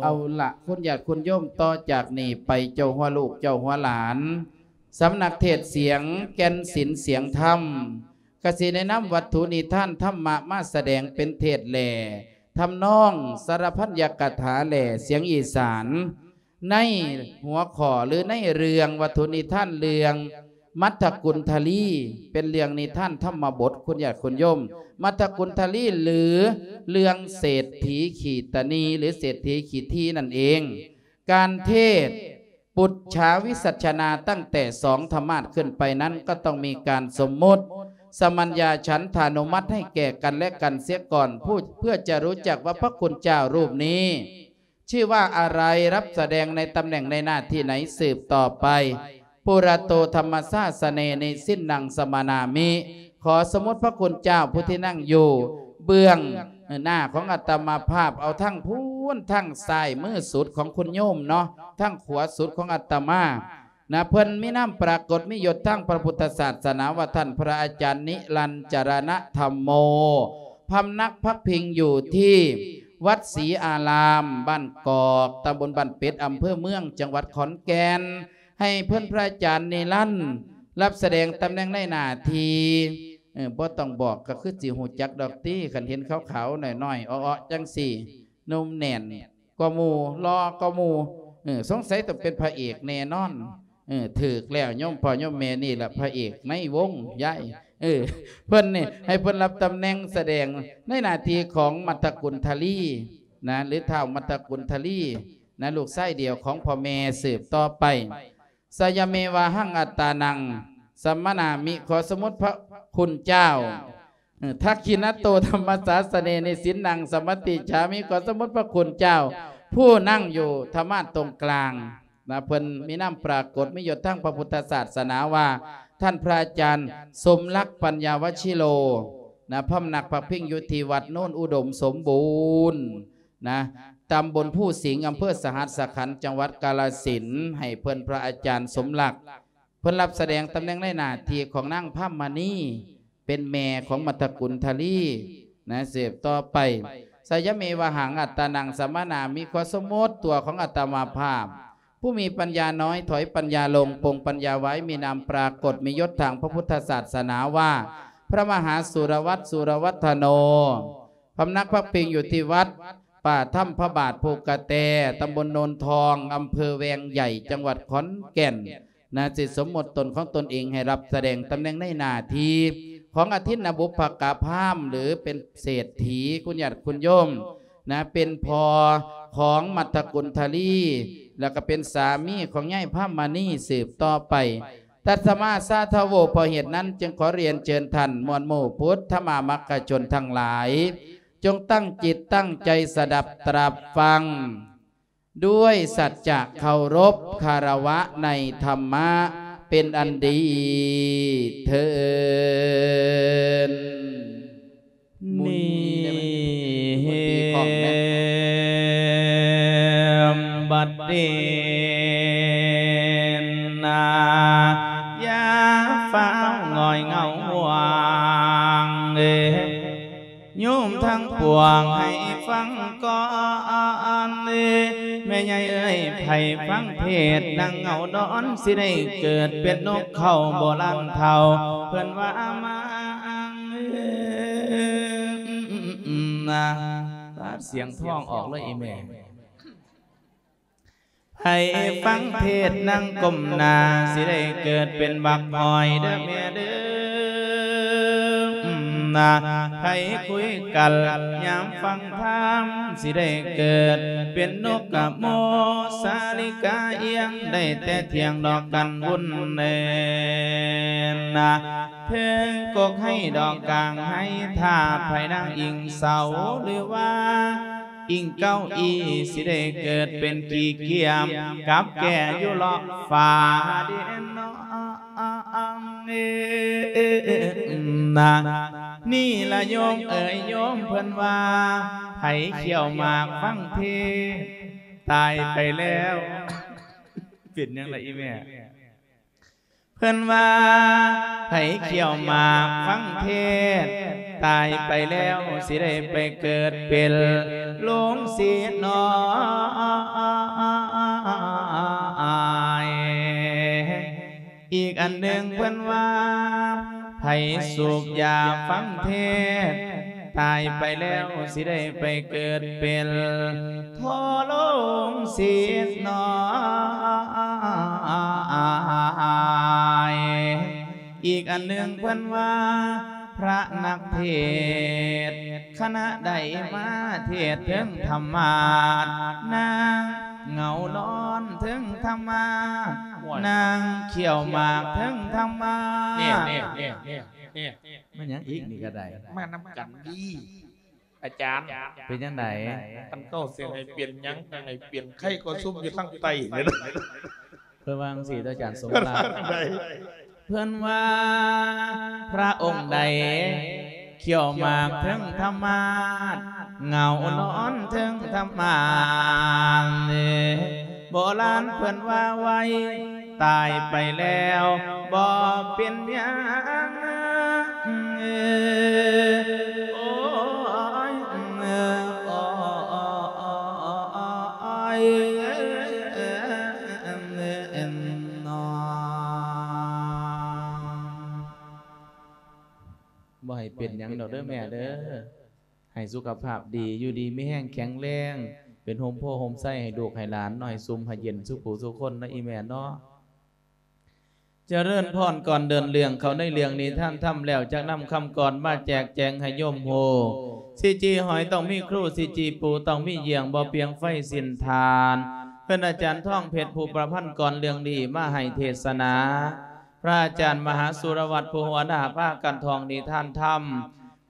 ເອົາລະ ຄຸນຍາດຄຸນໂຍມ, ຕໍ່ຈາກນີ້ໄປເຈົ້າຫົວລູກເຈົ້າຫົວຫຼານ ສຳນັກເທດສຽງແກ່ນສິນສຽງທຳ ກະຊິແນະນຳວັດຖຸນິທານທຳມະມາສະແດງເປັນເທດແຫຼ ທຳນອງ ສາລະພັນຍະກະຖາແຫຼ ສຽງອີສານ ໃນຫົວຂໍ້ ຫຼື ໃນເລື່ອງວັດຖຸນິທານເລື່ອງ ມັດທະກຸນທະລີ ເປັນເລື່ອງນິທານທຳມະບົດ ຄຸນຍາດຄຸນໂຍມ ມັດທະກຸນທະລີ ຫຼື ເລື່ອງເສດຖີຂີ້ຕະໜີ່ ຫຼື ເສດຖີຂີ້ຖີ່ນັ້ນເອງ. ການເທດ ປຸດຊາວິສັດຊະນາ ຕັ້ງແຕ່ສອງທະມາດຂຶ້ນໄປນັ້ນ ກໍຕ້ອງມີການສົມມຸດສະມັນຍາສັນທານຸມັດໃຫ້ແກ່ກັນແລະກັນເສຍກ່ອນ ຜູ້ ເພື່ອຈະຮູ້ຈັກວ່າພະຄຸນເຈົ້າຮູບນີ້ ຊື່ວ່າອາໄລ ຮັບສະແດງໃນຕຳແໜ່ງໃນໜ້າທີ່ໃດສືບຕໍ່ໄປ. ປຸຣະໂຕທຳມະສາສະເນ ນິສິນນັງສະມະນາມິ ຂໍສົມມຸດພະຄຸນເຈົ້າຜູ້ທີ່ນັ່ງຢູ່ເບື້ອງໜ້າຂອງອາດຕະມາພາບ ເອົາທັງພຸ້ນ ທັງຊ້າຍມືສຸດຂອງຄຸນໂຍມເນາະ ທັງຂວາສຸດຂອງອາດຕະມາ ນະ ເພິ່ນມີນາມປາກົດມີຍົດທາງພະພຸດທະສາສະໜາວ່າ ທ່ານພະອາຈານນິລັນຈະລະນະທຳໂມ ພຳນັກພັກພິງຢູ່ທີ່ວັດສີອາລາມ ບ້ານກອກ ຕຳບົນບ້ານເປັດ ອຳເພີເມືອງ ຈັງຫວັດຂອນແກ່ນ ໃຫ້ເພິ່ນພະອາຈານນິລັນ ຮັບສະແດງຕຳແໜ່ງໃນໜ້າທີ່ ເອີ ບໍ່ຕ້ອງບອກກໍຄືຊິຮູ້ຈັກດອກຕິ ຄັນເຫັນຂາວໆ ນ້ອຍໆ ເອາະໆ ຈັ່ງຊີ້ ໜຸ່ມແໜ້ນ ກວ່າໝູ່ ຫຼໍ່ກວ່າໝູ່ ເອີ ສົງໄສຕ້ອງເປັນພະເອກແນ່ນອນ ເອີ ຖືກແລ້ວ ໂຍມພໍ່ໂຍມແມ່ ນີ້ລະພະເອກໃນວົງຍາຍ ເອີ ເພິ່ນນີ້ໃຫ້ເພິ່ນຮັບຕຳແໜ່ງສະແດງໃນໜ້າທີ່ຂອງມັດທະກຸນທະລີນະ ຫຼື ທ້າວມັດທະກຸນທະລີນະ ລູກຊາຍດຽວຂອງພໍ່ແມ່ ສືບຕໍ່ໄປ. ສະຍະເມວາຫັງອັດຕານັງສະມະນາມິ ຂໍສົມມຸດພະຄຸນເຈົ້າ ເອີ ທັກຂິນະໂຕທຳມະສາສະເນ ນິສິນນັງສະມະຕິຈາມິ ຂໍສົມມຸດພະຄຸນເຈົ້າ ຜູ້ນັ່ງຢູ່ທຳມາດຕົງກາງນະ ເພິ່ນມີນາມປາກົດມີຍົດທາງພະພຸດທະສາສະໜາວ່າ ທ່ານພະອາຈານສົມລັກ ປັນຍາວະຊິໂລນະ ພຳນັກພັກພິງຢູ່ທີ່ວັດໂນນອຸດົມສົມບູນນະ ຕຳບົນພູສິງ ອຳເພີສະຫັດສະຂັນ ຈັງຫວັດກາລະສິນ ໃຫ້ເພິ່ນພະອາຈານສົມລັກ ເພິ່ນຮັບສະແດງຕຳແໜ່ງໃນໜ້າທີ່ຂອງນາງພາມມະນີ ເປັນແມ່ຂອງມັດທະກຸນທະລີນະ ສືບຕໍ່ໄປ. ສະຍະເມວະຫັງອັດຕານັງສະມະນາມິ ຂໍສົມມຸດຕົວຂອງອາດຕະມາພາບ ຜູ້ມີປັນຍານ້ອຍ ຖອຍປັນຍາລົງ ປົງປັນຍາໄວ້ ມີນາມປາກົດ ມີຍົດທາງພະພຸດທະສາສະໜາວ່າ ພະມະຫາສຸລະວັດ ສຸລະວັດທະໂນ ພຳນັກພັກພິງຢູ່ທີ່ວັດປ່າຖ້ຳພະບາດພູກະແຕ ຕຳບົນໂນນທອງ ອຳເພີແວງໃຫຍ່ ຈັງຫວັດຂອນແກ່ນ ນະ ຊິສົມມຸດຕົນຂອງຕົນເອງໃຫ້ຮັບສະແດງຕຳແໜ່ງໃນໜ້າທີ່ຂອງອະທິນນະບຸບພະກະພາມ ຫຼື ເປັນເສດຖີ ຄຸນຍາດຄຸນໂຍມນະ ເປັນພໍ່ຂອງມັດທະກຸນທະລີ ແລ້ວກໍເປັນສາມີຂອງຍາຍພາມມະນີ ສືບຕໍ່ໄປ. ຕັດສະມາສາທະໂວ ເພາະເຫດນັ້ນຈຶ່ງຂໍຮຽນເຊີນທ່ານມວນໝູ່ພຸດທະມາມັກກະຊົນທັງຫຼາຍ ຈົ່ງຕັ້ງຈິດຕັ້ງໃຈສະດັບຕະລັບຟັງ ດ້ວຍສັດຈະເຄົາລົບຄາລະວະໃນທຳມະ ເປັນອັນດີເທີ້ນ. ໝູນນີ້ໄດ້ໄໝ? ໝູນຕີຂອງແມ່ນ ບັດນີ້ນາ ຢ່າຟ້າວຫງອຍເຫງົາຫວງເດ ໂຍມທັງປວງໃຫ້ຟັງກ່ອນເດ ແມ່ໃຫຍ່ເອີຍ ໃຜຟັງເທດນາງເຫງົາດອນ ຊິໄດ້ເກີດເປັນນົກເຂົາໂບລານເຖົ້າ ເພິ່ນວ່າມາ ນະ ປາດສຽງທ້ອງອອກເລີຍອີແມ່. ໃຜຟັງເທດນາງກົ້ມໜ້າ ຊິໄດ້ເກີດເປັນບັກຫອຍເດີແມ່ເດີ ນະ ໃຜຄຸຍກັນຍາມຟັງທຳ ຊິໄດ້ເກີດເປັນນົກກະໂມ ສາລິກາອຽງ ໄດ້ແຕ່ຖຽງດອກກັນວຸ່ນເນີນນະ ເທິງກົກໄຮດອກກາງໄຮ ຖ້າໃຜນາງອີງເສົາ ຫຼືວ່າອີງເກົ້າອີ່ ຊິໄດ້ເກີດເປັນຂີ້ກຽມ ກັບແກ່ຢູ່ເລາະຝາເດເນາະ ນະ ນີ້ລະໂຍມເອີຍ ໂຍມເພິ່ນວ່າ ໃຜຂ້ຽວໝາກຟັງເທດ ຕາຍໄປແລ້ວ ເປັນຫຍັງລະອີແມ່? ໃ ເພິ່ນວ່າ ໃຜຂ້ຽວໝາກຟັງເທດ ຕາຍໄປແລ້ວຊິໄດ້ໄປເກີດເປັນລຸງສີນອຍ. ອີກອັນໜຶ່ງເພິ່ນວ່າ ໃຜສູບຢາຟັງເທດ ຕາຍໄປແລ້ວຊິໄດ້ໄປເກີດເປັນ ໂທ ລຸງສີນອຍ. ອີກອັນໜຶ່ງເພິ່ນວ່າ ພະນັກເທດຄະນະໃດມາເທດເຖິງທຳມາດ ນາງເຫງົານອນເຖິງທຳມາດ ໂອ້ຍ ນາງຂ້ຽວໝາກເຖິງທຳມາດ. ນີ້ໆໆໆ ແມ່ນຫຍັງອີກນີ້ກໍໄດ້ ມານຳກັນດີ. ອາຈານ ເປັນຈັ່ງໃດ? ຄັນເຈົ້າຊິໃຫ້ເປັນຫຍັງກໍໃຫ້ເປັນໄຄກວ່າຊຸມຢູ່ທາງໃຕ້ນີ້ລະ. ເພິ່ນວ່າຈັ່ງຊີ້ ອາຈານສົມລັກ. ເພິ່ນວ່າ ພະອົງໃດ ຂ້ຽວໝາກເຖິງທຳມາດ ເຫງົານອນເຖິງທຳມາດ. ໂບລານເພິ່ນວ່າໄວ ຕາຍໄປແລ້ວບໍ່ເປັນຫຍັງ. ໂອ້ຍ ໂອ້ຍ ບໍ່ໃຫ້ເປັນຫຍັງດອກເດີແມ່ເດີ. ໃຫ້ສຸຂະພາບດີ ຢູ່ດີມີແຮງແຂງແຮງ ເປັນຮົ່ມໂພຮົ່ມໄຊໃຫ້ລູກໃຫ້ຫຼານເນາະ ໃຫ້ຊຸ່ມໃຫ້ເຢັນສູ່ຜູ້ສູ່ຄົນເນາະ ອີ່ແມ່ເນາະ. ຈະເລີນພອນ ກ່ອນເດີນເລື່ອງເຂົ້າໃນເລື່ອງນິທານທຳແລ້ວ ຈັກນຳຄຳກອນມາແຈກແຈງໃຫ້ໂຍມຮູ້. ຊິຈີຫອຍຕ້ອງມີຄູ ຊິຈີປູຕ້ອງມີເຫຍື່ອງ ບໍ່ປ່ຽງໄຟສິ້ນທານ. ເພິ່ນອາຈານທອງເພັດ ຜູ້ປະພັນກອນເລື່ອງນີ້ມາໃຫ້ເທດສະໜາ. ພະອາຈານມະຫາສຸລະວັດ ຜູ້ຫົວໜ້າພາກັນທ່ອງນິທານທຳ.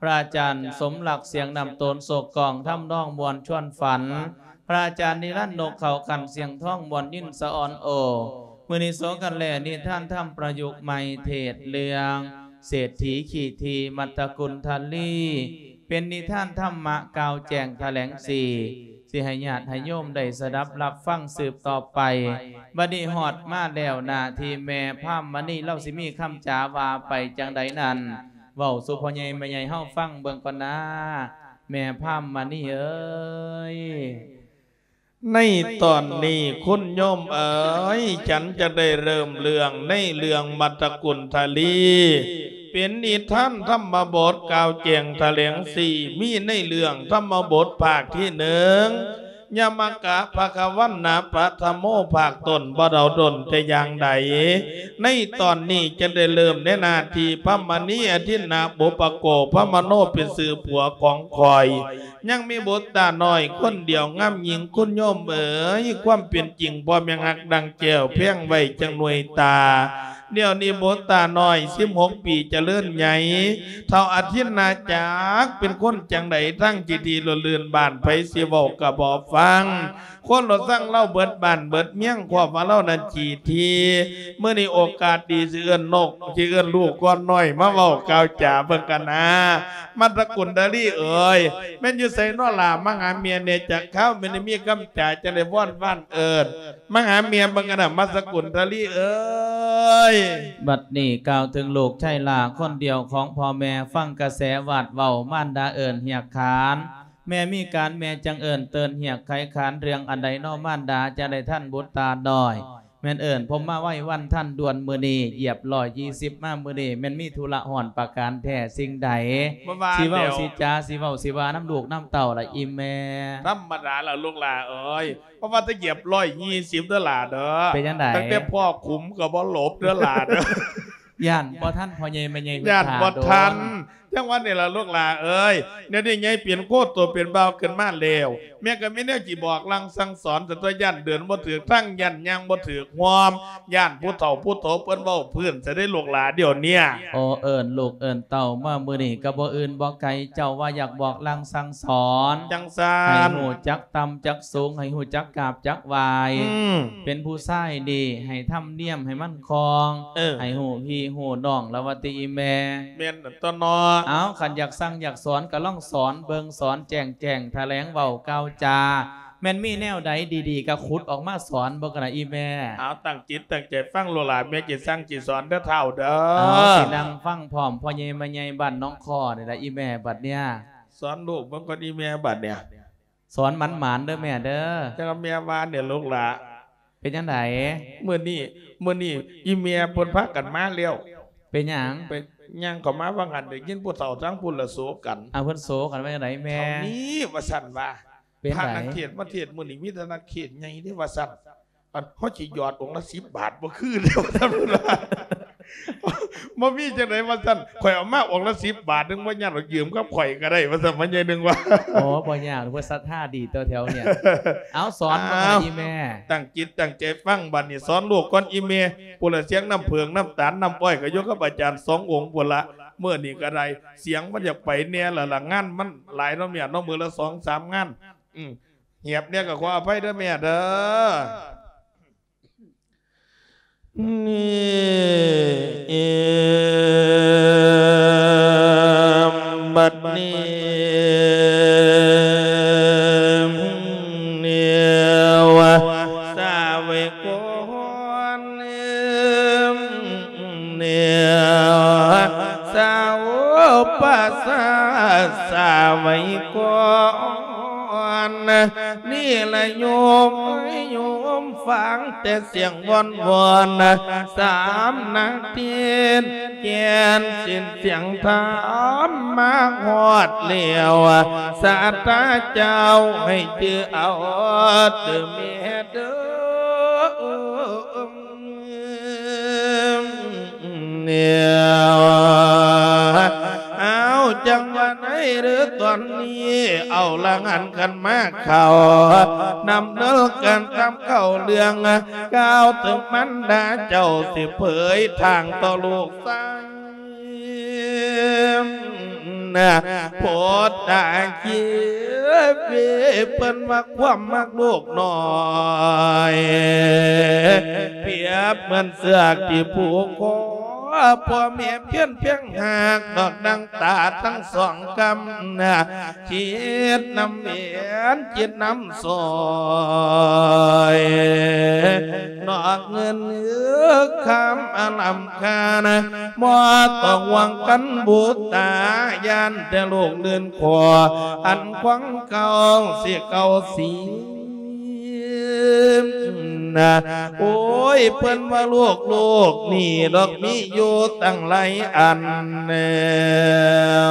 ພະອາຈານສົມລັກ ສຽງນ້ຳໂຕນໂສກກອງ ທຳນອງມ່ວນຊວນຝັນ, ພະອາຈານນິລັນ ນົກເຂົາຂັນ ສຽງທອງມ່ວນຍິນສະອອນໂອ. ມື້ນີ້ໂສກັນແລນິທານທຳປະຍຸກໃໝ່ ເທດເລື່ອງເສດຖີຂີ້ຖີ່ ມັດຕະກຸນທະລີ ເປັນນິທານທຳມະກ່າວແຈ້ງຖະແຫຼງສີ ຊິໃຫ້ຍາດໃຫ້ໂຍມໄດ້ສະດັບຮັບຟັງສືບຕໍ່ໄປ. ບັດນີ້ຮອດມາແລ້ວໜ້າທີ່ແມ່ພາມມະນີ ລາວຊິມີຄຳຈາວ່າໄປຈັ່ງໃດນັ້ນ ເວົ້າສູ່ພໍ່ໃຫຍ່ແມ່ໃຫຍ່ເຮົາຟັງເບິ່ງກ່ອນນາ ແມ່ພາມມະນີເອີຍ. ໃນຕອນນີ້ຄຸນໂຍມເອີຍ, ສັນຈະໄດ້ເລີ່ມເລື່ອງໃນເລື່ອງມັດຕະກຸນທະລີ ເປັນນິທານທຳມະບົດກ່າວແຈ້ງຖະແຫຼງສີ ມີໃນເລື່ອງທຳມະບົດພາກທີໜຶ່ງ ຍະມະກະພະຄະວັນນະປະທະໂມ ພາກຕົ້ນ ບໍ່ເດົາດົນແຕ່ຢ່າງໃດ. ໃນຕອນນີ້ຈະໄດ້ເລີ່ມໃນໜ້າທີ່ພະມະນີອະທິນນະບຸບປະໂກ ພະມະໂນເປັນຊື່ຜົວຂອງຂ້ອຍ. ຍັງມີບຸດຕານ້ອຍຄົນດຽວງາມຍິ່ງ ຄຸນໂຍມເອີຍ, ຄວາມເປັນຈິງພໍ່ແມ່ຮັກດັ່ງແກ້ວແພງໄວ້ຈັ່ງໜ່ວຍຕາ. ດຽວນີ້ບຸດຕານ້ອຍສິບຫົກປີຈະເລີນໃຫຍ່ ເຖົ້າອະທິນນາຈັກເປັນຄົນຈັ່ງໃດ ທັງຈີທີລຸນລື່ນ ບ້ານໃຜຊິເວົ້າກໍບໍ່ຟັງ ຄົນລະຊັງລາວເບິດບ້ານເບິດເມືອງ ຄວາມວ່າລາວນັ້ນຈີທີ. ມື້ນີ້ໂອກາດດີ ຊິເອີ້ນນົກ ຊິເອີ້ນລູກກ່ອນນ້ອຍມາເວົ້າກ່າວຈາເບິ່ງກັນນາ. ມັດຕະກຸນທະລີເອີຍ ແມ່ນຢູ່ໃສນໍລະ ມາຫາແມ່ແດ່ຈັກຄາວ ແມ່ນໄດ້ມີຄຳຈາຈັ່ງໄດ້ວອນວານເອີ້ນ ມາຫາແມ່ເບິ່ງກັນນະ ມັດຕະກຸນທະລີເອີຍ. ບັດນີ້ກ່າວເຖິງລູກຊາຍຫຼ້າຄົນດຽວຂອງພໍ່ແມ່ ຟັງກະແສວາດເວົ້າມານດາເອີ້ນຮຽກຂານ ແມ່ມີການແມ່ຈັ່ງເອີ້ນເຕີນຮຽກໄຂຂານ ເລື່ອງອັນໃດນໍມານດາ ຈະໄດ້ທັນບຸດຕານ້ອຍ ແມ່ນເອີ້ນພົມມາໄວວັນທັນດ່ວນ ມື້ນີ້ຢຽບຮ້ອຍຍີ່ສິບມາ ມື້ນີ້ແມ່ນມີທຸລະຮ້ອນປະການແທ້ສິ່ງໃດ ຊິເວົ້າຊິຈາ ຊິເວົ້າຊິວ່ານຳລູກນຳເຕົ້າລະອີ່ແມ່. ທຳມະດາລະລູກຫຼ້າເອີຍ ເພາະວ່າແຕ່ຢຽບຮ້ອຍຍີ່ສິບເດີຫຼ້າເດີ ເປັນຈັ່ງໃດ ຕັ້ງແຕ່ພໍ່ຂຸມກໍບໍ່ຫຼົບເດີຫຼ້າເດີ ຢ້ານບໍ່ທັນພໍ່ໃຫຍ່ແມ່ໃຫຍ່ ຢ້ານບໍ່ທັນ. ຈັ່ງວ່ານີ້ລະລູກຫຼ້າເອີຍ ດຽວນີ້ໃຫຍ່ເປັນໂຄໂຕເປັນບ່າວຂຶ້ນມາແລ້ວ ແມ່ກໍມີແນວຊິບອກລາງສັ່ງສອນ ສັນຕົວະຢ້ານເດີນບໍ່ຖືກທາງ ຢ້ານຍ່າງບໍ່ຖືກຮ່ອມ ຢ້ານຜູ້ເຖົ້າຜູ້ໂຕເພິ່ນເວົ້າພື້ນຊະເດ້ລູກຫຼ້າ ດຽວເນີ້ຍ. ໂອ ເອີ້ນລູກເອີ້ນເຕົ້າມາມື້ນີ້ກໍບໍ່ອື່ນບໍ່ໄກ ເຈົ້າວ່າຢາກບອກລາງສັ່ງສອນ ຈັ່ງຊັ້ນ ໃຫ້ຮູ້ຈັກຕ່ຳຈັກສູງ ໃຫ້ຮູ້ຈັກກາບຈັກໄຫວ້ ອືມ ເປັນຜູ້ຊາຍນີ້ໃຫ້ທຳນຽມໃຫ້ມັນຄ່ອງ ເອີ ໃຫ້ຮູ້ພີ່ຮູ້ນ້ອງລະວ່າຕິອີ່ແມ່. ແມ່ນ ຕົວະເນາະ ເອົາ ຄັນຢາກສັ່ງຢາກສອນກໍລອງສອນເບິ່ງ ສອນແຈ້ງແຈ້ງ ຖະແຫຼງເວົ້າກ່າວຈາ ແມ່ນມີແນວໃດດີໆ ກໍຂຸດອອກມາສອນເບິ່ງກັນນະອີ່ແມ່. ເອົາ ຕັ້ງຈິດຕັ້ງໃຈຟັງໂລດຫຼ້າ ແມ່ຊິສັ່ງຊິສອນເດີທ້າວເດີ. ເອົາ ຊິນັ່ງຟັງພ້ອມພໍ່ໃຫຍ່ແມ່ໃຫຍ່ບ້ານໜອງຄໍນີ້ລະອີ່ແມ່ ບັດເນີ້ຍ. ສອນລູກເບິ່ງກ່ອນອີ່ແມ່ ບັດເນີ້ຍ. ສອນໝານໆເດີແມ່ເດີ. ຈັ່ງແມ່ວ່ານີ້ລູກຫຼ້າ. ເປັນຈັ່ງໃດ? ມື້ນີ້ ມື້ນີ້ອີ່ແມ່ເພິ່ນພາກັນມາແລ້ວ. ເປັນຫຍັງ? ໄປ ຍ່າງເຂົ້າມາວ່າງຫັ້ນ ໄດ້ຍິນຜູ້ເຖົ້າທາງພຸ້ນລະໂສກັນ. ອາ ເພິ່ນໂສກັນວ່າຈັ່ງໃດແມ່? ເທົ່ານີ້ວ່າຊັ້ນວ່າ. ເປັນໃດ? ພະນັກເທດມາເທດມື້ນີ້ມີແຕ່ນັກເທດໃຫຍ່ເດ້ວ່າຊັ້ນ. ອັນ ເຮົາຊິຢອດອົງລະສິບບາດບໍ່ຄືເດ້ວ່າຊັ້ນເພິ່ນວ່າ. ບໍ່ມີຈັ່ງໃດວ່າຊັ້ນ ຂ້ອຍເອົາມາອົງລະສິບບາດ ໜຶ່ງບໍ່ຍາກດອກ ຢືມກັບຂ້ອຍກໍໄດ້ວ່າຊັ້ນ ພໍ່ໃຫຍ່ໜຶ່ງວ່າ. ໂອ້ ບໍ່ຍາກ ເພິ່ນສັດທາດີຕົວະແຖວນີ້. ເອົາ ສອນມາ ເອົາ ອີ່ແມ່. ຕັ້ງຈິດຕັ້ງໃຈຟັງ ບັດນີ້ສອນລູກກ່ອນອີ່ແມ່. ພຸ້ນລະ ສຽງນ້ຳເຜິ້ງນ້ຳຕານນ້ຳອ້ອຍກໍຢູ່ກັບອາຈານສອງອົງພຸ້ນລະ. ມື້ນີ້ກໍໄດ້ ສຽງມັນຢາກໄປແດ່ລະລະ ງານມັນຫຼາຍເນາະແມ່ເນາະ ມື້ລະສອງສາມງານ. ອືມ ຫຽບແດ່ກໍຂໍອະໄພເດີແມ່ເດີ. ນີ້ ບັດນີ້ ແນວສາວກອນ ແນວສາວປະສາດສາວກອນ ນີ້ລະໂຍມເອີຍ ໂຍມຟັງແຕ່ສຽງວອນວອນ ສາມນາທີ ແກ່ນສິນສຽງທຳມາຮອດແລ້ວ ສາດຕາເຈົ້າໃຫ້ຈື່ເອົາເດີແມ່ເດີ. ແນວ ເອົາ ຈັ່ງວ່າໃນເລື່ອງຕອນນີ້ ເອົາລະຫັ້ນ ຄັນມາເຂົ້ານຳເລື່ອງການນຳເຂົ້າເລື່ອງ ກ່າວເຖິງມານດາເຈົ້າ ຊິເຜີຍທາງຕໍ່ລູກຊາຍ ນະ ໂພດຕາຄີເວ ເພິ່ນວ່າຄວາມມັກລູກນ້ອຍ ປຽບເໝືອນເຊືອກທີ່ຜູກຄໍ ພໍ່ແມ່ພຽງພຽງຫາກ ດອກດັ່ງຕາທັງສອງກຳນະ ຄິດນຳເວັນ ຄິດນຳສອຍ ນອກເງິນຄຳອາລຳ ຂ້ານະ ບໍ່ຕ້ອງຫວັງກັນບູຕາ ຢ້ານແຕ່ລູກລື່ນຂໍ ອັນຂອງເກົ່າຊິເກົ່າສີນະ. ໂອ້ຍ ເພິ່ນວ່າລູກ ລູກນີ້ດອກມີຢູ່ຕັ້ງຫຼາຍອັນ ແລ້ວ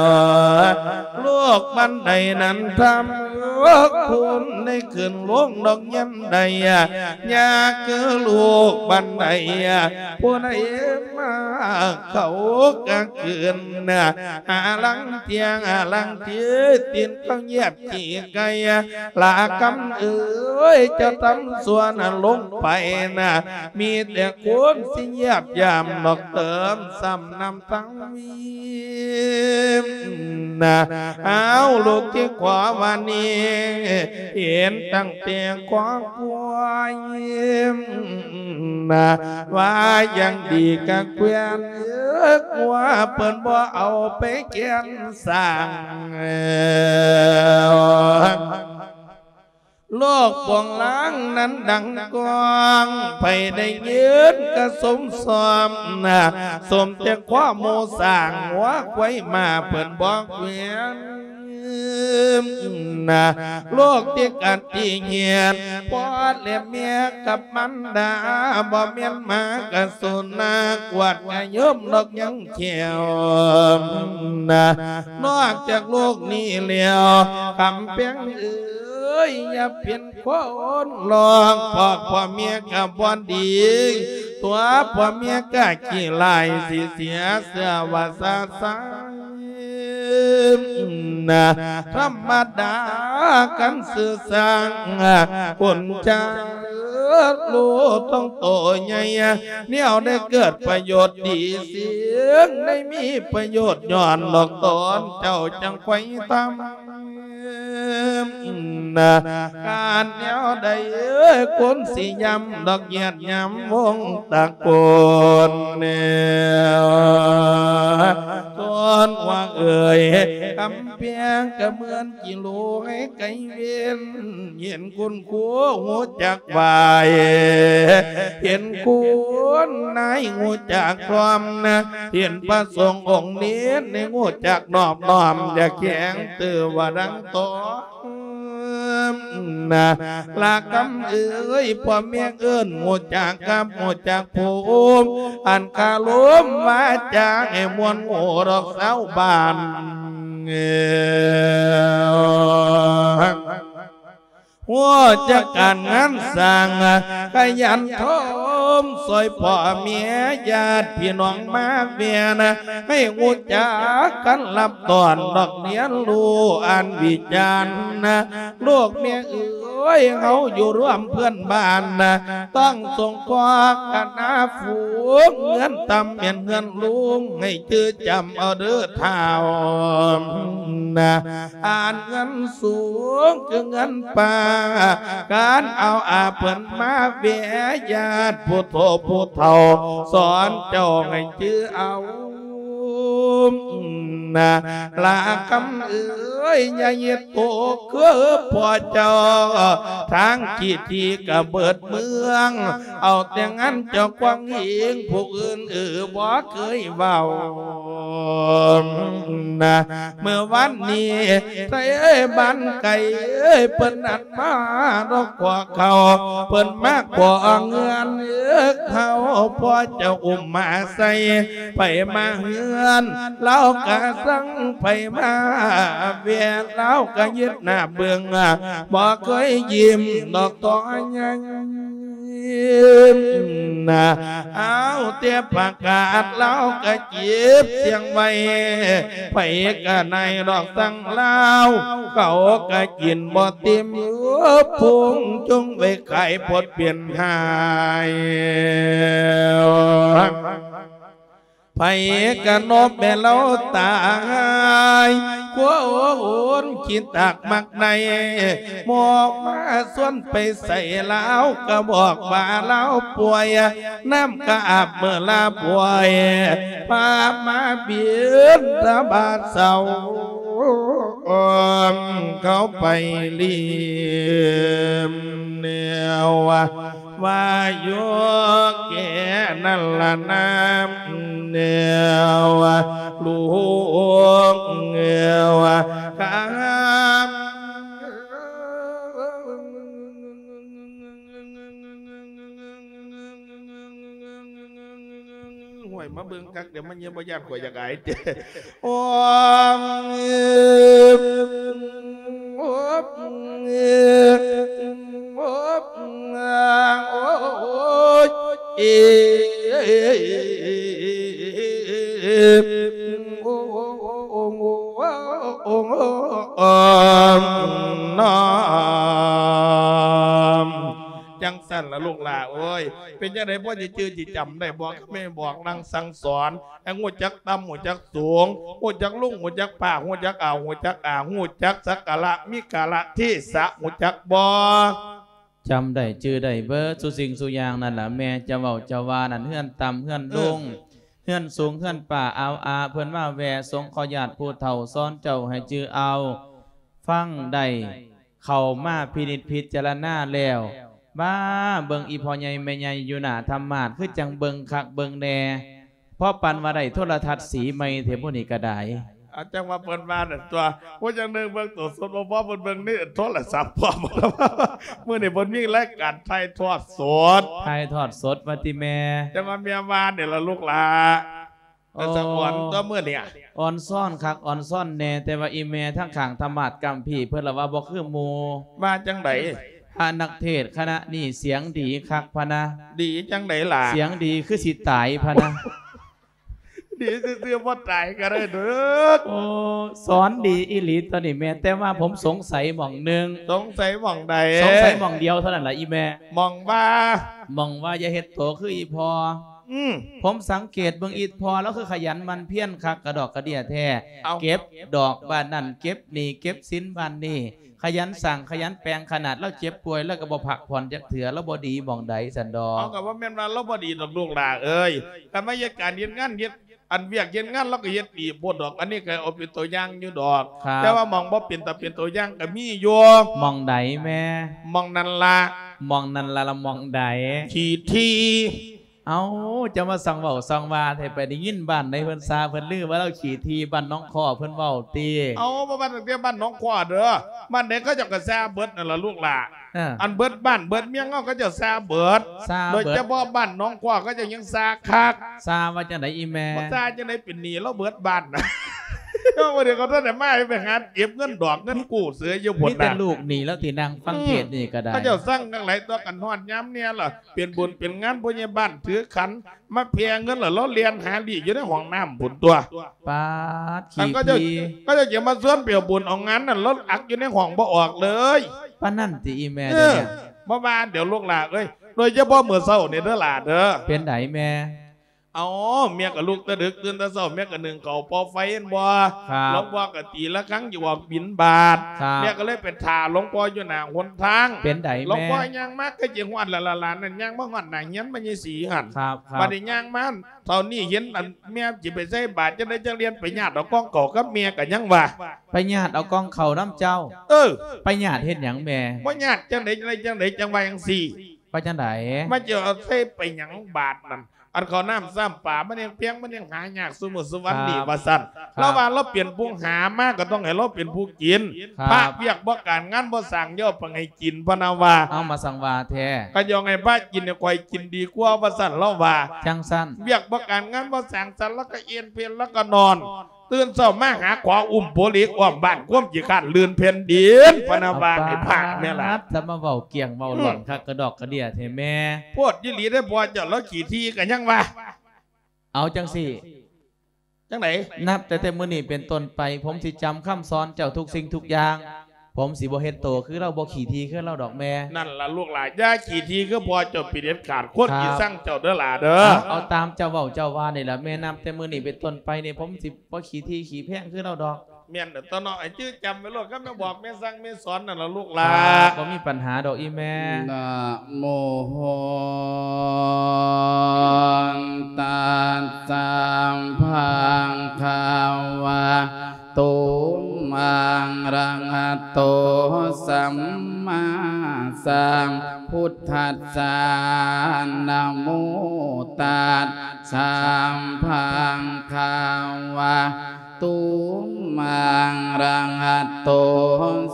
ລູກບັນໄດນັ້ນທຳຄຸນ ໄດ້ຂຶ້ນລົງດອກຍາມໃດ ຢາກຄືລູກບັນໄດ ຜູ້ໃດມາເຂົ້າກະກືນ ຫາລັງທຽງ ຫາລັງທີ ຕີນເຂົາຢຽບຂີ້ໄກ່ ລາຄຳເອີຍ ເຈົ້າທຳຊົ່ວນະລົງໄປນະ ມີແຕ່ຄົນຊິຢຽບຢາມ ດອກເຕີມຊ້ຳນ້ຳທັງ ນະ ເອົາ ລູກທີ່ຂໍວ່ານີ້ ເຫັນຕັ້ງແຕ່ຄອບຄົວ ນະ ວ່າຢ່າງດີກະແຂວນ ເອີ ວ່າເພິ່ນບໍ່ເອົາໄປແກ່ນສ້າງ ໂລກປ່ອງລາງນັ້ນດັງກ້ອງ ໃຜໄດ້ຍິນກະສົມຊອມນະ ສົມແຕ່ຄວາມໂມສ້າງ ຫົວຄວາຍມາເພິ່ນບໍ່ແຂວນນະ ໂລກທີ່ກັດທີ່ຫຽນ ພໍ່ແລະແມ່ກັບມັນດາ ບໍ່ແມ່ນມາກະສຸນນາ ກວດກະຍົມດອກຍັງແຂວນນະ ນອກຈາກໂລກນີ້ແລ້ວ ກຳແພງເອີຍ ຢ່າເປັນ ຄົນລອງ ເພາະພໍ່ແມ່ກໍບໍ່ດີ ຕົວພໍ່ແມ່ກໍຂີ້ຮ້າຍ ຊິເສຍເຊື່ອວ່າຊາຊານະ ທຳມະດາກັນຊື່ຊ່າງ ຄົນຈາກໂລກຕ້ອງໂຕໃຫຍ່ ແນວໄດ້ເກີດປະໂຫຍດດີ ສິ່ງໄດ້ມີປະໂຫຍດຍ້ອນດອກຕອນ ເຈົ້າຈັ່ງໄຂວ່ທຳ ການແນວໃດຄົນຊິຢ້ຳດອກຫຍາດຫຍາມວົງຕະໂກນແນວ ສ່ວນວ່າເອີຍ ກຳແພງກະເໝືອນກິໂລໃຫ້ໄກເວັນ ເຫັນຄຸນຄູຮູ້ຈັກໄຫວ້ ເຫັນຄຸນນາຍຮູ້ຈັກພ້ອມນະ ເຫັນພະສົງອົງເນນໃຫ້ຮູ້ຈັກນອບນ້ອມ ຢ່າແຂງຕື່ວ່າດັງຕອນ ນະ ລະກຳເອີຍ ພໍ່ແມ່ເອີ້ນຮູ້ຈັກກັບຮູ້ຈັກພູມ ອັນຄາລົມວາຈາໃຫ້ມ່ວນໂງ່ດອກຊາວບ້ານ ຮູ້ຈັກການງານສ້າງ ຂະຫຍັນໂທມຊ່ອຍພໍ່ແມ່ຍາດພີ່ນ້ອງມາແວ່ນະ ໃຫ້ຮູ້ຈັກກັນຮັບຕ້ອນດອກຮຽນຮູ້ອ່ານວິຈານນະ ລູກແມ່ເອີຍ ເຮົາຢູ່ຮ່ວມເພື່ອນບ້ານນະ ຕ້ອງສົງເຄາະກັນນາຝູງ ເຮືອນຕ່ຳແມ່ນເຮືອນສູງ ໃຫ້ຈື່ຈຳເອົາເດີທ້າວນະ ອັນເຮືອນສູງຄືເຮືອນປ່າ ການເອົາອາເພິ່ນມາແວ່ ຍາດຜູ້ໂທຜູ້ເຖົ້າ ສອນເຈົ້າໃຫ້ຈື່ເອົາ ນະ ລະກຳເອີຍ ຢ່າເຮັດໂຕຄືພໍ່ເຈົ້າ ທາງຂີ້ຖີກະເບີດເມືອງ ເອົາແຕ່ງານເຈົ້າຂອງເອງ ຜູ້ອື່ນເອີບໍ່ເຄີຍເວົ້າ ນະ ເມື່ອວານນີ້ ໄທບ້ານໄກເພິ່ນນັ້ນມາດອກຂໍເຂົ້າ ເພິ່ນມາຂໍເຮືອນເຮົາ ພໍ່ເຈົ້າອຸ້ມມາໃສ່ ໃຜມາເຮືອນລາວກະສັ່ງ ໃຜມາແວ່ລາວກະຍຶດໜ້າເບິ່ງ ບໍ່ເຄີຍຍິ້ມດອກຕໍ່ຍັງ ນະ ເອົາແຕ່ປະກາດລາວກະເກັບສຽງໄວ້ ໃຜກະໄດ້ດອກສັ່ງລາວ ເຂົາກະກິນບໍ່ເຕັມ ພຸງຈຸງໄວ້ຂາຍພົດເປັນຫາຍ ໃຜກະນົບແມ່ເລົ່າຕາຍ ຄົນຂີ້ຕາກມັກໄດ້ ໝໍມາຊວນໄປໃສລາວກະບອກວ່າລາວປ່ວຍ ນ້ຳກະອາບເມື່ອລາປ່ວຍ ພາມາບິນທະບາດເຊົາ ເຂົ້າໄປລິມແນວ ວ່າຢູ່ແກ່ນັ້ນລະນາມແນວ ລູກແນວ ຄຳ ຫ້ວຍ ມາເບິ່ງຄັກ ດຽວມັນຍັງບໍ່ຢ້ານ ຂ້ອຍຢາກອາຍເດ້ ໂອ້ ໂອ້ຍ ໂອ້ຍ ເອີ ໂອ້ ໂອ້ ໂອ້ ໂອ້ ນ້ອມ ຈັ່ງຊັ້ນລະລູກຫຼ້າເອີຍ ເປັນຈັ່ງໃດ ພໍຊິຈື່ຊິຈຳໄດ້ບໍ່ ແມ່ບອກນາງສັ່ງສອນ ໃຫ້ຮູ້ຈັກຕ່ຳ ຮູ້ຈັກສູງ ຮູ້ຈັກລຸງ ຮູ້ຈັກປ້າ ຮູ້ຈັກອາ ຮູ້ຈັກອາ ຮູ້ຈັກສັກກາລະ ມີກາລະເທສະ ຮູ້ຈັກບໍ່? ຈຳໄດ້ຈື່ໄດ້ເບີດສູ່ສິ່ງສູ່ຢ່າງນັ້ນລະ ແມ່ຈະເວົ້າຈະວ່ານັ້ນ ເຮືອນຕ່ຳເຮືອນ ເອີ ລຸງ ເຮືອນສູງເຮືອນປ້າ ອາວອາເພິ່ນມາແວ່ ສົງເຄາະຍາດຜູ້ເຖົ້າ ສອນເຈົ້າໃຫ້ຈື່ເອົາ ຟັງໄດ້ ເຂົ້າມາພິນິດພິຈາລະນາແລ້ວ ບ້າ ເບິ່ງອີ່ພໍ່ໃຫຍ່ແມ່ໃຫຍ່ຢູ່ໜ້າທຳມາດ ຄືຈັ່ງເບິ່ງຄັກເບິ່ງແນ່ ພໍປານວ່າໄດ້ໂທລະທັດສີໃໝ່ແທ້ຜູ້ນີ້ກະດາຍ. ອາ ຈັ່ງວ່າເພິ່ນວ່ານັ້ນຕົວະ ຜູ້ຢ່າງໜຶ່ງເບິ່ງໂຕສົດບໍ່ພໍ ເພິ່ນເບິ່ງໃນໂທລະສັບພ້ອມ ມື້ນີ້ເພິ່ນມີລາຍການຖ່າຍທອດສົດ ຖ່າຍທອດສົດວ່າຕິແມ່ ຈັ່ງວ່າແມ່ວ່ານີ້ລະລູກຫຼ້າ. ເອີ ສະອອນຕົວະມື້ນີ້ ອອນຊອນຄັກອອນຊອນແນ່ ແຕ່ວ່າອີ່ແມ່ທາງຂ້າງທຳມາດກຳພີ້ ເພິ່ນລະວ່າບໍ່ຄືໝູ່ ວ່າຈັ່ງໃດ? ພະນັກເທດຄະນະນີ້ສຽງດີຄັກພະນະ ດີຈັ່ງໃດລະ? ສຽງດີຄືຊິຕາຍພະນະ ດີຊື່ໆ ບໍ່ຕາຍກະໄດ້ເດີ. ໂອ້ ສອນດີອີ່ຫຼີຕົວະນີ້ແມ່ ແຕ່ວ່າຜົມສົງໄສໝ່ອງໜຶ່ງ. ສົງໄສໝ່ອງໃດ? ສົງໄສໝ່ອງດຽວເທົ່ານັ້ນລະອີ່ແມ່. ໝ່ອງວ່າ? ໝ່ອງວ່າຢ່າເຮັດໂຕຄືອີ່ພໍ່. ອືມ ຜົມສັງເກດເບິ່ງອີ່ພໍ່ລາວຄືຂະຫຍັນໝັ່ນພຽນຄັກກະດອກກະເດຍແທ້ ເອົ້າ ເກັບດອກບ້ານນັ້ນ ເກັບໜີ້ເກັບສິນບ້ານນີ້ ຂະຫຍັນສ້າງຂະຫຍັນແປງ ຂະໜາດລາວເຈັບປ່ວຍລາວກໍບໍ່ພັກຜ່ອນຈັກເທື່ອ ລາວບໍ່ດີໝ່ອງໃດຊັ້ນດອກ. ເອົາ ກໍບໍ່ແມ່ນວ່າລາວບໍ່ດີດອກລູກຫຼ້າເອີຍ ຄັນມາເຮັດການເຮັດງານເຮັດ ອັນວຽກເຮັດງານລາວກໍເຮັດດີໂພດດອກ ອັນນີ້ກໍເອົາເປັນຕົວຢ່າງຢູ່ດອກ ແຕ່ວ່າໝ່ອງບໍ່ເປັນຕາເປັນຕົວຢ່າງກໍມີຢູ່. ໝ່ອງໃດແມ່? ໝ່ອງນັ້ນລະ. ໝ່ອງນັ້ນລະ ລະໝ່ອງໃດ? ຂີ້ຖີ່. ເອົ້າ ເຈົ້າມາຊ່າງເວົ້າຊ່າງວ່າແທ້ ໄປໄດ້ຍິນບ້ານໃດເພິ່ນຊ່າເພິ່ນລືວ່າລາວຂີ້ຖີ່ ບ້ານໜອງຄໍ້ເພິ່ນເວົ້າຕິ? ເອົາ ບໍ່ວ່າຕັ້ງແຕ່ບ້ານໜອງຄໍ້ເດີ້ ບ້ານໃດເຂົາເຈົ້າກໍຊ່າເບິດນັ້ນລະລູກຫຼ້າ. ເອີ ອັນເບິດບ້ານເບິດເມືອງເຮົາ ເຂົາເຈົ້າຊ່າເບິດ ຊ່າເບິດ ໂດຍສະເພາະບ້ານໜອງຄໍ້ ເຂົາເຈົ້າຍັງຊ່າຄັກ. ຊ່າວ່າຈັ່ງໃດອີ່ແມ່? ບໍ່ຊ່າຈັ່ງໃດ ເປັນໜີ້ລາວເບິດບ້ານ. ເຈົ້າ ບໍ່ໄດ້ ເຂົາທັນໄດ້ມາ ໄປຫາເກັບເງິນດອກເງິນກູ້ເສຍຢູ່ພຸ້ນນະ ມີແຕ່ລູກໜີ້ແລ້ວທີ່ນັ່ງຟັງເທດນີ້ກໍໄດ້. ເຂົາເຈົ້າສັ່ງກັນຫຼາຍຕົວະ ກັນຮອດຍາມແດ່ລະ ເປັນບຸນເປັນງານ ຜູ້ໃຫຍ່ບ້ານຖືຂັນມາແຜ່ເງິນ ແລ້ວລາວແລ່ນຫາລີ້ຢູ່ໃນຫ້ອງນ້ຳພຸ້ນຕົວະ. ປາດ ຂີ້ຖີ່ ເຂົາເຈົ້າຈະມາຊວນໄປເອົາບຸນເອົາງານນັ້ນ ລາວອັກຢູ່ໃນຫ້ອງບໍ່ອອກເລີຍ. ປານນັ້ນຕິອີ່ແມ່? ເອີ ດຽວນີ້ ບໍ່ວ່າດຽວລູກຫຼ້າເອີຍ ໂດຍສະເພາະມື້ເຊົ້ານີ້ເດີ້ຫຼ້າເດີ້. ເປັນໃດແມ່? ເອົາ ແມ່ກໍລຸກແຕ່ດຶກ ຕື່ນແຕ່ເຊົ້າ ແມ່ກໍໜຶ້ງເຂົ້າເປົ່າໄຟແມ່ນບໍ່? ຄັບ ຫຼວງພໍ່ກໍຕີລະຄັງຢູ່ອອກບິນບາດ ຄັບ ແມ່ກໍເລີຍໄປຖ້າຫຼວງພໍ່ຢູ່ໜ້າຫົນທາງ. ເປັນໃດແມ່? ຫຼວງພໍ່ຍ່າງມາ ກໍຊິຮອດແລ້ວຫຼະຫຼານນັ້ນ ຍ່າງມາຮອດໜ້າເຮືອນແມ່ໃຫຍ່ສີຫັ້ນ. ຄັບ ຄັບ ບາດນີ້ຍ່າງມາ ເທົ່ານີ້ເຫັນອັນແມ່ຊິໄປໃສ່ບາດ ຈັ່ງໃດຈັ່ງລຽນໄປຍາດເອົາກອງເຂົ້າກັບແມ່ກໍຍັງວ່າ ໄປຍາດເອົາກອງເຂົ້ານຳເຈົ້າ. ເອີ ໄປຍາດເຮັດຫຍັງແມ່? ບໍ່ຍາດຈັ່ງໃດຈັ່ງໃດຈັ່ງໃດ ຈັ່ງວ່າຈັ່ງຊີ້. ວ່າຈັ່ງໃດ? ມັນຈະເອົາໃສ່ໄປຫຍັງບາດນັ້ນ ອັນເຂົ້ານ້ຳຊ້ຳປາ ມັນຍັງແພງ ມັນຍັງຫາຍາກ ຊຸມື້ຊຸວັນນີ້ ວ່າຊັ້ນ. ລາວວ່າລາວເປັນຜູ້ຫາມາ ກໍຕ້ອງໃຫ້ລາວເປັນຜູ້ກິນ. ພະວຽກບໍ່ການງານບໍ່ສ້າງ ຢ່າເອົາໄປໃຫ້ກິນ ພະນະວ່າ. ເອົາ ມາສັງວ່າແທ້ ຄັນຢາກໃຫ້ພະກິນ ໃຫ້ຂ້ອຍກິນດີກວ່າ ວ່າຊັ້ນ ລາວວ່າ. ຈັ່ງຊັ້ນ ວຽກບໍ່ການງານບໍ່ສ້າງສັນ ລາວກໍເອນເພນ ລາວກໍນອນ ຕື່ນເຊົ້າມາຫາຂວາອຸ້ມໂປເຫຼັກອ້ອມບ້ານ ຄວາມຂີ້ຄ້ານລື່ນແຜ່ນດິນ ພະນະວ່າໃຫ້ພະແມ່ລະ. ຈະມາເວົ້າກ້ຽງເວົ້າຫຼອນຄັກກະດອກກະເດຍແທ້ແມ່. ໂພດອີ່ຫຼີເດ້ ພໍ່ເຈົ້າລາວຂີ້ຖີ່ກໍຍັງວ່າ. ເອົາຈັ່ງຊີ້ ຈັ່ງໃດ? ນັບແຕ່ ແຕ່ມື້ນີ້ເປັນຕົ້ນໄປ ຜົມຊິຈຳຄຳສອນເຈົ້າທຸກສິ່ງທຸກຢ່າງ ຜົມຊິບໍ່ເຮັດໂຕຄືລາວ ບໍ່ຂີ້ຖີ່ຄືລາວດອກແມ່. ນັ້ນລະລູກຫຼ້າ ຢ່າຂີ້ຖີ່ຄືພໍ່ເຈົ້າເປັນເດັດຂາດ ຄົນຊິຊັງເຈົ້າເດີ້ຫຼ້າເດີ້. ເອົາ ເອົາຕາມເຈົ້າເວົ້າເຈົ້າວ່ານີ້ລະແມ່ ນັບແຕ່ມື້ນີ້ເປັນຕົ້ນໄປນີ້ ຜົມຊິບໍ່ຂີ້ຖີ່ຂີ້ແພງຄືລາວດອກ. ແມ່ນເດີ້ຕົວະເນາະ ໃຫ້ຈື່ຈຳໄວ້ໂລດ ຄັນແມ່ບອກແມ່ສັ່ງແມ່ສອນນັ້ນລະລູກຫຼ້າ. ຄັບ ບໍ່ມີປັນຫາດອກອີ່ແມ່. ນະໂມ ຕັດສະ ພະຄະວະໂຕ ອະລະຫະໂຕ ສຳມາສຳພຸດທັດສະ ນະໂມ ຕັດສະ ພະຄະວະໂຕ ອະລະຫະໂຕ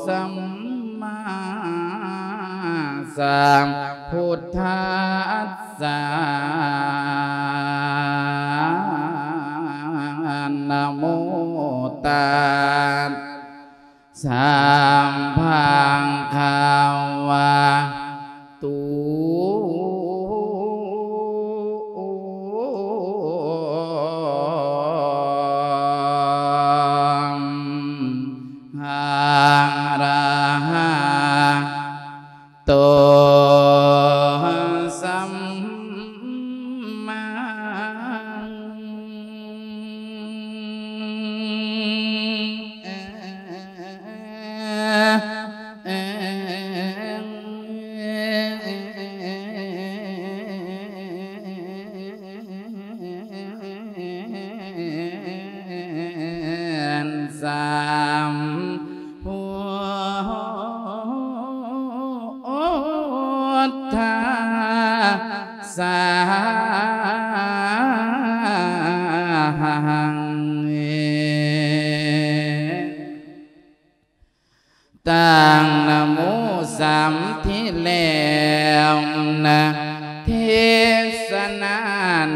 ສຳມາສຳພຸດທັດສະ ນະໂມ ຕັດສະ ພະຄະວະໂຕ ອະລະຫະໂຕ ສຳມາ ສຳພຸດທັດສະ ຕັ້ງນະໂມສາມທີແລ້ວນະ ເທສະນາ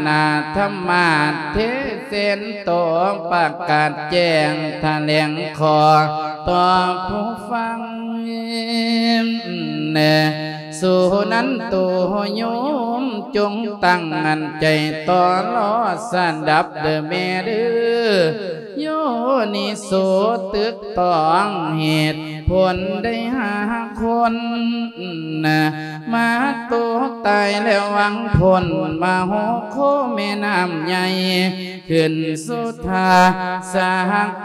ນາທຳມະເທເສນໂຕ ປະກາດແຈ້ງຖະແຫຼງຂໍຕໍ່ຜູ້ຟັງ ສຸນັນໂຕໂຍມ ຈົ່ງຕັ້ງໃຈຕໍ່ລໍສະດັບເດີ້ແມ່ເດີ້ ໂຍນິໂສຕຶກ ຕ້ອງເຫດຜົນໄດ້ຫາຄົນ ມາໂຕ ຕາຍແລ້ວຫວັງພົ້ນມະໂຫໂຄແມ່ນ້ຳໃຫຍ່ ຂຶ້ນສຸທາສາ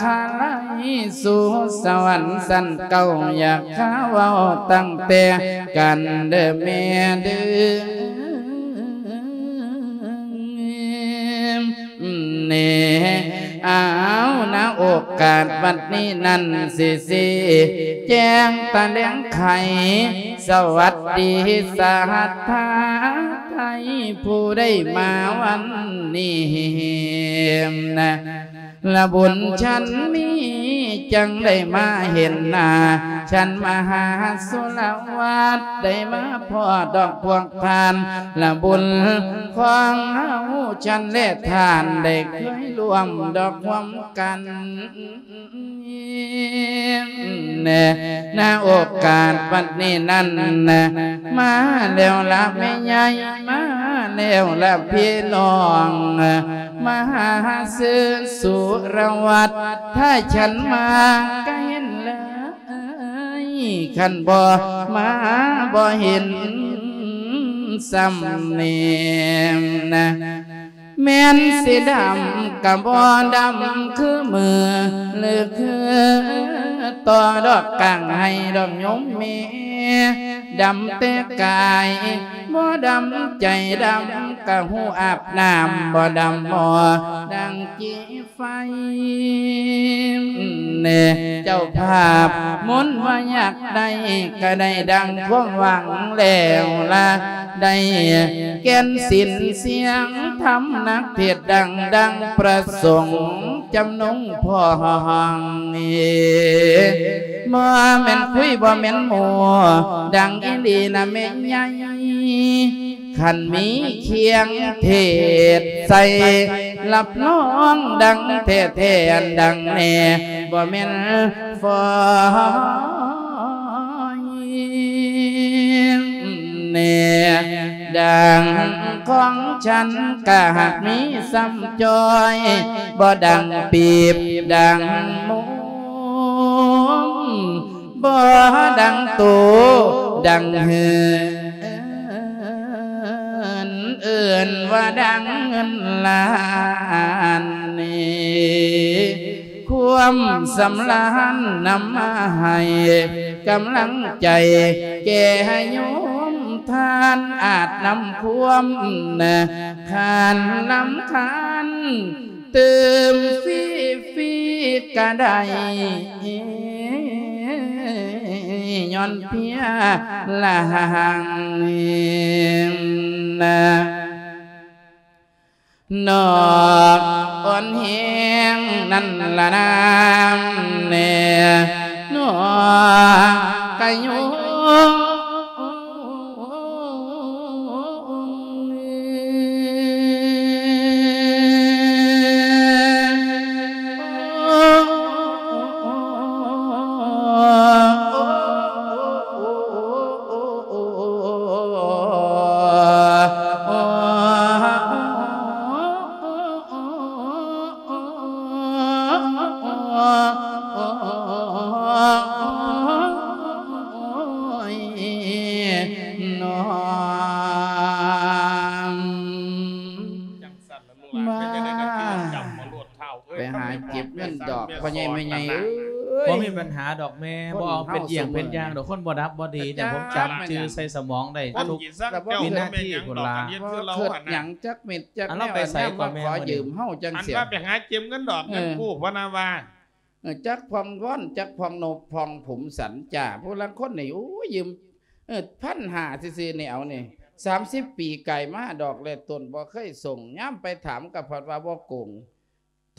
ຄາໄລ ສູ່ສະຫວັນຊັ້ນເກົ້າ ຢາກຫາເວົ້າຕັ້ງແຕ່ກັນເດີແມ່ເດີ. ແນ່ ອ້າວ ນະໂອກາດບັດນີ້ນັ້ນ ຊິຊີ້ແຈງຕະແຫຼງໄຂ ສະຫວັດດີສັດທາໄທ ຜູ້ໄດ້ມາວັນນີ້ນະ ລະບຸນຊັ້ນນີ້ ຈັ່ງໄດ້ມາເຫັນໜ້າ ຊັ້ນມະຫາສຸລະວັດ ໄດ້ມາພໍ້ດອກພວກທ່ານ ລະບຸນຂອງເຮົາຊັ້ນແລະທ່ານ ໄດ້ເຄີຍຮ່ວມດອກຮ່ວມກັນ ນະໂອກາດບັດນີ້ນັ້ນ ມາແລ້ວລະແມ່ໃຫຍ່ ມາແລ້ວລະພີ່ນ້ອງ ມະຫາເສິນສຸລະວັດ ຖ້າຊັ້ນມາກະເຫັນເລີຍ ຄັນບໍ່ມາບໍ່ເຫັນສ່ຳນີ້ນະ ແມ່ນຊິດຳກະບໍ່ດຳຄືມື້ ຫຼືຄືຕໍ່ດອກກາງໄຮ່ດອກໂຍມແມ່ ດຳແຕ່ກາຍ ບໍ່ດຳໃຈ ດຳກະຫູອາບນ້ຳ ບໍ່ດຳໝໍ້ດັ່ງຈີ່ ໄຟ ແນ່ ເຈົ້າພາບມົນວ່າຢາກໄດ້ ກະໄດ້ດັ່ງຄວາມຫວັງແລ້ວລະ ໄດ້ແກ່ນສິນສຽງທຳ ນັກເທດດັງ ດັ່ງພະສົງຈຳນົງພ້ອງ ບໍ່ແມ່ນຄຸຍ ບໍ່ແມ່ນໂມ້ ດັງອີ່ຫຼີນະແມ່ໃຫຍ່ ຄັນມີຄຽງເທດໃສ່ ຮັບຮອງດັງແທ້ໆ ອັນດັງແນ່ ບໍ່ແມ່ນຟອຍແນ່ ດັ່ງຂອງຊັ້ນກະຫາກມີສ່ຳຈ້ອຍ ບໍ່ດັງປີບ ດັງໂມງ ບໍ່ດັງໂຕ ດັງເຮືອນ ເອີ້ນວ່າດັງເງິນລ້ານນີ້ ຄວາມສຳລານນຳມາໃຫ້ກຳລັງໃຈແກ່ໂຍມທ່ານ ອາດນຳຄວາມຄານລຳຄານ ຕື່ມຟຣີໆກະໄດ້ ຍ້ອນເພຍລະຫັງນະ ນອກອ່ອນແຮງນັ້ນລະນາແນ່ ນອກກະໂຍ ໄປຫາເກັບເງິນດອກ ພໍ່ໃຫຍ່ແມ່ໃຫຍ່ເອີຍ ບໍ່ມີບັນຫາດອກແມ່ ບໍ່ເອົາເປັນຢ້ຽງເປັນຢ່າງດອກ ຄົນບໍ່ດັບບໍ່ດີ ແຕ່ຜົມຈຳຊື່ໃສ່ສະໝອງໄດ້ທຸກວິນາທີພຸ້ນລະ ບໍ່ຄິດຫຍັງຈັກເມັດຈັກແນວ ມາຂໍຢືມເຮົາຈັ່ງຊີ້ ອັນວ່າໄປຫາເກັບເງິນດອກເງິນກູ້ ເອີ ພະນາວ່າ ເອີ ຈັກຜ່ອງວອນ ຈັກຜ່ອງນົບຜ່ອງຜຸມສັນຈ້າ ຜູ້ລາງຄົນນີ້ ໂອ້ຍ ຢືມ ເອີ ພັນຫ້າ ຊື່ໆ ນີ້ ເອົານີ້ ສາມສິບປີກາຍມາດອກແລະຕົ້ນ ບໍ່ເຄີຍສົ່ງ ຍາມໄປຖາມກໍພັດວ່າບໍ່ໂກງ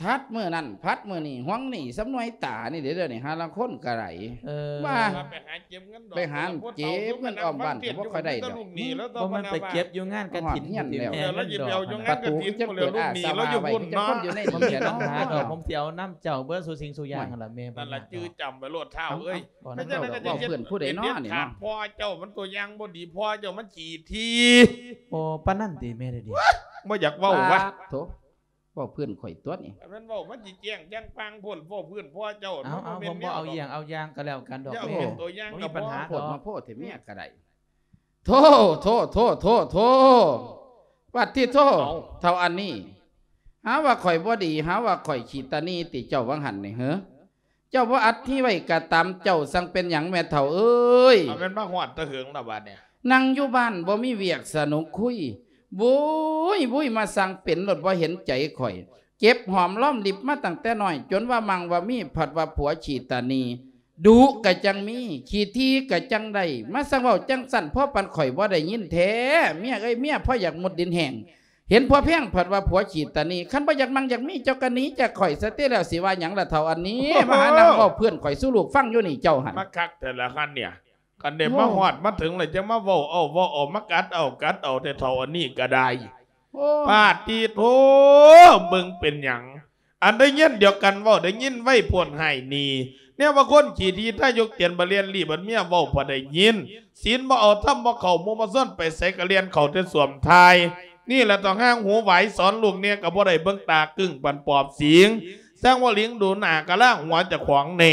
ທັດມື້ນັ້ນ ພັດມື້ນີ້ ຫວງໜີ້ສ່ຳໜວຍຕານີ້ເດ້ ດຽວນີ້ ຫາລາງຄົນກໍໄດ້ ເອີ ວ່າ ວ່າໄປຫາເກັບເງິນດອກ ໄປຫາເກັບເງິນອ້ອມບ້ານກໍບໍ່ຄ່ອຍໄດ້ດອກ ບໍ່ແມ່ນໄປເກັບຢູ່ງານກະຖິນ ຮອດເຮືອນແລ້ວ ແມ່ ລາວຊິໄປເອົາຢູ່ງານກະຖິນ ລາວຢູ່ພຸ້ນເນາະ ບໍ່ມີບັນຫາດອກ ຜົມຊິເອົານຳເຈົ້າເບິດສູ່ສິ່ງສູ່ຢ່າງຫັ້ນລະແມ່ ນັ້ນລະຈື່ຈຳໄວ້ໂລດທ້າວເອີຍ ເວົ້ານຳເຈົ້າ ເວົ້າເພື່ອນຜູ້ໃດເນາະນີ້ເນາະ ພໍ່ເຈົ້າມັນຕົວຢ່າງບໍ່ດີ ພໍ່ເຈົ້າມັນຂີ້ຖີ່ ໂອ້ ປານນັ້ນຕິແມ່ ດຽວນີ້ ບໍ່ຢາກເວົ້າວະ ໂທ້ ເວົ້າເພື່ອນຂ້ອຍຕົວະນີ້ ຄັນແມ່ນເວົ້າມັນຊິແຈ້ງຢ່າງປ່າງໂພດ ເວົ້າເພື່ອນພໍ່ເຈົ້າ ເອົາ ເອົາ ບໍ່ແມ່ນ ຜົມບໍ່ເອົາຢ້ຽງເອົາຢ່າງກໍແລ້ວກັນດອກແມ່ ບໍ່ມີບັນຫາດອກ ໂພດມາໂພດແທ້ເມຍກໍໄດ້ ໂທ້ ໂທ້ ໂທ້ ໂທ້ ໂທ້ ປາດຕິໂທ ເອົ້າ ເຖົ້າອັນນີ້ ຫາວ່າຂ້ອຍບໍ່ດີ ຫາວ່າຂ້ອຍຂີ້ຕາໜີ່ຕິເຈົ້າວ່າຫັ້ນນີ້ເຫີ? ເຈົ້າບໍ່ອັດທີ່ໄວ້ກະຕາມ ເຈົ້າສັ່ງເປັນຫຍັງແມ່ເຖົ້າເອີຍ? ເອົາແມ່ນມາຮອດແຕ່ເຫິງລະບາດນີ້ ນັ່ງຢູ່ບ້ານບໍ່ມີວຽກສະໜຸກຄຸຍ ວຸ້ຍ ວຸ້ຍ ມາສັ່ງເປັນໂລດ ບໍ່ເຫັນໃຈຂ້ອຍ ເກັບຫອມລອມລິບມາຕັ້ງແຕ່ນ້ອຍ ຈົນວ່າມັ່ງວ່າມີ ພັດວ່າຜົວຂີ້ຕາໜີ່ ດຸກະຈັ່ງມີ ຂີ້ຖີ່ກະຈັ່ງໄດ້ ມາສັ່ງເວົ້າຈັ່ງຊັ້ນ ພໍປານຂ້ອຍບໍ່ໄດ້ຍິນແທ້ ເມຍເອີຍ ເມຍພໍຢາກມຸດດິນແຫ້ງ ເຫັນຜົວແພງ ພັດວ່າຜົວຂີ້ຕາໜີ່ ຄັນບໍ່ຢາກມັ່ງຢາກມີ ເຈົ້າກະໜີຈາກຂ້ອຍຊະຕິແລ້ວ ຊິວ່າຫຍັງລະເຖົ້າອັນນີ້ ໂອ້ໂຫ ມາຫານັ່ງເວົ້າເພື່ອນຂ້ອຍສູ່ລູກຟັງຢູ່ນີ້ ເຈົ້າຫັ້ນ ມາຄັກແທ້ລະຫັ້ນເນຍ ຄັນໄດ້ ໂອ້ ມາຮອດມາເຖິງແລ້ວ ຈັ່ງມາເວົ້າເອົາເວົ້າເອົາ ມາກັດເອົາກັດເອົາແທ້ເຖົ້າອັນນີ້ກະໄດ້ ໂອ້ ປາດຕິໂທ ເບິ່ງເປັນຫຍັງ ອັນໄດ້ເງິນດຽວກັນເວົ້າ ໄດ້ຍິນໄວໂພດໃຫ້ໜີ ແນວວ່າຄົນຂີ້ຖີ່ ຖ້າຍົກຕຽນບໍ່ແລ່ນລີ້ ບັດເມຍເວົ້າບໍ່ໄດ້ຍິນ ສິນບໍ່ເອົາ ທຳບໍ່ເຂົ້າ ໝູ່ມາຊວນໄປໃສກະແລ່ນເຂົ້າແຕ່ສ້ວມຖ່າຍ ນີ້ລະຕ້ອງຫາງຫູຫວາຍ ສອນລູກແດ່ກະບໍ່ໄດ້ ເບິ່ງຕາກຶ້ງປານປອບສິງ ຊ່າງວ່າລິງດູໜ້າກະລ້າງຫົວເຈົ້າຂອງແດ່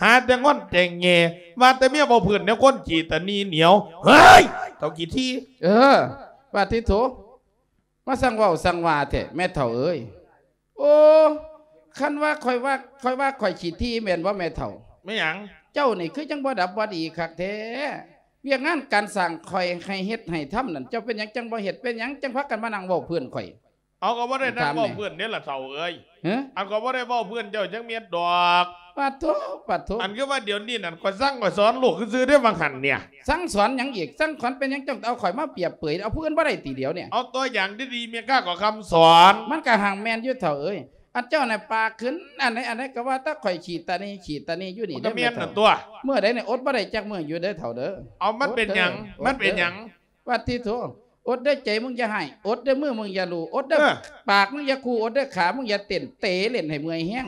ຫາແຕ່ງອນແຕ່ງແງ່ ວ່າແຕ່ເມຍເວົ້າພື້ນແນວຄົນຂີ້ຕາໜີ່ໜຽວ ເຮີ້ຍ ເຖົ້າຂີ້ຖີ່ ເອີ ປາດຕິໂທ ມາສັ່ງເວົ້າສັ່ງວ່າແທ້ ແມ່ເຖົ້າເອີຍ ໂອ້ ຄັນວ່າຂ້ອຍວ່າ ຂ້ອຍວ່າຂ້ອຍຂີ້ຖີ່ແມ່ນບໍ່ແມ່ເຖົ້າ? ແມ່ນຫຍັງ? ເຈົ້ານີ້ຄືຈັ່ງບໍ່ດັບບໍ່ດີຄັກແທ້ ວຽກງານການສ້າງຂ້ອຍໃຫ້ເຮັດໃຫ້ທຳນັ້ນ ເຈົ້າເປັນຫຍັງຈັ່ງບໍ່ເຮັດ ເປັນຫຍັງຈັ່ງພາກັນມານັ່ງເວົ້າເພື່ອນຂ້ອຍ? ເອົາ ກໍບໍ່ໄດ້ນັ່ງເວົ້າເພື່ອນເດ້ລະເຖົ້າເອີຍ ຮະ ອັນກໍບໍ່ໄດ້ເວົ້າເພື່ອນເຈົ້າຈັກເມັດດອກ ປາດໂທ ປາດໂທ ອັນຄືວ່າດຽວນີ້ນັ້ນ ຂ້ອຍສັ່ງຂ້ອຍສອນລູກຊື່ໆເດ້ວ່າຫັ້ນເນຍ ສັ່ງສອນຫຍັງອີກ? ສັ່ງສອນເປັນຫຍັງ? ຈັ່ງເອົາຂ້ອຍມາປຽບເປີຍ ເອົາຜູ້ອື່ນບໍ່ໄດ້ຕິດຽວນີ້? ເອົາຕົວຢ່າງດີໆ ແມ່ຄ້າກໍຄຳສອນ ມັນກະຮັ່ງແມ່ນຢູ່ເຖົ້າເອີຍ ອັນເຈົ້ານະປາກຂຶ້ນ ອັນໃດອັນໃດກະວ່າແຕ່ຂ້ອຍຂີ້ຕາໜີ່ ຂີ້ຕາໜີ່ຢູ່ນີ້ ມັນກະແມ່ນນັ້ນຕົວະ ມື້ໃດນີ້ອົດບໍ່ໄດ້ຈັກມື້ຢູ່ເດີເຖົ້າເດີ ເອົາ ມັນເປັນຫຍັງ? ມັນເປັນຫຍັງ? ປາດຕິໂທ ອົດເດີໃຈມຶງຢ່າຮ້າຍ ອົດເດີມືມຶງຢ່າລູ ອົດເດີ ເອີ ປາກມຶງຢ່າຂູ່ ອົດເດີຂາມຶງຢ່າເຕັ້ນ ເຕະຫຼິ້ນໃຫ້ເມື່ອຍແຮງ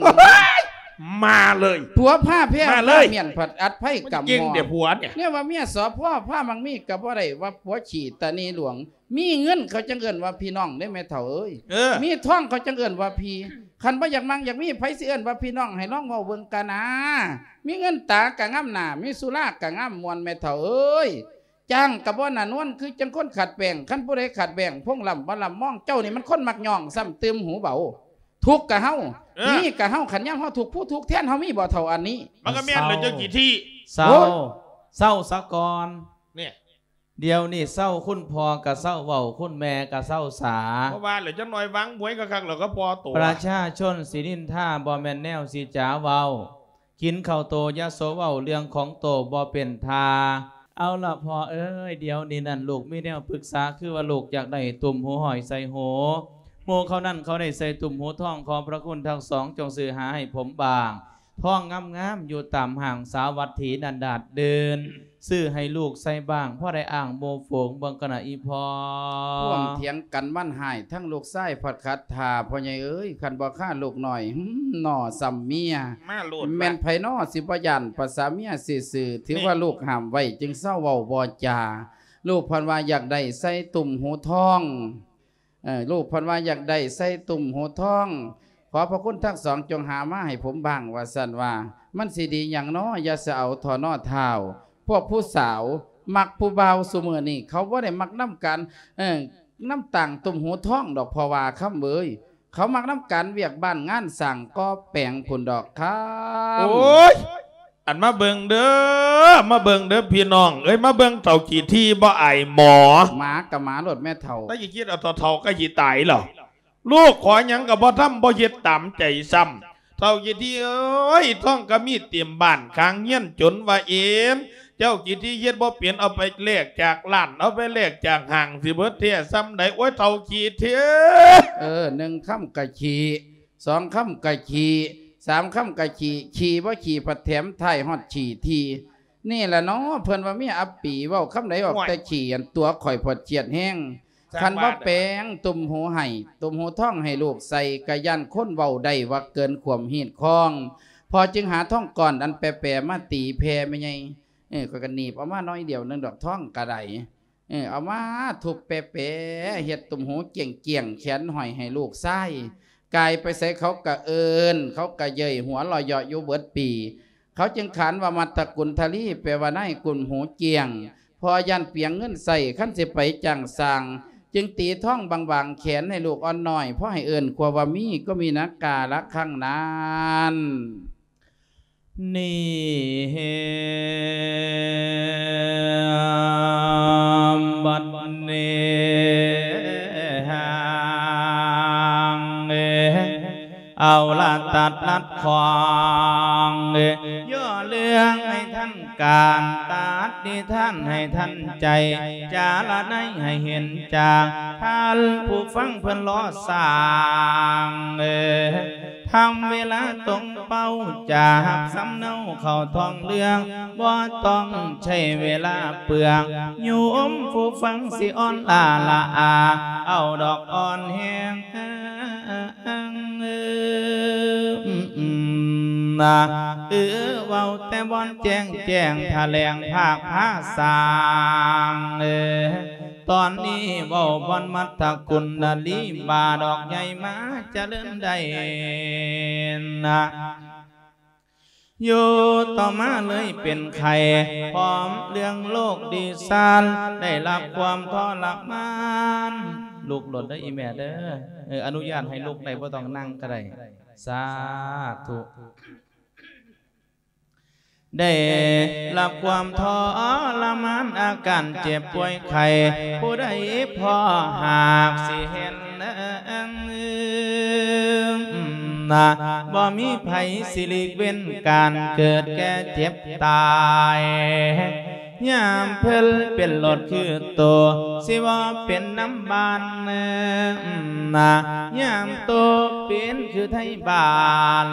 ມາເລີຍ ຜົວພາແພ້ ມາເລີຍ ພາມ້ຽນ ພັດອັດໄພກຳ ມັນເກັ່ງແຕ່ຜົວເນຍ ແນວວ່າເມຍ ສພ ພາມັກມີກະບໍ່ໄດ້ ວ່າຜົວຂີ້ຕາໜີ່ຫຼວງ ມີເງິນເຂົາຈັ່ງເອີ້ນວ່າພີ່ນ້ອງເດ້ແມ່ເຖົ້າເອີຍ ເອີ ມີທອງເຂົາຈັ່ງເອີ້ນວ່າພີ່ ຄັນບໍ່ຢາກມັ່ງຢາກມີ ໃຜຊິເອີ້ນວ່າພີ່ນ້ອງ ໃຫ້ລອງເວົ້າເບິ່ງກະນາ ມີເງິນຕາກະງາມໜ້າ ມີສຸລາກະງາມມ່ວນແມ່ເຖົ້າເອີຍ ຈ້າງກະບໍ່ໜ້ານວນ ຄືຈັ່ງຄົນຂາດແປ້ງ ຄັນຜູ້ໃດຂາດແປ້ງ ພົງລຳບໍ່ລຳມອງ ເຈົ້ານີ້ມັນຄົນມັກຍ້ອງ ຊ້ຳຕື່ມຫູເບົາ ທຸກກະເຮົາ ເອີ ມີກະເຮົາ ຄັນຍາມເຮົາທຸກ ຜູ້ທຸກແທນເຮົາມີບໍ່ເຖົ້າອັນນີ້? ມັນກະແມ່ນແຫຼະ ເຈົ້າຂີ້ຖີ່ ເຊົາ ໂອ້ຍ ເຊົາສາກ່ອນ ເນຍ ດຽວນີ້ເຊົາ ຄຸນພໍ່ກະເຊົາເວົ້າ ຄຸນແມ່ກະເຊົາສາ ບໍ່ວ່າແຫຼະ ຈັກໜ່ອຍວາງບວຍຄັກໆ ແລ້ວກໍພໍໂຕ ປະຊາຊົນຊິນິນທາ ບໍ່ແມ່ນແນວຊິຈາເວົ້າ ກິນເຂົ້າໂຕຢ່າໂສເວົ້າ ເລື່ອງຂອງໂຕບໍ່ເປັນທ່າ ເອົາລະພໍ່ເອີຍ ດຽວນີ້ນັ້ນລູກມີແນວປຶກສາ ຄືວ່າລູກຢາກໄດ້ຕຸ້ມຫູຫ້ອຍໃສ່ຫູ ໝູ່ເຂົານັ້ນເຂົາໄດ້ໃສ່ຕຸ້ມຫູທອງ ຂໍພະຄຸນທັງສອງຈົ່ງຊື້ຫາໃຫ້ຜົມບ້າງ ທອງງາມໆ ຢູ່ຕາມຫ້າງສາວັດຖີນັ້ນດາດເດີ່ນ ຊື້ໃຫ້ລູກໃສ່ບ້າງ ພໍໄດ້ອ້າງໝູ່ຝູງເບິ່ງກະນະອີ່ພໍ່ ພວມຖຽງກັນວັນຮ້າຍ ທັງລູກຊາຍພັດຂັດຖ້າ ພໍ່ໃຫຍ່ເອີຍ ຄັນບໍ່ຄາລູກນ້ອຍ ຫືມ ໜໍ່ຊ້ຳເມຍ ມາໂລດ ແມ່ນໃຜນໍຊິບໍ່ຢ້ານ ປະສາເມຍຊື່ໆ ຖືວ່າ ນີ້ ລູກຫ້າມໄວ້ ຈຶ່ງເຊົາເວົ້າບໍ່ຈາ ລູກເພິ່ນວ່າຢາກໄດ້ໃສ່ຕຸ້ມຫູທອງ ເອີ ລູກເພິ່ນວ່າຢາກໄດ້ໃສ່ຕຸ້ມຫູທອງ ຂໍພະຄຸນທັງສອງຈົ່ງຫາມາໃຫ້ຜົມບ້າງ ວ່າຊັ້ນວ່າ ມັນຊິດີຫຍັງນໍ ຢ່າສະເອົາທໍນໍທ້າວ ພວກຜູ້ສາວມັກຜູ້ບ່າວຊຸມື້ນີ້ ເຂົາບໍ່ໄດ້ມັກນຳການ ເອີ ນຳຕ່າງຕຸ້ມຫູທອງດອກ ພໍ່ວ່າຄຳເອີຍ ເຂົາມັກນຳການວຽກບ້ານງານສ້າງກໍ່ແປງພຸ້ນດອກຄຳ ໂອ້ຍ ອັນມາເບິ່ງເດີ ມາເບິ່ງເດີພີ່ນ້ອງເອີຍ ມາເບິ່ງເຖົ້າຂີ້ຖີ່ບໍ່ອາຍໝໍ ໝາກະໝາໂລດແມ່ເຖົ້າ ແຕ່ຂີ້ຄິດເອົາເຖົ້າໆກະຊິຕາຍແລ້ວ ລູກຂໍຫຍັງກະບໍ່ທຳ ບໍ່ເຮັດຕາມໃຈຊ້ຳ ເຖົ້າຂີ້ຖີ່ເອີຍ ທອງກະມີເຕັມບ້ານຂ້າງເຮືອນ ຈົນວ່າເອນ ເຈົ້າຂີ້ຖີ່ເຮັດບໍ່ເປັນ ເອົາໄປແລກຈາກຮ້ານ ເອົາໄປແລກຈາກຫ້າງ ຊິເບິດແທ້ຊ່ຳໃດ ໂອ້ຍ ເຖົ້າຂີ້ຖີ່ ເອີ ໜຶ່ງຄຳກະຂີ້ ສອງຄຳກະຂີ້ ສາມຄຳກະຂີ້ ຂີ້ບໍ່ຂີ້ພັດແຖມທ້າຍຮອດຂີ້ຖີ່ ນີ້ລະເນາະ ເພິ່ນວ່າເມຍອັບປີ ເວົ້າຄຳໃດອອກແຕ່ຂີ້ ອັນຕົວຂ້ອຍພັດຄຽດແຮງ ຄັນບໍ່ແປງຕຸ້ມຫູໃຫ້ ຕຸ້ມຫູທອງໃຫ້ລູກໃສ່ ກະຢ້ານຄົນເວົ້າໄດ້ວ່າເກີນຂວາມຮີດຄອງ ພໍ່ຈຶ່ງຫາທອງກ້ອນອັນແປໆມາຕີແຜ່ແມ່ໃຫຍ່ ເອີ ຂ້ອຍກະໜີບເອົາມາໜ້ອຍດຽວໜຶ່ງດອກ ທອງກະໄດ້ ເອີ ເອົາມາທຸບແປໆ ເຮັດຕຸ້ມຫູກ້ຽງໆ ແຂນຫ້ອຍໃຫ້ລູກຊາຍ ກາຍໄປໃສເຂົາກະເອີ້ນ ເຂົາກະເຍີ້ຍ ຫົວເລາະເຍາະຢູ່ເບິດປີ ເຂົາຈຶ່ງຂານວ່າ ມັດຕະກຸນທະລີ ແປວ່ານາຍກຸນຫູກ້ຽງ ພາະຢ້ານປຽງເງິນໃຊ້ ຄັນຊິໄປຈ້າງຊ່າງ ຈຶ່ງຕີທອງບາງໆແຂນໃຫ້ລູກອ່ອນນ້ອຍ ພໍໃຫ້ເອີ້ນຂົວວ່າມີ ກໍມີນະກາລະຄັງນັ້ນ. ນີ້ ບັດນີ້ ຫາງ ເອີ ເອົາລະຕັດລັດຂອງ ຍໍເລື່ອງໃຫ້ທັນການ ຕັດນິທານໃຫ້ທັນໃຈ ຈາລະໄນໃຫ້ເຫັນຈາງ ທ່ານຜູ້ຟັງເພິ່ນລໍສ້າງ ທຳເວລາຕົງເປົ້າ ຈາຮັບສຳເນົາເຂົ້າທ້ອງເລື່ອງ ບໍ່ຕ້ອງໃຊ້ເວລາເປືອງ ໂຍມຜູ້ຟັງຊິອ່ອນລ້າລະອາ ເອົາດອກອ່ອນແຮງ ນະ ເອີ ເວົ້າແຕ່ບ່ອນແຈ້ງແຈ້ງ ຖະແຫຼງພາກພາສາງ ເອີ ຕອນນີ້ເວົ້າບ່ອນມັດທະກຸນນະລີບາດອກໃຫຍ່ມາຈະເລີນໄດ້ນະ ຢູ່ຕໍ່ມາເລີຍເປັນໄຂ້ ພ້ອມເລື່ອງໂລກດີຊານ ໄດ້ຮັບຄວາມທໍລະມານ ລຸກໂລດເດີອີ່ແມ່ເດີ ເອີ ອະນຸຍາດໃຫ້ລຸກໄດ້ ບໍ່ຕ້ອງນັ່ງກໍໄດ້ ສາທຸ ໄດ້ຮັບຄວາມທໍລະມານ ອາການເຈັບປ່ວຍໄຂ້ ຜູ້ໃດພໍຫາກຊິເຫັນ ນະ ບໍ່ມີໃຜຊິຫຼີກເວັ້ນການເກີດແກ່ເຈັບຕາຍ ຍາມເພິ່ນເປັນໂລດຄືໂຕ ຊິບໍ່ເປັນນຳບ້ານ ນະ ຍາມໂຕເປັນຄືໄທບ້ານ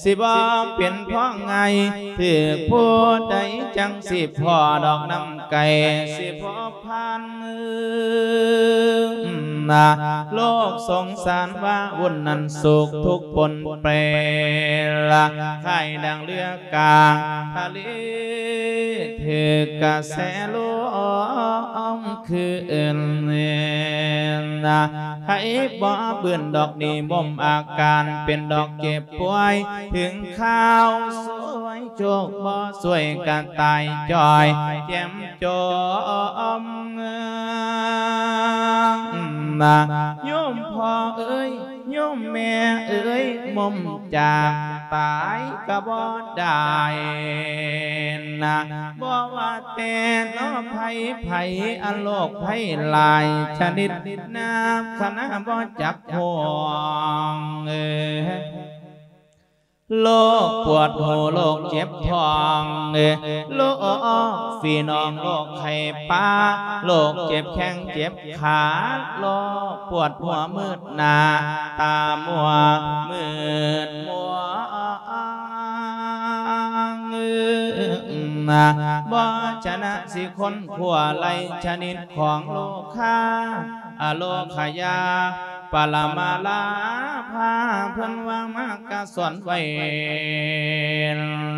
ຊິບໍ່ເປັນພໍງ່າຍ ຖືກຜູ້ໃດຈັ່ງຊິພໍດອກ ນຳໄກ່ຊິພໍ ພັນນະ ໂລກສົງສານວາວຸ່ນນັ້ນ ໂສກທຸກປົນເປລະ ຄ້າຍດັ່ງເຮືອກາງທະເລ ຖືກກະແສລົມຄືນນະ ໃຜບໍ່ບືນດອກນີ້ ບົ່ມອາການເປັນດອກເຈັບປ່ວຍ ເຖິງຄາວຊ່ວຍໂຊກບໍ່ຊ່ວຍກະຕາຍຈ້ອຍ ແຈ່ມ ຈອມນະ ໂຍມພໍ່ເອີຍ ໂຍມແມ່ເອີຍ ໝົ່ມຈາກຕາຍກະບໍ່ໄດ້ນະ ບໍ່ວ່າແຕ່ເນາະ ໄພ ໄພ ອັນໂລກໄພຫຼາຍຊະນິດ ນັບຄະນະບໍ່ຈັກຫ້ວງ ເອີ ໂລກປວດຫົວ ໂລກເຈັບທ້ອງ ໂລກຝີໜອງ ໂລກໄຂ້ປາ ໂລກເຈັບແຂ້ງເຈັບຂາ ໂລກປວດຫົວມືດໜ້າ ຕາມົວມືດມົວ ບໍ່ຊະນະຊິຄົ້ນຄວ້າໄລ່ຊະນິດຂອງໂລຄາ ອະໂລຄະຍາ ປະລະມາລາພາ ເພິ່ນວ່າມາກະສອນໄວ້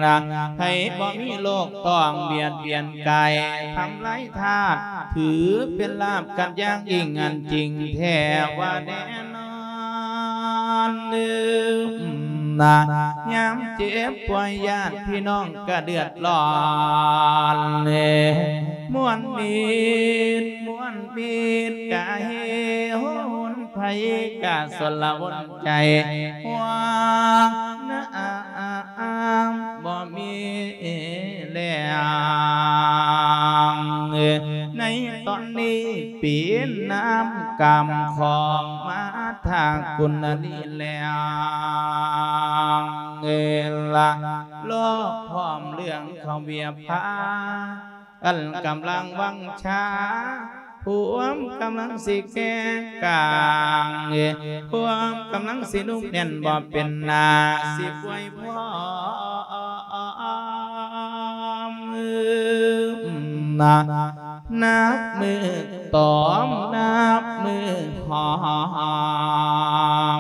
ລະ ໃຫ້ບໍ່ມີໂລກຕ້ອງບຽດບຽນກາຍ ທຳລາຍທາດ ຖືເປັນລາບກັນຢ່າງຍິ່ງ ອັນຈິງແທ້ວ່າແນ່ນອນນະ ຍາມເຈັບປ່ວຍຍາດພີ່ນ້ອງກະເດືອດຮ້ອນ ມ່ວນມິດ ມ່ວນມິດກະເຮໂຫນ ໃຜກະສົນລະວົນໃຈ ຫ່ວງນຳບໍ່ມີແລ້ວ ໃນຕອນນີ້ເປັນນ້ຳກຳຂອງມາທາກຸນນະລີແລ້ວ ລະ ລອກພ້ອມເລື່ອງເຂົ້າວຽບພາ ອັນກຳລັງວັງຊາ ພວມກຳລັງຊິແກ່ກາງ ພວມກຳລັງຊິນຸ້ມແໜ້ນບໍ່ເປັນໜ້າ ຊິປ່ວຍພ້ອມນະ ນັບມື້ຕອມ ນັບມື້ຫອ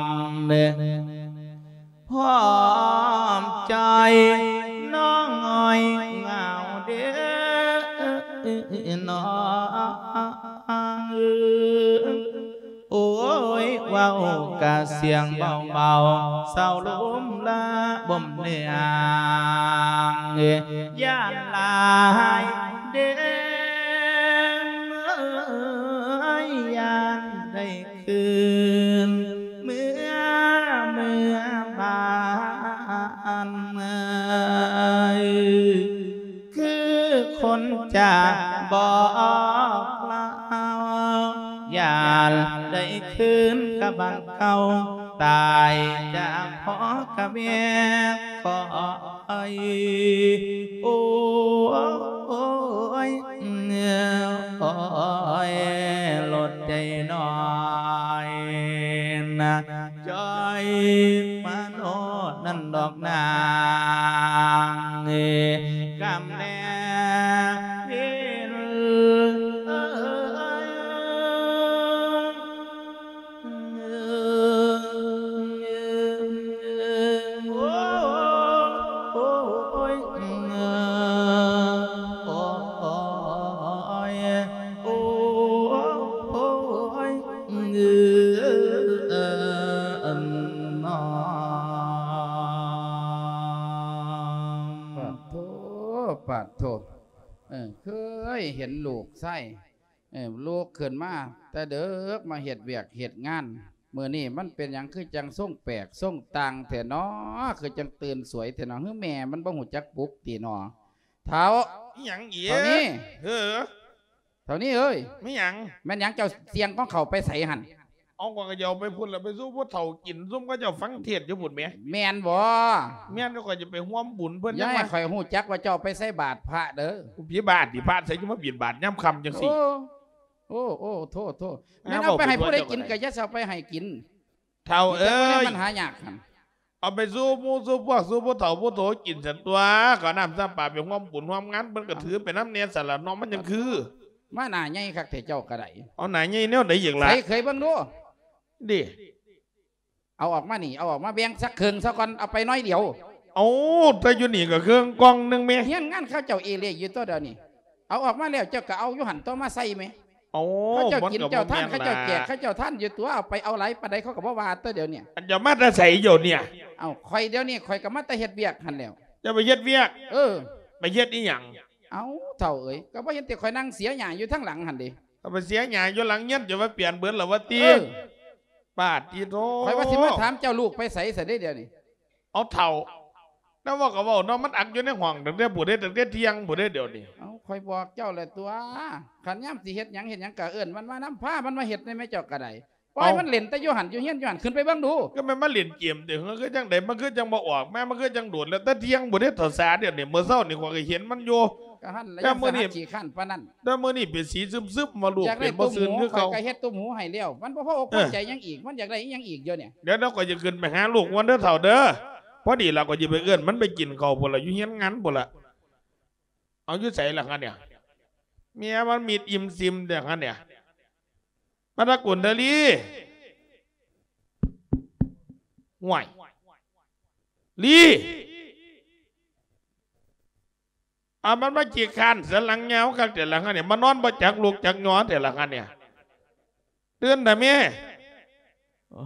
ມ ພ້ອມໃຈນ້ອງອ້ອຍເຫງົາເດີນ້ອງ ໂອ້ຍ ເວົ້າກະສຽງເບົາໆ ເສົ້າລົມລະບົ່ມເນືອງ ຢ້ານຫຼາຍເດີ ນໄດ້ຄືນກັບບ້ານເກົ່າ ຕາຍຈາກພໍ່ກັບແມ່ ຂໍ ໂອ້ຍ ໂອ້ຍ ໂອ້ຍ ລົດໃຈນ້ອຍນະ ຈ່ອຍມາໂນດນັ້ນດອກນາງ ກຳແລເວນ ໂອ້ຍ ໂອ້ຍ ໂອ້ຍ ໂອ້ຍ ເອີ ເອີ ເອີ ເນາະ ປາດໂທ ປາດໂທ ເອີ ເຄີຍເຫັນລູກຊາຍ ເອີ ລຸກຂຶ້ນມາແຕ່ເດິກມາເຮັດວຽກເຮັດງານ ມື້ນີ້ມັນເປັນຫຍັງຄືຈັ່ງຊົງແປກຊົງຕ່າງແທ້ນໍ ຄືຈັ່ງຕື່ນສວຍແທ້ນໍ ຫຼືແມ່ມັນບໍ່ຮູ້ຈັກປຸກຕິນໍ ເຖົ້າ ອີ່ຫຍັງອີກ ເຖົ້ານີ້ ເອີ ເຖົ້ານີ້ເອີຍ ແມ່ນຫຍັງ ແມ່ນຫຍັງເຈົ້າສ່ຽງຂອງເຂົາໄປໃສຫັ້ນ? ເອົາ ຂ້ອຍກໍຈະເອົາໄປພຸ້ນລະ ໄປສູ່ຜູ້ເຖົ້າກິນ ຊຸມເຂົາເຈົ້າຟັງເທດຢູ່ພຸ້ນແໝ. ແມ່ນບໍ່? ແມ່ນ ຂ້ອຍຈະໄປຮ່ວມບຸນເພິ່ນ ຢ່າໃຫ້ຂ້ອຍຮູ້ຈັກວ່າເຈົ້າໄປໃສ່ບາດພະເດີ. ພິບາດຕິ ພະໃສຈະມາບິນບາດຍາມຄ່ຳຈັ່ງຊີ້? ໂອ້ ໂອ້ ໂອ້ ໂທດ ໂທດ ແມ່ນເອົາໄປໃຫ້ຜູ້ໃດກິນກໍຢ່າຊິເອົາໄປໃຫ້ກິນ. ເຖົ້າເອີຍ ມັນຫາຍາກຫັ້ນ ເອົາໄປສູ່ໝູ່ສູ່ພວກ ສູ່ຜູ້ເຖົ້າຜູ້ໂຕກິນຊັ້ນຕົວະ ເຂົ້ານ້ຳຊ້ຳປາ ໄປຮ່ວມບຸນຮ່ວມງານ ເພິ່ນກໍຖືໄປນຳແດ່ຊັ້ນລະເນາະ ມັນຈັ່ງຄື. ມາໜ້າໃຫຍ່ຄັກແທ້ເຈົ້າກໍໄດ້. ເອົາໜ້າໃຫຍ່ແນວໃດອີກລະ? ໃສເຄີຍເບິ່ງດູ. ເດ້ ເອົາອອກມານີ້ ເອົາອອກມາແບ່ງສັກເຄິ່ງຊະກ່ອນ ເອົາໄປໜ້ອຍດຽວ. ເອົາ ແຕ່ຢູ່ນີ້ກໍເຄິ່ງກ່ອງໜຶ່ງແໝ. ຮຽນງານເຂົາເຈົ້າເອເລຢູ່ຕົວະດຽວນີ້. ເອົາອອກມາແລ້ວເຈົ້າກໍເອົາຢູ່ຫັ້ນຕົວະມາໃສ່ແໝ. ເຂົາເຈົ້າກິນເຈົ້າທານ ເຂົາເຈົ້າແຈກເຂົາເຈົ້າທານຢູ່ຕົວະ ເອົາໄປເອົາຫຼາຍປານໃດເຂົາກໍບໍ່ວ່າຕົວະດຽວນີ້. ອັນເຈົ້າມາແຕ່ໃສດຽວນີ້? ເອົ້າ ຂ້ອຍດຽວນີ້ຂ້ອຍກໍມາແຕ່ເຮັດວຽກຫັ້ນແລ້ວ. ເຈົ້າໄປເຮັດວຽກ? ເອີ ໄປເຮັດອີ່ຫຍັງ? ເອົ້າ ເຖົ້າເອີຍ ກໍບໍ່ເຫັນແຕ່ຂ້ອຍນັ່ງເສຍຫຍ້າຢູ່ທາງຫຼັງຫັ້ນເດ. ເອົາໄປເສຍຫຍ້າຢູ່ຫຼັງຮຽນ ເຈົ້າວ່າປ່ຽນເບິດແລ້ວວ່າຕິ? ເອີ ປາດຕິໂທ ຂ້ອຍວ່າຊິມາຖາມເຈົ້າລູກໄປໃສຊັ້ນເດດຽວນີ້. ເອົາເຖົ້າ ແນວເວົ້າກໍເວົ້າເນາະ ມັນອັກຢູ່ໃນຫ້ອງຕັ້ງແຕ່ຜູ້ໃດ ຕັ້ງແຕ່ທ່ຽງຜູ້ໃດດຽວນີ້. ເອົ້າ ຂ້ອຍບອກເຈົ້າແລ້ວຕົວະ ຄັນຍາມຊິເຮັດຫຍັງເຮັດຫຍັງກໍເອີ້ນມັນມານຳ ພາມັນມາເຮັດໄດ້ແມ້ເຈົ້າກໍໄດ້. ປ່ອຍມັນເຫຼັ້ນແຕ່ຢູ່ຫັ້ນຢູ່ຮຽນຢູ່ຫັ້ນ ຂຶ້ນໄປເບິ່ງດູ. ກໍແມ່ນມາຫຼິ້ນເກມຕິ ເອີ ຄືຈັ່ງໃດ ມັນຄືຈັ່ງບໍ່ອອກມາ ມັນຄືຈັ່ງໂດນແລ້ວ ແຕ່ທ່ຽງພຸ້ນເດ້ ເຖົ້າສາດຽວນີ້ ມື້ເຊົ້ານີ້ຂ້ອຍກໍເຫັນມັນຢູ່. ກໍຫັ້ນລະ ຢ້ານສະໜັດຂີ້ຄ້ານປານນັ້ນ. ແຕ່ມື້ນີ້ເປັນສີຊຶມໆ ວ່າລູກເປັນບໍ່ຊື່ນຄືເກົ່າ. ຂ້ອຍກໍເຮັດຕຸ້ມຫູໃຫ້ແລ້ວ ມັນບໍ່ພໍອົກພໍໃຈຫຍັງອີກ ມັນຢາກໄດ້ອີ່ຫຍັງອີກດຽວນີ້. ດຽວ ດຽວຂ້ອຍຈະຂຶ້ນໄປຫາລູກກ່ອນເດີເຖົ້າເດີ. ພໍດີລະ ຂ້ອຍຈະໄປເອີ້ນມັນໄປກິນເຂົ້າພຸ້ນລະ ຢູ່ຮຽນງານພຸ້ນລະ. ເອົາ ຢູ່ໃສລະຫັ້ນເນຍ? ເມຍມັນມິດອີ່ມຊິມແທ້ຫັ້ນເນຍ ມາຕະກຸນເທີລີ. ຫ້ວຍ ລີ ອາ ມັນມາຂີ້ຄ້ານສັນຫຼັງຍາວຄັກແທ້ລະຫັ້ນເນຍ ມານອນບໍ່ຈັກລຸກຈັກຍໍແທ້ລະຫັ້ນເນຍ. ຕື່ນເຖາະແມ່. ໂອ້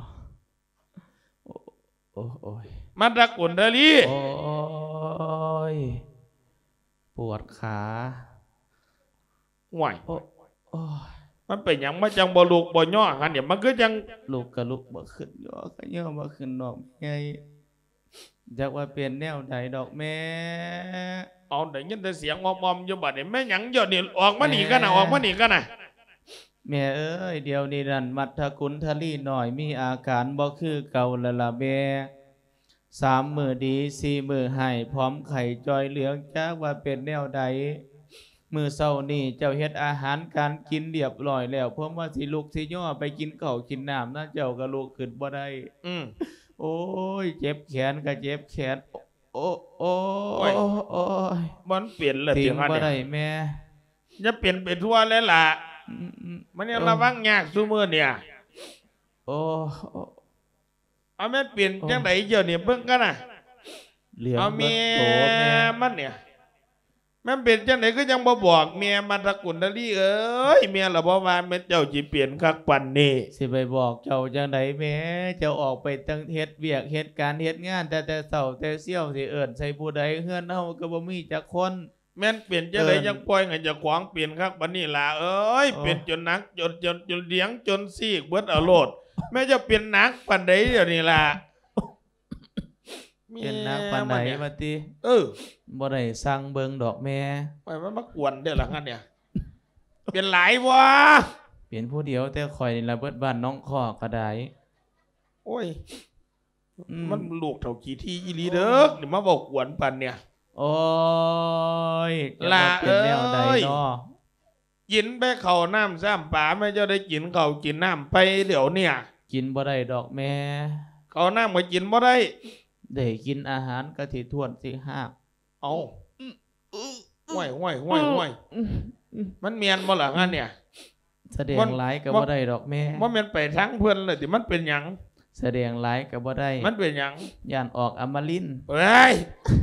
ໂອ້ ໂອ້ຍ ມາຕະກຸນເທີລີ. ໂອ້ຍ ປວດຂາ. ຫ້ວຍ ໂອ້ ໂອ້ຍ ມັນເປັນຫຍັງ ມັນຈັ່ງບໍ່ລຸກບໍ່ຍໍຫັ້ນເດ? ມັນຄືຈັ່ງ ລຸກກະລຸກບໍ່ຂຶ້ນ ຍໍກະຍໍບໍ່ຂຶ້ນດອກແມ່ໃຫຍ່. ຈັກວ່າເປັນແນວໃດດອກແມ່. ເອົາ ໄດ້ຍິນແຕ່ສຽງອ້ອມໆຢູ່ບັດນີ້ ແມ່ນຫຍັງດຽວນີ້? ອອກມານີ້ກັນນະ ແມ່ ອອກມານີ້ກັນນະ. ແມ່ເອີຍ ດຽວນີ້ນັ້ນ ມັດທະກຸນທະລີນ້ອຍມີອາການບໍ່ຄືເກົ່າແລ້ວລະແມ່. ສາມມື້ດີ ສີ່ມື້ຮ້າຍ ຜອມໄຂ້ຈ່ອຍເຫຼືອງ ຈັກວ່າເປັນແນວໃດ. ມື້ເຊົ້ານີ້ເຈົ້າເຮັດອາຫານການກິນລຽບລ້ອຍແລ້ວ ເພິ່ນວ່າຊິລຸກຊິຍໍໄປກິນເຂົ້າກິນນ້ຳນະ ເຈົ້າກໍລຸກຂຶ້ນບໍ່ໄດ້. ອືມ ໂອ້ຍ ເຈັບແຂນກໍເຈັບແຂນ. ໂອ້ ໂອ້ຍ ໂອ້ຍ ມັນເປັນແລ້ວຕິຫັ້ນ ບໍ່ໄດ້ແມ່. ຢ່າເປັນໄປທົ່ວແລ້ວລະ. ອືມໆ ມັນຍັງ ເອີ ລະວັງຍາກຊຸມື້ນີ້. ໂອ້ ເອົາ ແມ່ນເປັນ ໂອ້ ຈັ່ງໃດດຽວນີ້ ເບິ່ງກັນນະ. ເຫຼືອງ ເອົາ ເບິດໂຕແມ່ ແມ່ມັນນີ້ ແມ່ນເປັນຈັ່ງໃດຄືຍັງບໍ່ບອກແມ່ ມັດທະກຸນທະລີເອີຍ? ແມ່ລະບໍ່ວ່າແມ່ນເຈົ້າຊິເປັນຄັກປານນີ້. ຊິໄປບອກເຈົ້າຈັ່ງໃດແມ່? ເຈົ້າອອກໄປຕັ້ງເຮັດວຽກເຮັດການເຮັດງານແຕ່ ແຕ່ເຊົ້າແຕ່ຊຽວ ຊິເອີ້ນໃສ່ຜູ້ໃດ? ເຮືອນເຮົາກໍບໍ່ມີຈັກຄົນ. ແມ່ນເປັນຈັ່ງໃດ ເອີ ຈັ່ງປ່ອຍໃຫ້ເຈົ້າຂອງເປັນຄັກປານນີ້ຫຼ້າເອີຍ? ໂອ້ ເປັນຈົນໜັກ ຈົນ ຈົນ ຈົນຫຼຽງ ຈົນຊີກເບິດເອົາໂລດ. ແມ່ເຈົ້າເປັນໜັກປານໃດດຽວນີ້ຫຼ້າ? ເປັນໜັກປານໃດ ແມ່ມັນນີ້ ວ່າຕິ? ເອີ ບໍ່ໄດ້ຊ່າງເບິ່ງດອກແມ່. ໂອ້ຍ ມັນມາກວນແທ້ລະຫັ້ນເນຍ. ເປັນຫຼາຍບໍ່? ເປັນຜູ້ດຽວແຕ່ຂ້ອຍນີ້ລະ ເບິດບ້ານໜອງຄອກກໍໄດ້. ໂອ້ຍ ອືມ ມັນລູກເຖົ້າຂີ້ຖີ່ອີ່ຫຼີເດີ ໂອ້ຍ ນີ້ມາເວົ້າກວນປານເນີ້ຍ. ໂອ້ຍ ຫຼ້າເອີຍ ເປັນແນວໃດເນາະ? ກິນໄປເຂົ້ານ້ຳຊ້ຳປາ ແມ່ເຈົ້າໄດ້ກິນເຂົ້າກິນນ້ຳໄປດຽວເນີ້ຍ? ກິນບໍ່ໄດ້ດອກແມ່. ເຂົ້ານ້ຳກໍກິນບໍ່ໄດ້? ໄດ້ກິນອາຫານກໍຊິຖ້ວນຊິຮາກ. ເອົ້າ ອືມ ອືມ ຫ້ວຍ ຫ້ວຍ ຫ້ວຍ ອືມ ຫ້ວຍ ອືມ ມັນແມ່ນບໍ່ລະຫັ້ນເນີ້ຍ? ສະແດງ ມັນ ຫຼາຍກໍບໍ່ໄດ້ດອກແມ່. ບໍ່ແມ່ນໄປທາງເພິ່ນລະຕິ ມັນເປັນຫຍັງ? ສະແດງຫຼາຍກໍບໍ່ໄດ້. ມັນເປັນຫຍັງ? ຢ້ານອອກອຳມະລິນ. ເອີຍ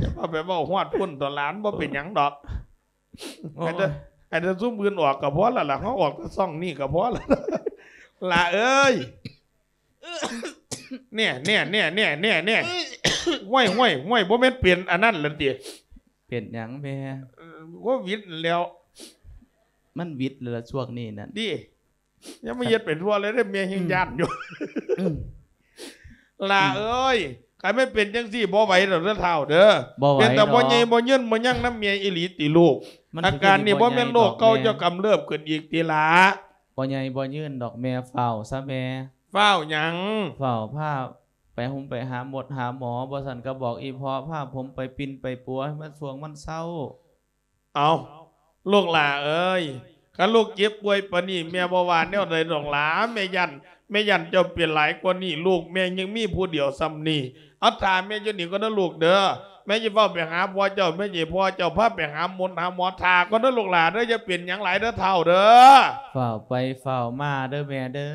ຢ່າມາໄປເວົ້າຮອດພຸ້ນ ຕອນຫຼານບໍ່ເປັນຫຍັງດອກ. ໂອ້ຍ ໃຫ້ແຕ່ ໃຫ້ແຕ່ຊຸມອື່ນອອກກໍພໍລະລະ ເຮົາອອກແຕ່ຊ່ອງນີ້ກໍພໍລະ ຫຼ້າເອີຍ. ແນ່ ແນ່ ແນ່ ແນ່ ແນ່ ແນ່ ຫ້ວຍ ຫ້ວຍ ຫ້ວຍ ບໍ່ແມ່ນເປັນອັນນັ້ນລະຕິ? ເປັນຫຍັງແມ່? ເອີ ໂຄວິດຫັ້ນແຫຼ້ວ. ມັນວິດລະຊ່ວງນີ້ນັ້ນ ຕິ? ຢ່າມາເຮັດໄປທົ່ວເລີຍເດີ ແມ່ແຮ່ງ ອືມ ຢ້ານຢູ່. ອືມ ຫຼ້າເອີຍ ຄັນແມ່ນເປັນຈັ່ງຊີ້ບໍ່ໄຫວດອກເດີທ້າວເດີ. ບໍ່ໄຫວ ເປັນແຕ່ພໍ່ໃຫຍ່ ດອກ ບໍ່ຍືນບໍ່ຍັງນຳແມ່ອີ່ຫຼີຕິລູກ? ອາການນີ້ບໍ່ແມ່ນໂລກເກົ່າເຈົ້າກຳເລິບຂຶ້ນອີກຕິຫຼ້າ? ບໍ່ໃຫຍ່ບໍ່ຍືນດອກແມ່ ຟ້າວຊະແມ່. ຟ້າວຫຍັງ? ຟ້າວພາໄປໂຮງໄປຫາໝົດຫາໝໍ ບໍ່ຊັ້ນກໍບອກອີ່ພໍ່ພາຜົມໄປປິ່ນໄປປົວໃຫ້ມັນຊ່ວງມັນເຊົາ. ເອົ້າ ລູກຫຼ້າເອີຍ ຄັນລູກເຈັບປ່ວຍປານນີ້ ແມ່ບໍ່ວ່າແນວໃດດອກຫຼ້າ. ແມ່ຢ້ານ ແມ່ຢ້ານເຈົ້າເປັນຫຼາຍກວ່ານີ້ ລູກແມ່ຍັງມີຜູ້ດຽວສ່ຳນີ້. ເອົາ ຖ້າແມ່ຢູ່ນີ້ກ່ອນເດີລູກເດີ ແມ່ຈະເຝົ້າໄປຫາພໍ່ເຈົ້າ ແມ່ຈະໃຫ້ພໍ່ເຈົ້າພາໄປຫາໝົດຫາໝໍ. ຖ້າກ່ອນເດີລູກຫຼ້າເດີ ຢ່າເປັນຫຍັງຫຼາຍເດີທ້າວເດີ. ຟ້າວໄປຟ້າວມາເດີແມ່ເດີ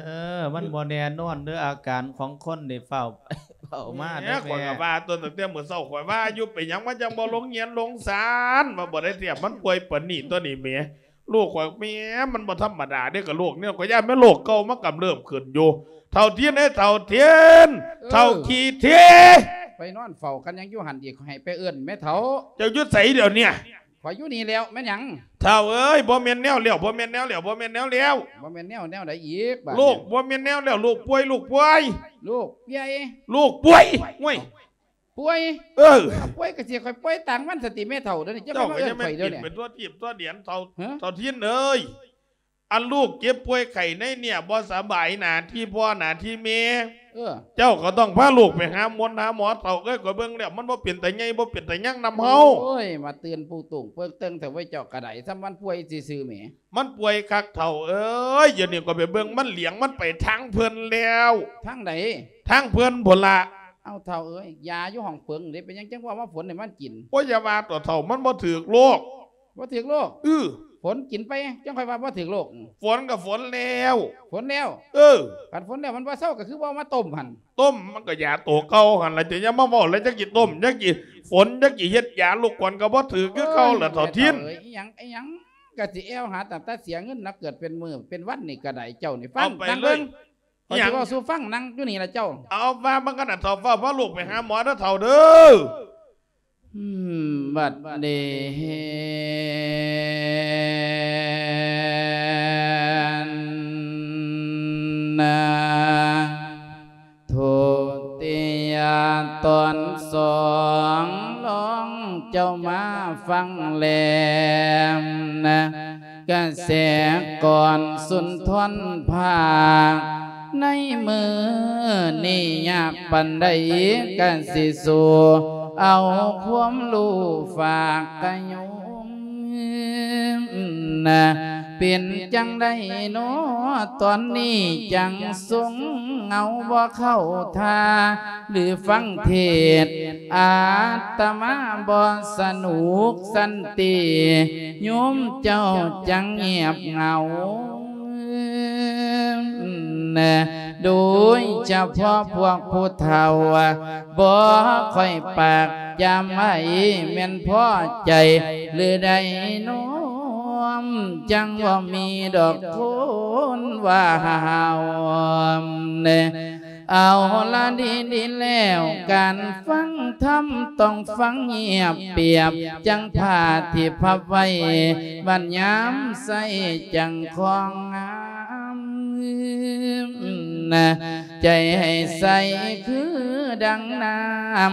ມັນບໍ່ແນ່ນອນເດີ ອາການຂອງຄົນນີ້ ຟ້າວໄປຟ້າວມາເດີແມ່. ແໝ່ ຂ້ອຍກໍວ່າຕົວ ຕັ້ງແຕ່ມື້ເຊົ້າ ຂ້ອຍວ່າຢູ່ເປັນຫຍັງມັນຈັ່ງບໍ່ລົງຮຽນລົງສານ ວ່າບໍ່ໄດ້ທຽບ ມັນປ່ວຍປານນີ້ຕົວນີ້ແໝ່. ລູກຂ້ອຍ ແໝ່ ມັນບໍ່ທຳມະດາເດ້ ກະໂລກນີ້ ຂ້ອຍຢ້ານແມ່ນໂລກເກົ່າມາກຳເລີ່ມຂຶ້ນຢູ່. ເຖົ້າທຽນເອີຍ ເຖົ້າທຽນ ເອີ ເຖົ້າຂີ້ຖີ່ ໄປນອນເຝົ້າກັນຫຍັງຢູ່ຫັ້ນອີກ ໃຫ້ໄປເອີ້ນແມ່ເຖົ້າ. ເຈົ້າຢູ່ໃສດຽວນີ້? ຂ້ອຍຢູ່ນີ້ແລ້ວ ແມ່ນຫຍັງ? ເຖົ້າເອີຍ ບໍ່ແມ່ນແນວແລ້ວ ບໍ່ແມ່ນແນວແລ້ວ ບໍ່ແມ່ນແນວແລ້ວ. ບໍ່ແມ່ນແນວ ແນວໃດອີກບາດນີ້? ລູກ ບໍ່ແມ່ນແນວແລ້ວ ລູກປ່ວຍ ລູກປ່ວຍ ລູກປ່ວຍ ລູກປ່ວຍ ໂອ້ຍ ເອົ້າ ປ່ວຍ ເອີ ເອົ້າ ປ່ວຍກໍຊິຂ້ອຍປ່ວຍຕາງມັນສະຕິແມ່ເຖົ້າ ດຽວນີ້ເຈົ້າ ເຈົ້າກໍຢ່າມາເອີ້ນຂ້ອຍດຽວນີ້ ເປັນຕົວທີບຕົວແດນເຖົ້າ ຮະ ເຖົ້າທຽນເອີຍ. ອັນລູກເຈັບປ່ວຍໄຂ້ໃນເນຍ ບໍ່ສະບາຍ ໜ້າທີ່ພໍ່ໜ້າທີ່ແມ່ ເອີ ເຈົ້າກໍຕ້ອງພາລູກໄປຫາໝົນຫາໝໍ ເຖົ້າເອີຍ. ຂ້ອຍເບິ່ງແລ້ວມັນບໍ່ເປັນຕາໃຫຍ່ ບໍ່ເປັນຕາຍັງນຳເຮົາ. ໂອ້ຍ ມາຕື່ນປູຕຸງເປິກເຕີງແທ້ເວີຍ ເຈົ້າກໍໄດ້ ສ່ຳມັນປ່ວຍຊື່ໆແໝ. ມັນປ່ວຍຄັກເຖົ້າເອີຍ ດຽວນີ້ຂ້ອຍໄປເບິ່ງມັນຫຼຽງ ມັນໄປທາງເພິ່ນແລ້ວ. ທາງໃດ? ທາງເພິ່ນພຸ້ນລະ. ເອົ້າ ເຖົ້າເອີຍ ຢາຢູ່ຫ້ອງເຜິງເດ້ ເປັນຫຍັງຈັ່ງບໍ່ເອົາມາຝົນໃຫ້ມັນກິນ? ໂອ້ຍ ຢ່າວ່າຕົວະເຖົ້າ ມັນບໍ່ຖືກໂລກ. ບໍ່ຖືກໂລກ? ອື ຝົນກິນໄປ ຈັ່ງຄ່ອຍວ່າບໍ່ຖືກໂລກ. ຝົນກໍຝົນແລ້ວ. ຝົນແລ້ວ? ເອີ ຄັນຝົນແລ້ວມັນບໍ່ເຊົາ ກໍຄືບໍ່ເອົາມາຕົ້ມຫັ້ນ. ຕົ້ມມັນກໍຢາໂຕເກົ່າຫັ້ນລະ ຈະຢ່າມາເວົ້າແລ້ວ ຈັກຊິຕົ້ມ ຈັກຊິຝົນ ຈັກຊິເຮັດຢາ ລູກຂວັນກໍບໍ່ຖືກຄືເກົ່າລະ ເຖົ້າທຽນ. ໂອ້ຍ ເຖົ້າເອີຍ ອີຫຍັງ ອີຫຍັງ ກະຊິແອວຫາຕັ້ງແຕ່ເສຍເງິນນະ ເກີດເປັນມື້ເປັນວັນນີ້ກະໄດ້ ເຈົ້ານີ້ຟັງ ນັ່ງເບິ່ງ ຂ້ອຍຊິເວົ້າສູ່ຟັງ ນັ່ງຢູ່ນີ້ລະເຈົ້າ. ເອົາ ວ່າມາກັນນະ ເຖົ້າ ຟ້າວພາລູກໄປຫາໝໍເດີເຖົ້າເດີ. ອືມ ບັດນີ້ນະ ທຸຕິຍະຕອນສອງ ລອງເຈົ້າມາຟັງແລມນະ ກະແສກ່ອນສຸນທອນພາກ ໃນມື້ນີ້ຍາກປານໃດ ກະຊິສູ້ເອົາຄວາມຮູ້ຝາກກະໂຍມນະ. ເປັນຈັ່ງໃດນໍ ຕອນນີ້ຈັ່ງຊົງເຫງົາບໍ່ເຂົ້າທ່າ ຫຼືຟັງເທດອາດຕະມາບໍ່ສະໜຸກສັນຕິ ໂຍມເຈົ້າຈັ່ງງຽບເຫງົາ ໂດຍສະເພາະພວກຜູ້ເຖົ້າ ບໍ່ຄ່ອຍປາກຈຳໄວ້ ແມ່ນພໍໃຈຫຼືໃດນ້ອມ ຈັ່ງບໍ່ມີດອກຄົນວ່າຫ້າວ. ເອົາລະດີໆແລ້ວ ການຟັງທຳຕ້ອງຟັງຮຽບປຽບ ຈັ່ງພາທີ່ພັບໄວ້ ບັດຍາມໃຊ້ຈັ່ງຄອງງາມ ໃຈໃຫ້ໃສຄືດັ່ງນ້ຳ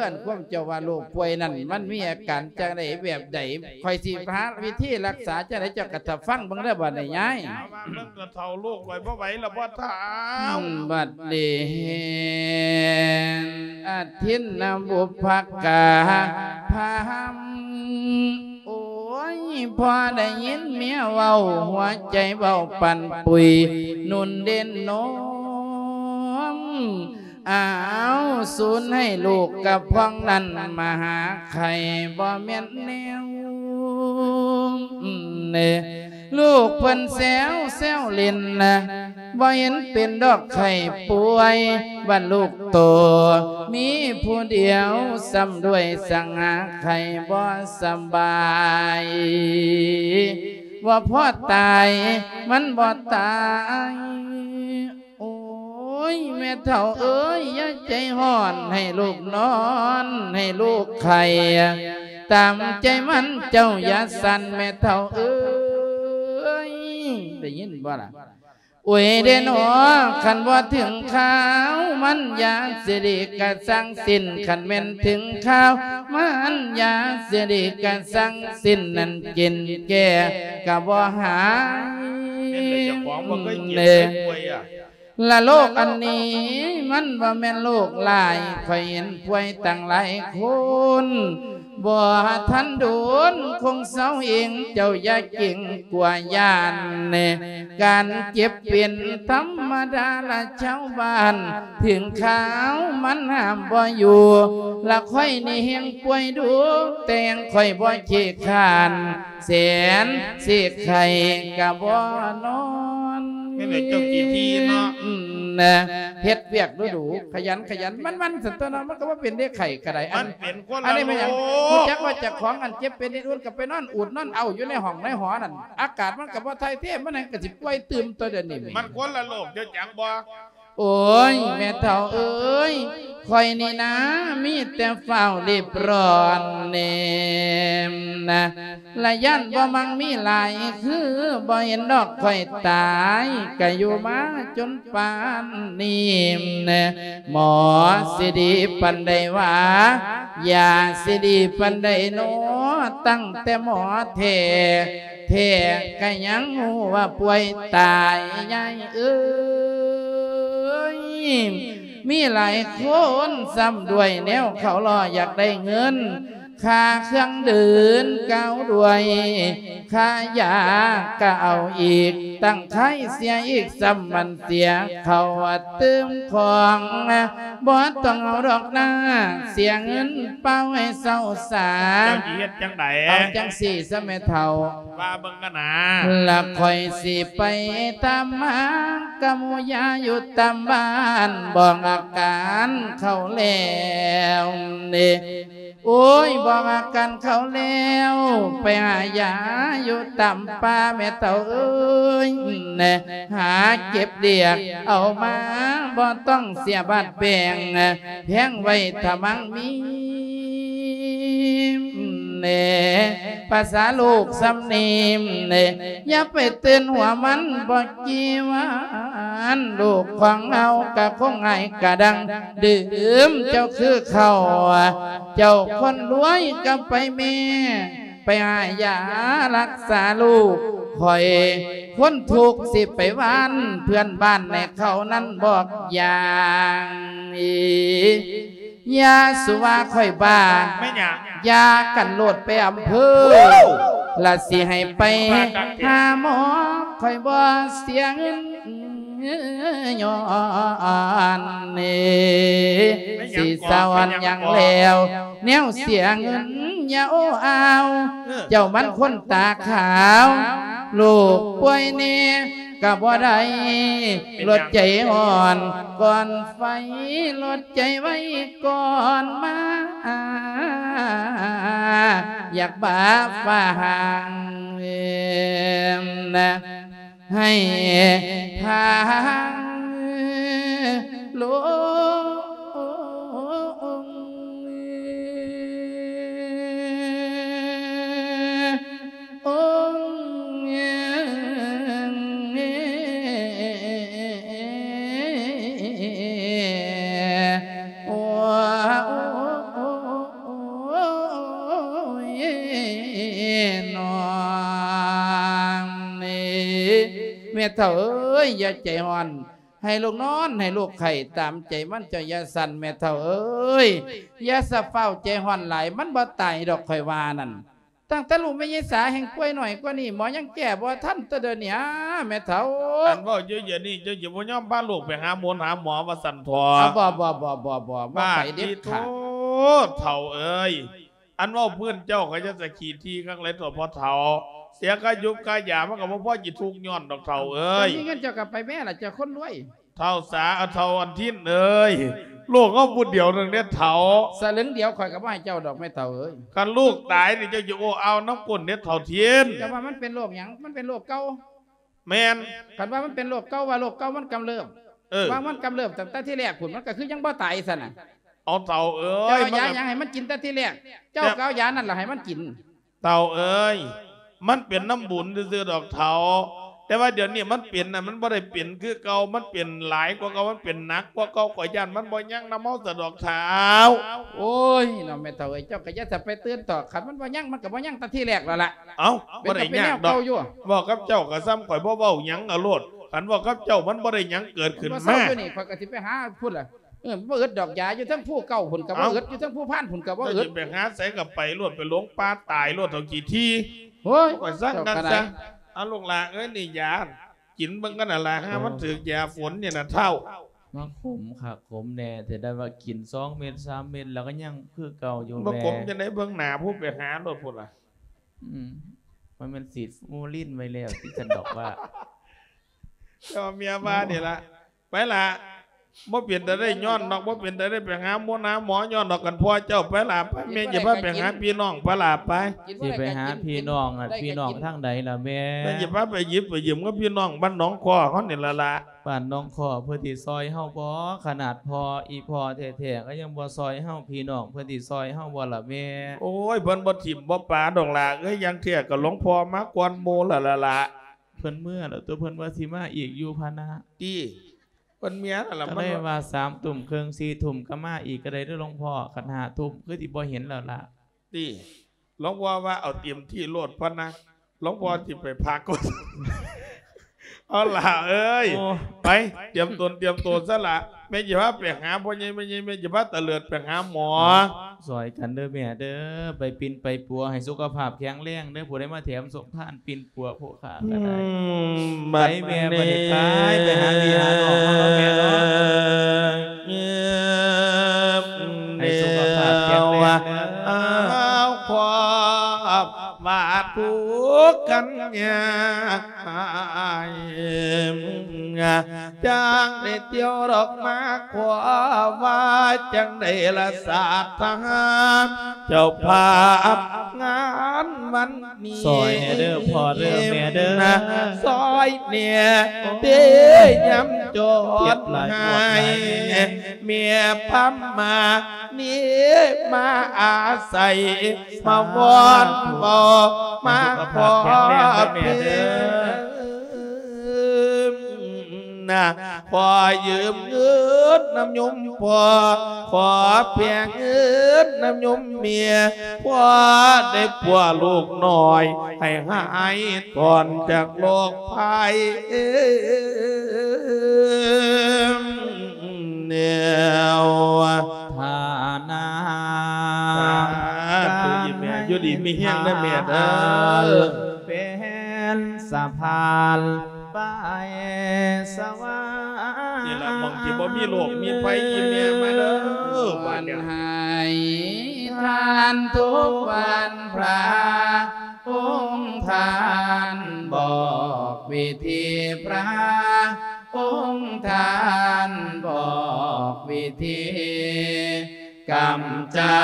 ອັນຄວາມເຈົ້າວ່າໂລກປ່ວຍນັ້ນ ມັນມີອາການຈັ່ງໃດແບບໃດ ຂ້ອຍຊິຫາວິທີລັກສາຈັ່ງໃດ ເຈົ້າກໍຖ້າຟັງເບິ່ງເດີບັດນີ້ຍາຍ. ເອົາວ່າເບິ່ງ ເຖົ້າລູກຂ້ອຍບໍ່ໄຫວແລ້ວບໍ່ເຖົ້າ. ອືມ ບັດນີ້ແມ່ນອະທິນນະບຸບພະກາພາມ ໂອ້ຍ ພໍໄດ້ຍິນເມຍເວົ້າ ຫົວໃຈເວົ້າປັ່ນປຸຍນຸ່ນເດັ່ນນົມ ອ້າວ ສູນໃຫ້ລູກກັບພວງນັ້ນມາຫາໄຂ່ ບໍ່ແມ່ນແນວ ເນ ລູກເພິ່ນແຊວແຊວຫຼິ້ນນະ ບໍ່ເຫັນເປັນດອກໄຂ້ປ່ວຍ ບັດລູກໂຕມີຜູ້ດຽວ ຊ້ຳດ້ວຍສັງຫາໄຂ້ບໍ່ສະບາຍ ບໍ່ພໍຕາຍ ມັນບໍ່ຕາຍ. ໂອ້ຍ ແມ່ເຖົ້າເອີຍ ຢ່າໃຈຮ້ອນ ໃຫ້ລູກນອນ ໃຫ້ລູກໄຂ້ ຕາມໃຈມັນ ເຈົ້າຢ່າສັ່ນ ແມ່ເຖົ້າເອີຍ ໄດ້ຍິນບໍ່ລະ? ໂອ້ຍເດນໍ ຄັນບໍ່ເຖິງຄາວ ມັນຢາຊິດີກະສັງສິ້ນ ຄັນແມ່ນເຖິງຄາວ ມັນຢາຊິດີກະສັງສິ້ນ ນັ້ນກິນແກ້ກະບໍ່ຫາຍ ເປັນແລ້ວເຈົ້າຂອງບໍ່ເຄີຍເຈັບເລີຍ ເລີຍປ່ວຍອະ ລະໂລກອັນນີ້ ມັນບໍ່ແມ່ນໂລກຫຼາຍ ຂ້ອຍເຫັນປ່ວຍຕັ້ງຫຼາຍຄົນ ບໍ່ທັນດົນຄົງເຊົາເອງ ເຈົ້າຢ່າເກງກົວຢ້ານ ການເຈັບເປັນທຳມະດາລະຊາວບ້ານ ເຖິງຄາວມັນຫ້າມບໍ່ຢູ່ ລະຂ້ອຍນີ້ແຮ່ງປ່ວຍດຸ ແຕ່ງຂ້ອຍບໍ່ຂີ້ຄ້ານ ແສນຊິໄຂ້ກະບໍ່ນອນ. ແມ່ນແຫຼະ ເຈົ້າຂີ້ຖີ່ເນາະ ອືມ ນະ ເຮັດວຽກດຸໆ ຂະຫຍັນຂະຫຍັນ ມັນໆ ຊັ້ນຕົວເນາະ ມັນກະບໍ່ເປັນເດ້ ໄຂ້ກະໄດ້ ອັນ ມັນເປັນຄົນລະໂລກ ຮູ້ຈັກວ່າເຈົ້າຂອງອັນເຈັບເປັນເຮັດອຸ່ນ ກະໄປນອນອູດນອນເອົາຢູ່ໃນຫ້ອງໃນຫໍນັ້ນ ອາກາດມັນກະບໍ່ຖ່າຍເທ ມັນກະຊິປ່ວຍຕື່ມຕົວດຽວນີ້ ມັນຄົນລະໂລກ ເຈົ້າຈັກບໍ່? ໂອ້ຍ ແມ່ເຖົ້າເອີຍ ຂ້ອຍນີ້ນາ ມີແຕ່ຟ້າວລີບຮ້ອນເນມນະ ລະຢ້ານບໍ່ມັກມີຫຼາຍ ຄືບໍ່ເຫັນດອກຂ້ອຍຕາຍ ກະຢູ່ມາຈົນປານນີ້ ໝໍຊິດີປານໃດວ່າ ຢາຊິດີປານໃດນໍ ຕັ້ງແຕ່ໝໍແທ້ ແທ້ກະຍັງຮູ້ວ່າປ່ວຍຕາຍ ຍາຍເອີຍ. ມີຫຼາຍຄົນຊ້ຳດ້ວຍແນວເຂົາລໍຢາກໄດ້ເງິນ ຄ່າເຄື່ອງດື່ມເຂົ້າດ້ວຍ ຄ່າຢາກະເອົາອີກ ຕັ້ງຂາຍເສຍອີກຊ້ຳ ມັນເສຍເຂົ້າຕື່ມຂອງ ບໍ່ຕ້ອງເອົາດອກນາ ເສຍເງິນເປົ່າໃຫ້ເຊົາຊາ. ເຈົ້າຊິເຮັດຈັ່ງໃດ? ເອົາຈັ່ງຊີ້ຊະແມ່ເຖົ້າ ວ່າເບິ່ງກັນນາ ລະຂ້ອຍຊິໄປຕາມຫາກັບໝູ່ຢາຢູ່ຕາມບ້ານ ບອກອາການເຂົາແລ້ວເດ້ ໂອ້ຍ ບອກອາການເຂົາແລ້ວ ໄປຫາຢາຢູ່ຕາມປ່າແມ່ເຖົ້າເອີຍ ຫາເກັບເດຍກເອົາມາ ບໍ່ຕ້ອງເສຍບາດແບ່ງ ແພງໄວ້ຖ້າມັງມີ ແນ່ ພາສາລູກຊຳນີ້ ແນ່ ຢ່າໄປຕື່ນຫົວມັນບໍ່ກີ່ວານ ລູກຂອງເຮົາກະຄົງຫາຍກະດັງ ດື່ມເຈົ້າຄືເຂົ້າ ເຈົ້າຄົນລວຍກະໄປແມ່ ໄປຫາຢາລັກສາລູກຂ້ອຍ ຄົນທຸກຊິໄປຫວານເພື່ອນບ້ານໃຫ້ເຂົານັ້ນບອກຢ່າງ ຢ່າສູ່ວ່າຂ້ອຍບ້າ ແມ່ນຫຍັງ? ຢ່າກັນໂລດໄປອຳເພີ ໂອ້ ລະຊິໃຫ້ໄປຫາໝໍ ຂ້ອຍບໍ່ເສຍເງິນຍ້ອນນີ້ ແມ່ນຫຍັງ ຊິສະຫວັນຫຍັງແລ້ວ ແນວເສຍເງິນຢ່າໂອ້ອາວ ເອີ ເຈົ້າມັນຄົນຕາຂາວ ລູກປ່ວຍແນ່ ກະບໍ່ໄດ້ ເປັນຫຍັງ? ລົດໃຈຮ້ອນກ່ອນໄຟ ລົດໃຈໄວກ່ອນມາ ຢາກບາຟ້າຫ້າງນະ ໃຫ້ທາງລົງ ໂອ້ຍ ນ້ອງນີ້ ແມ່ເຖົ້າເອີຍ ຢ່າໃຈຮ້ອນ ໃຫ້ລູກນອນ ໃຫ້ລູກໄຂ້ຕາມໃຈມັນ ເຈົ້າຢ່າສັ່ນແມ່ເຖົ້າເອີຍ ຢ່າສະຟ້າວໃຈຮ້ອນຫຼາຍ ມັນບໍ່ຕາຍດອກ ຂ້ອຍວ່ານັ້ນ. ຕັ້ງແຕ່ລູກແມ່ຍາຍສາແຮ່ງປ່ວຍໜ້ອຍກວ່ານີ້ ໝໍຍັງແກ້ບໍ່ທັນ ແຕ່ດຽວນີ້ ອາ ແມ່ເຖົ້າ. ອັນເວົ້າຢູ່ດຽວນີ້ ເຈົ້າຈະບໍ່ຍອມພາລູກໄປຫາໝົນຫາໝໍວ່າຊັ້ນເຖາະ. ອາ ບໍ່ ບໍ່ ບໍ່ ບໍ່ ບໍ່ ບໍ່ໄປເດັດຂາດ. ປາດຕິໂທ ເຖົ້າເອີຍ ອັນເວົ້າພື້ນເຈົ້າກໍຢ່າສະຂີ້ຖີ່ຄັກຫຼາຍເຖາະພໍ່ເຖົ້າ. ເສຍຄ່າຢູບຄ່າຢາ ມັນກໍບໍ່ພໍຊິທຸກຍ້ອນດອກເຖົ້າເອີຍ. ເຈົ້າມີເງິນເຈົ້າກໍໄປແມ້ລະ ເຈົ້າຄົນລວຍ. ເຖົ້າສາ ເຖົ້າອັນທິນເອີຍ ລູກເຮົາຜູ້ດຽວໜຶ່ງເດ້ເຖົ້າ. ສະເຫຼີງດຽວຂ້ອຍກໍບໍ່ໃຫ້ເຈົ້າດອກແມ່ເຖົ້າເອີຍ. ຄັນລູກຕາຍນີ້ເຈົ້າຈະໂອ້ອາວນຳກົ້ນເດ້ເຖົ້າທິນ. ເຈົ້າວ່າມັນເປັນໂລກຫຍັງ? ມັນເປັນໂລກເກົ່າ. ແມ່ນ. ຄັນວ່າມັນເປັນໂລກເກົ່າ ວ່າໂລກເກົ່າມັນກຳເລີບ. ເອີ ວ່າມັນກຳເລີບຕັ້ງແຕ່ທີແລກພຸ້ນ ມັນກໍຄືຍັງບໍ່ຕາຍຊັ້ນນະ. ເອົາເຖົ້າເອີຍ ເຈົ້າຢາຫຍັງໃຫ້ມັນກິນແຕ່ທີແລກ? ເຈົ້າກໍເອົາຢານັ້ນລະໃຫ້ມັນກິນ. ເຖົ້າເອີຍ ມັນເປັນນຳບຸນຊື່ໆດອກເຖົ້າ ແຕ່ວ່າດຽວນີ້ມັນເປັນນະ ມັນບໍ່ໄດ້ເປັນຄືເກົ່າ ມັນເປັນຫຼາຍກວ່າເກົ່າ ມັນເປັນໜັກກວ່າເກົ່າ ຂ້ອຍຢ້ານມັນບໍ່ຍັງນຳເຮົາຊະດອກເຖົ້າ. ໂອ້ຍ ເນາະ ແມ່ເຖົ້າເອີຍ ເຈົ້າກໍຢ່າສະໄປຕື່ນເຖາະ ຄັນມັນບໍ່ຍັງ ມັນກໍບໍ່ຍັງແຕ່ທີແລກແລ້ວລະ. ເອົ້າ ບໍ່ໄດ້ຍາກດອກ ເວົ້າກັບເຈົ້າກໍສ່ຳຂ້ອຍບໍ່ເວົ້າຫຍັງເອົາໂລດ ຄັນເວົ້າກັບເຈົ້າມັນບໍ່ໄດ້ຫຍັງເກີດຂຶ້ນມາ. ຢູ່ນີ້ ຂ້ອຍກໍຊິໄປຫາພຸ້ນລະ. ເອີ ບໍ່ອຶດດອກຢາ ຢູ່ເທິງພູເກົ່າພຸ້ນກໍບໍ່ອຶດ ຢູ່ເທິງພູພານພຸ້ນກໍບໍ່ອຶດ. ເຈົ້າຊິໄປຫາໃສກໍໄປໂລດ ໄປຫຼົງປ່າຕາຍໂລດເຖົ້າຂີ້ຖີ່. ໂອ້ຍ ຂ້ອຍສັ່ງກັນຊະ. ເອົາລູກຫຼ້າເອີຍ ນີ້ຢາ ກິນເບິ່ງກັນນະລະ ຫາມັນຖືກຢາຝົນນີ້ນະເຖົ້າ. ມັນຂົມຄັກຂົມແນ່ ແຕ່ໄດ້ວ່າກິນສອງເມັດສາມເມັດແລ້ວກໍຍັງຄືເກົ່າຢູ່. ບໍ່ຂົມຈັ່ງໃດ ເບິ່ງໜ້າຜູ້ໄປຫາໂລດພຸ້ນລະ. ອືມ ມັນແມ່ນສີດຟອມາລິນໄວ້ແລ້ວຕິ ຊັ້ນດອກວ່າ. ເຈົ້າເມຍວ່ານີ້ລະ ໄປລະ ບໍ່ເປັນຕາໄດ້ຍ້ອນດອກ ບໍ່ເປັນຕາໄດ້ໄປຫາໝໍ ຫາໝໍຍ້ອນດອກ ຄັນພໍ່ເຈົ້າໄປລະ ໄປ ແມ່ຈະພາໄປຫາພີ່ນ້ອງ ໄປລະ ໄປ. ຊິໄປຫາພີ່ນ້ອງ ພີ່ນ້ອງທາງໃດລະແມ່? ແມ່ຈະພາໄປຢິບໄປຢືມກັບພີ່ນ້ອງບ້ານໜອງຄໍ້ເຮົານີ້ລະລະ. ບ້ານໜອງຄໍ້ເພິ່ນຊິຊ່ອຍເຮົາບໍ່? ຂະໜາດພໍ່ ອີ່ພໍ່ແທ້ໆກໍຍັງບໍ່ຊ່ອຍເຮົາ ພີ່ນ້ອງເພິ່ນຊິຊ່ອຍເຮົາບໍ່ລະແມ່? ໂອ້ຍ ເພິ່ນບໍ່ຖິ້ມບໍ່ປະດອກຫຼ້າເອີຍ ຢ່າງແທ້ກໍຫຼວງພໍ່ມາກ່ອນໝູ່ລະລະລະ. ເພິ່ນເມືອແລ້ວຕົວະ ເພິ່ນວ່າຊິມາອີກຢູ່ພະນະ. ຕິ ເພິ່ນເມືອແລ້ວລະ ກໍເລີຍວ່າສາມທຸ່ມເຄິ່ງ ສີ່ທຸ່ມກໍມາອີກກໍໄດ້ເດີ້ຫຼວງພໍ່ ຄັນຫ້າທຸ່ມຄືຊິບໍ່ເຫັນແລ້ວລະ. ຕິ ຫຼວງພໍ່ວ່າເອົາເຕັມທີ່ໂລດພະນະ ຫຼວງພໍ່ຊິໄປພັກກ່ອນ. ເອົາຫຼ້າເອີຍ ໂອ້ ໄປ ຕຽມຕົນຕຽມໂຕຊະລະ ແມ່ຈະພາໄປຫາພໍ່ໃຫຍ່ແມ່ໃຫຍ່ ແມ່ຈະພາຕາເລີດໄປຫາໝໍ. ຊ່ອຍກັນເດີ້ແມ່ເດີ້ ໄປປິ່ນໄປປົວໃຫ້ສຸຂະພາບແຂງແຮງເດີ້ ຜູ້ໃດມາແຖມສົມພານປິ່ນປົວໂພຄາກໍໄດ້. ອືມ ໄປແມ່ ບັດນີ້ ບັດນີ້ໄປ ໄປຫາພີ່ຫານ້ອງເຮົາເນາະແມ່ເນາະ ໃຫ້ສຸຂະພາບແຂງແຮງເດີ້. ເອົາຄວາມ ວ່າທຸກກັນຍາກ ຈັ່ງໄດ້ທ່ຽວດອກມາຂໍ ວ່າຈັ່ງໃດລະສາທາ ເຈົ້າພາບງານວັນນີ້ ຊ່ອຍແດ່ເດີ້ພໍ່ເດີ້ແມ່ເດີ້ ຊ່ອຍແດ່ເດ້ຍາມຈອນ ເຈັບຫຼາຍປວດຫຼາຍແມ່ ແມ່ພາມານີ້ມາອາໄສ ມາວອນເວົ້າມາຂໍເພິ່ນນະ ຂໍຢືມເງິນນຳໂຍມພໍ່ ຂໍແບ່ງເງິນນຳໂຍມແມ່ ພໍໄດ້ປົວລູກນ້ອຍ ໃຫ້ຫາຍຖອນຈາກໂລກໄພ ແນວ ຖານະ ສາທຸ ອີ່ແມ່ ຢູ່ດີມີແຮງເດີ້ແມ່ເດີ້ ເປັນສະພານໄປສະຫວ່າງ ນີ້ລະ ໝ່ອງທີ່ບໍ່ມີໂລກມີໄພ ອີ່ແມ່ມາເດີ້ ບາດນີ້ ໃຫ້ທານທຸກວັນພະ ອົງທ່ານບອກວິທີ ພະອົງທ່ານບອກວິທີ ກຳຈັ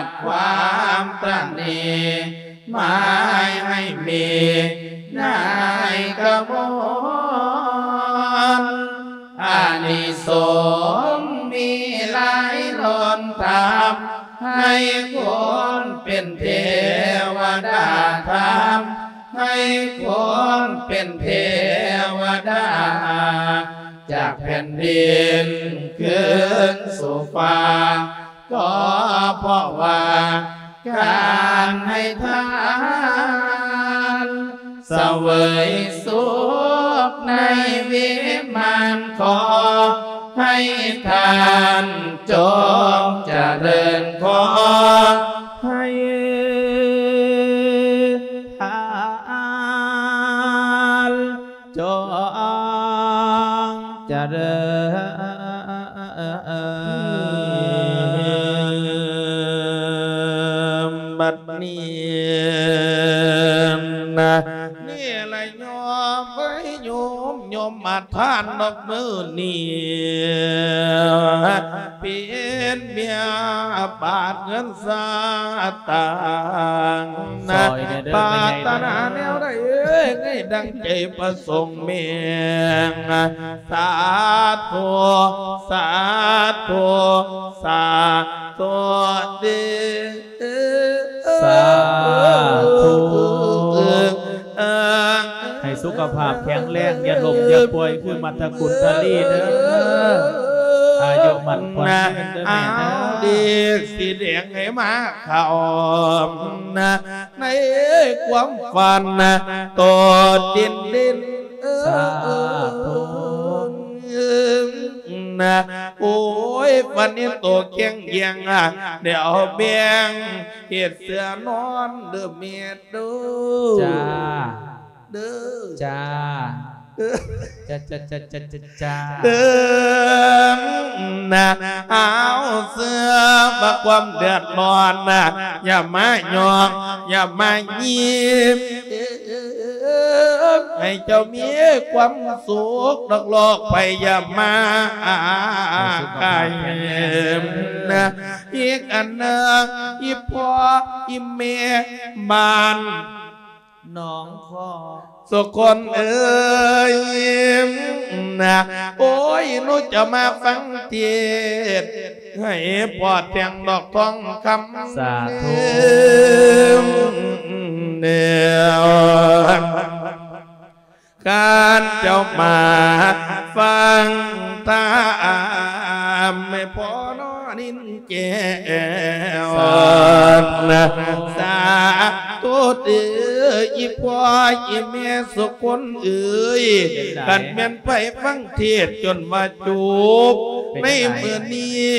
ດຄວາມຕະໜີ ໝາຍໃຫ້ມີນາຍກະມອນ ອານິສົງມີຫຼາຍລ້ນທຳ ໃຫ້ຄົນເປັນເທວະດາທຳ ໃຫ້ຄົນເປັນເທວະດາ ຈາກແຜ່ນດິນຄືນສູ່ຟ້າ ກໍເພາະວ່າການໃຫ້ທານ ສະເຫວີຍສຸກໃນວິມານ ຂໍໃຫ້ທ່ານຈົ່ງຈະເລີນ ຂໍໃຫ້ທ່ານ ຈົ່ງຈະເລີນ ບັດນີ້ນະ ນີ້ລະໂຍມເອີຍ ໂຍມ ໂຍມມາທານດອກມື້ນີ້ ເປັນເບຍບາດເງິນສະຕາງ ຊ່ອຍແດ່ເດີ້ ປາດຖະໜາແນວໃດເອີຍ ໃຫ້ດັ່ງໃຈປະສົງແມ່ ສາທຸ ສາທຸ ສາທຸເດີ້ ສາທຸ ໃຫ້ສຸຂະພາບແຂງແຮງ ຢ່າລົ້ມຢ່າປ່ວຍຄືມັດທະກຸນທະລີເດີ້ ອາຍຸໝັ້ນຂວັນຍືນເດີ້ແມ່ເດີ້ ເດກສີແດງໃຫ້ມາເຂົ້າ ໃນຄວາມຝັນໂຕເດັ່ນໆ ສາທຸ ນະ ໂອ້ຍ ວັນນີ້ໂຕແຂງແຮງ ດຽວແບ່ງເຮັດເສື້ອນອນເດີ້ແມ່ເດີ້ ຈ້າ ເດີ້ ຈ້າ ເດີ້ ຈ້າ ຈ້າ ເດີ້ ນະ ເອົາເສື້ອມາຄວາມເດືອດຮ້ອນນະ ຢ່າມາຫຍອກ ຢ່າມາຍິບ ໃຫ້ເຈົ້າມີຄວາມສຸກ ດອກລອກໄພຢາມາ ໃຫ້ສຸຂະພາບແຂງແຮງນະ. ອີກອັນໜຶ່ງ ອີພໍ່ອີແມ່ບ້ານໜອງຄໍ ສຸຄົນເອີຍນະ ໂອ້ຍ ໜູຈະມາຟັງເທດ ໃຫ້ພໍ່ແຕ່ງດອກທອງຄຳ ສາທຸ ແນວ ການເຈົ້າມາຟັງທຳ ໃຫ້ພໍ່ນອນນິນແກ້ວ ສາທຸ ສາທຸເດີ ອີພໍ່ອີແມ່ສຸຄົນເອີຍ ເປັນໃດ ຄັນແມ່ນໄປຟັງເທດຈົນວ່າຈົບ ເປັນໃດ ໃນມື້ນີ້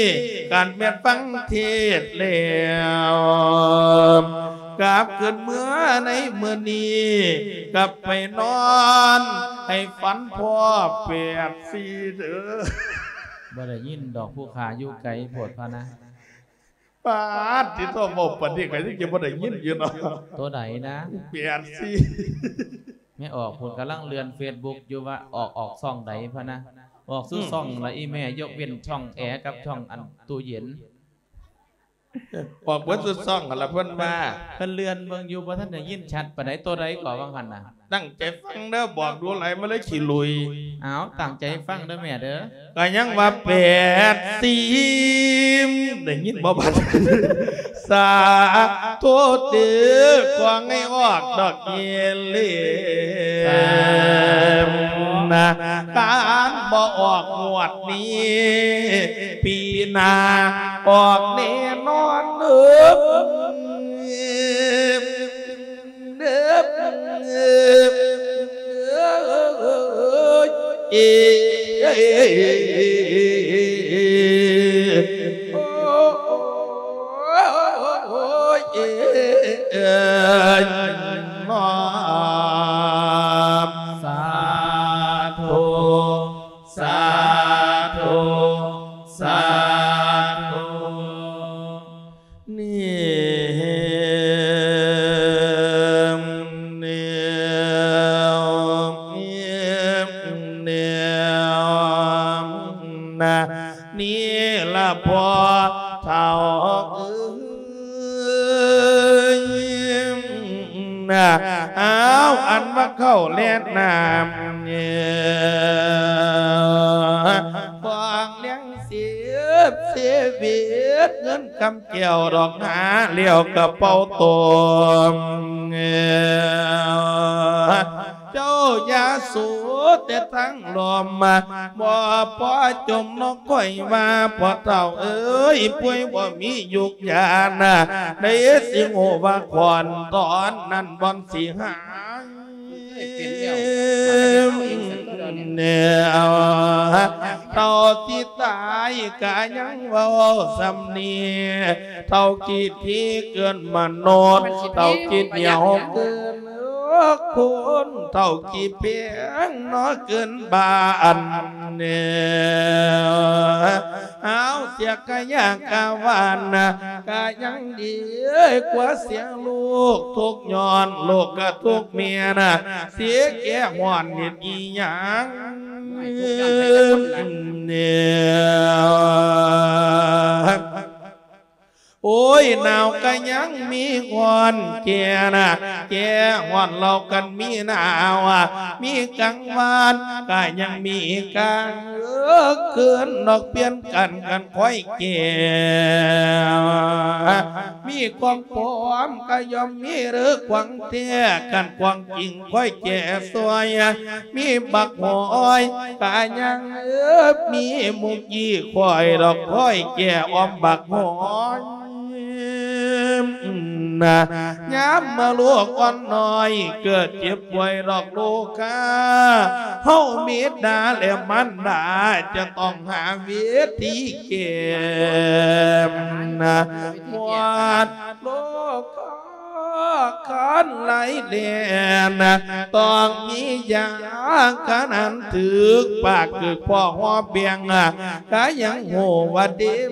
ຄັນແມ່ນຟັງເທດແລ້ວ ກັບຄືນເມືອໃນມື້ນີ້ ກັບໄປນອນໃຫ້ຝັນພໍ້ແປດສີ່ເດີ. ບໍ່ໄດ້ຍິນດອກ ຜູ້ຂ້າຢູ່ໄກໂພດພະນະ. ປາດ ຕິໂທ ເວົ້າປານນີ້ກໍຍັງຈະບໍ່ໄດ້ຍິນຢູ່ເນາະ. ໂຕໃດນະ? ແປດສີ່. ແມ່ອອກພຸ້ນກຳລັງເລື່ອນເຟສບຸກຢູ່ວ່າອອກ ອອກຊ່ອງໃດພະນະ. ອອກສູ່ ອືມ ຊ່ອງລະອີແມ່ ຍົກເວັ້ນຊ່ອງແອກັບຊ່ອງອັນຕູ້ເຢັນ. ອອກເບິດສູ່ຊ່ອງຫັ້ນລະເພິ່ນວ່າ. ເພິ່ນເລື່ອນເບິ່ງຢູ່ ບໍ່ທັນໄດ້ຍິນຊັດປານໃດ. ໂຕໃດກໍວ່າຫັ້ນນະ? ຕັ້ງໃຈຟັງເດີ ບອກດູຫຼາຍມາເລີຍຂີ້ລຸຍ. ອ້າວ ຕັ້ງໃຈຟັງເດີແມ່ເດີ. ກໍຍັງວ່າແປດສີ່ ໄດ້ຍິນບໍ່ບັດ? ສາທຸເດີ ຂໍໃຫ້ອອກດອກເອເລນະ ການບໍ່ອອກງວດນີ້ ປີໜ້າອອກແນ່ນອນເດີ. ເດີ ເອີ ໂອ້ຍ ເອີ ນ້ອມ ສາທຸ ສາທຸ ສາທຸ. ນີ້ ນີ້ ນີ້ນະ ນີ້ລະພໍ່ເຖົ້າເອີຍນະ ອ້າວ ອັນວ່າເຂົ້າແລະນ້ຳ ຂອງແລງ ເສບເສວິດເງິນຄຳແກ້ວດອກຫາແລ້ວກະເປົ່າຕົມ ເຈົ້າຢ່າສູແຕ່ທັງລົມ ບໍ່ພໍຈົ່ມນອກຂ້ອຍວ່າ ພໍ່ເຖົ້າເອີຍ ປ່ວຍບໍ່ມີຢູກຢານະ ໄດ້ຊິຮູ້ວ່າຂອນຕອນນັ້ນບ່ອນຊິຫາຍ. ເປັນແລ້ວ ເທົ່າຊິຕາຍກະຍັງເວົ້າສ່ຳນີ້ ເທົ່າຂີ້ຖີ່ເກີນມະນຸດ ເທົ່າຂີ້ໜຽວເກີນຄົນ ເທົ່າຂີ້ແພງເນາະເກີນບ້ານແນວ ຫາວເສຍກະຍາກະວານນະ ກະຍັງດີກວ່າເສຍລູກ ທຸກຍ້ອນລູກກະທຸກແມ່ນະ ເສຍແກ່ຮ້ອນເຮັດອີ່ຫຍັງແນວ. ໂອ້ຍ ໜາວກະຍັງມີຮ້ອນແກ່ນະ ແກ່ຮ້ອນເຫຼົ່າກັນມີໜາວ ມີກາງວານກະຍັງມີກາງຄືນ ນອກປ່ຽນກັນກັນຄ່ອຍແກ່ ມີຂອງປອມກະຍ່ອມມີເດີຂອງແທ້ ຄັນຂອງຈິງຄ່ອຍແກ່ຊ່ວຍ ມີບັກຫອຍກະຍັງມີມຸກຢີ່ ຂ້ອຍດອກຄ່ອຍແກ່ອ້ອມບັກຫອຍນະ ຍາມເມື່ອລູກອ່ອນນ້ອຍເກີດເຈັບປ່ວຍດອກລູກຄ້າ ເຮົາບິດາແລະມານດາຈະຕ້ອງຫາວິທີແກ້ນະ ໝົດໂລກ ຄານໄຫຼແລ່ນ ຕ້ອງມີຢາຂະໜານຖືກປາກ ຄືພໍ່ຮອບແບງ ກະຍັງຮູ້ວ່າເຕັມ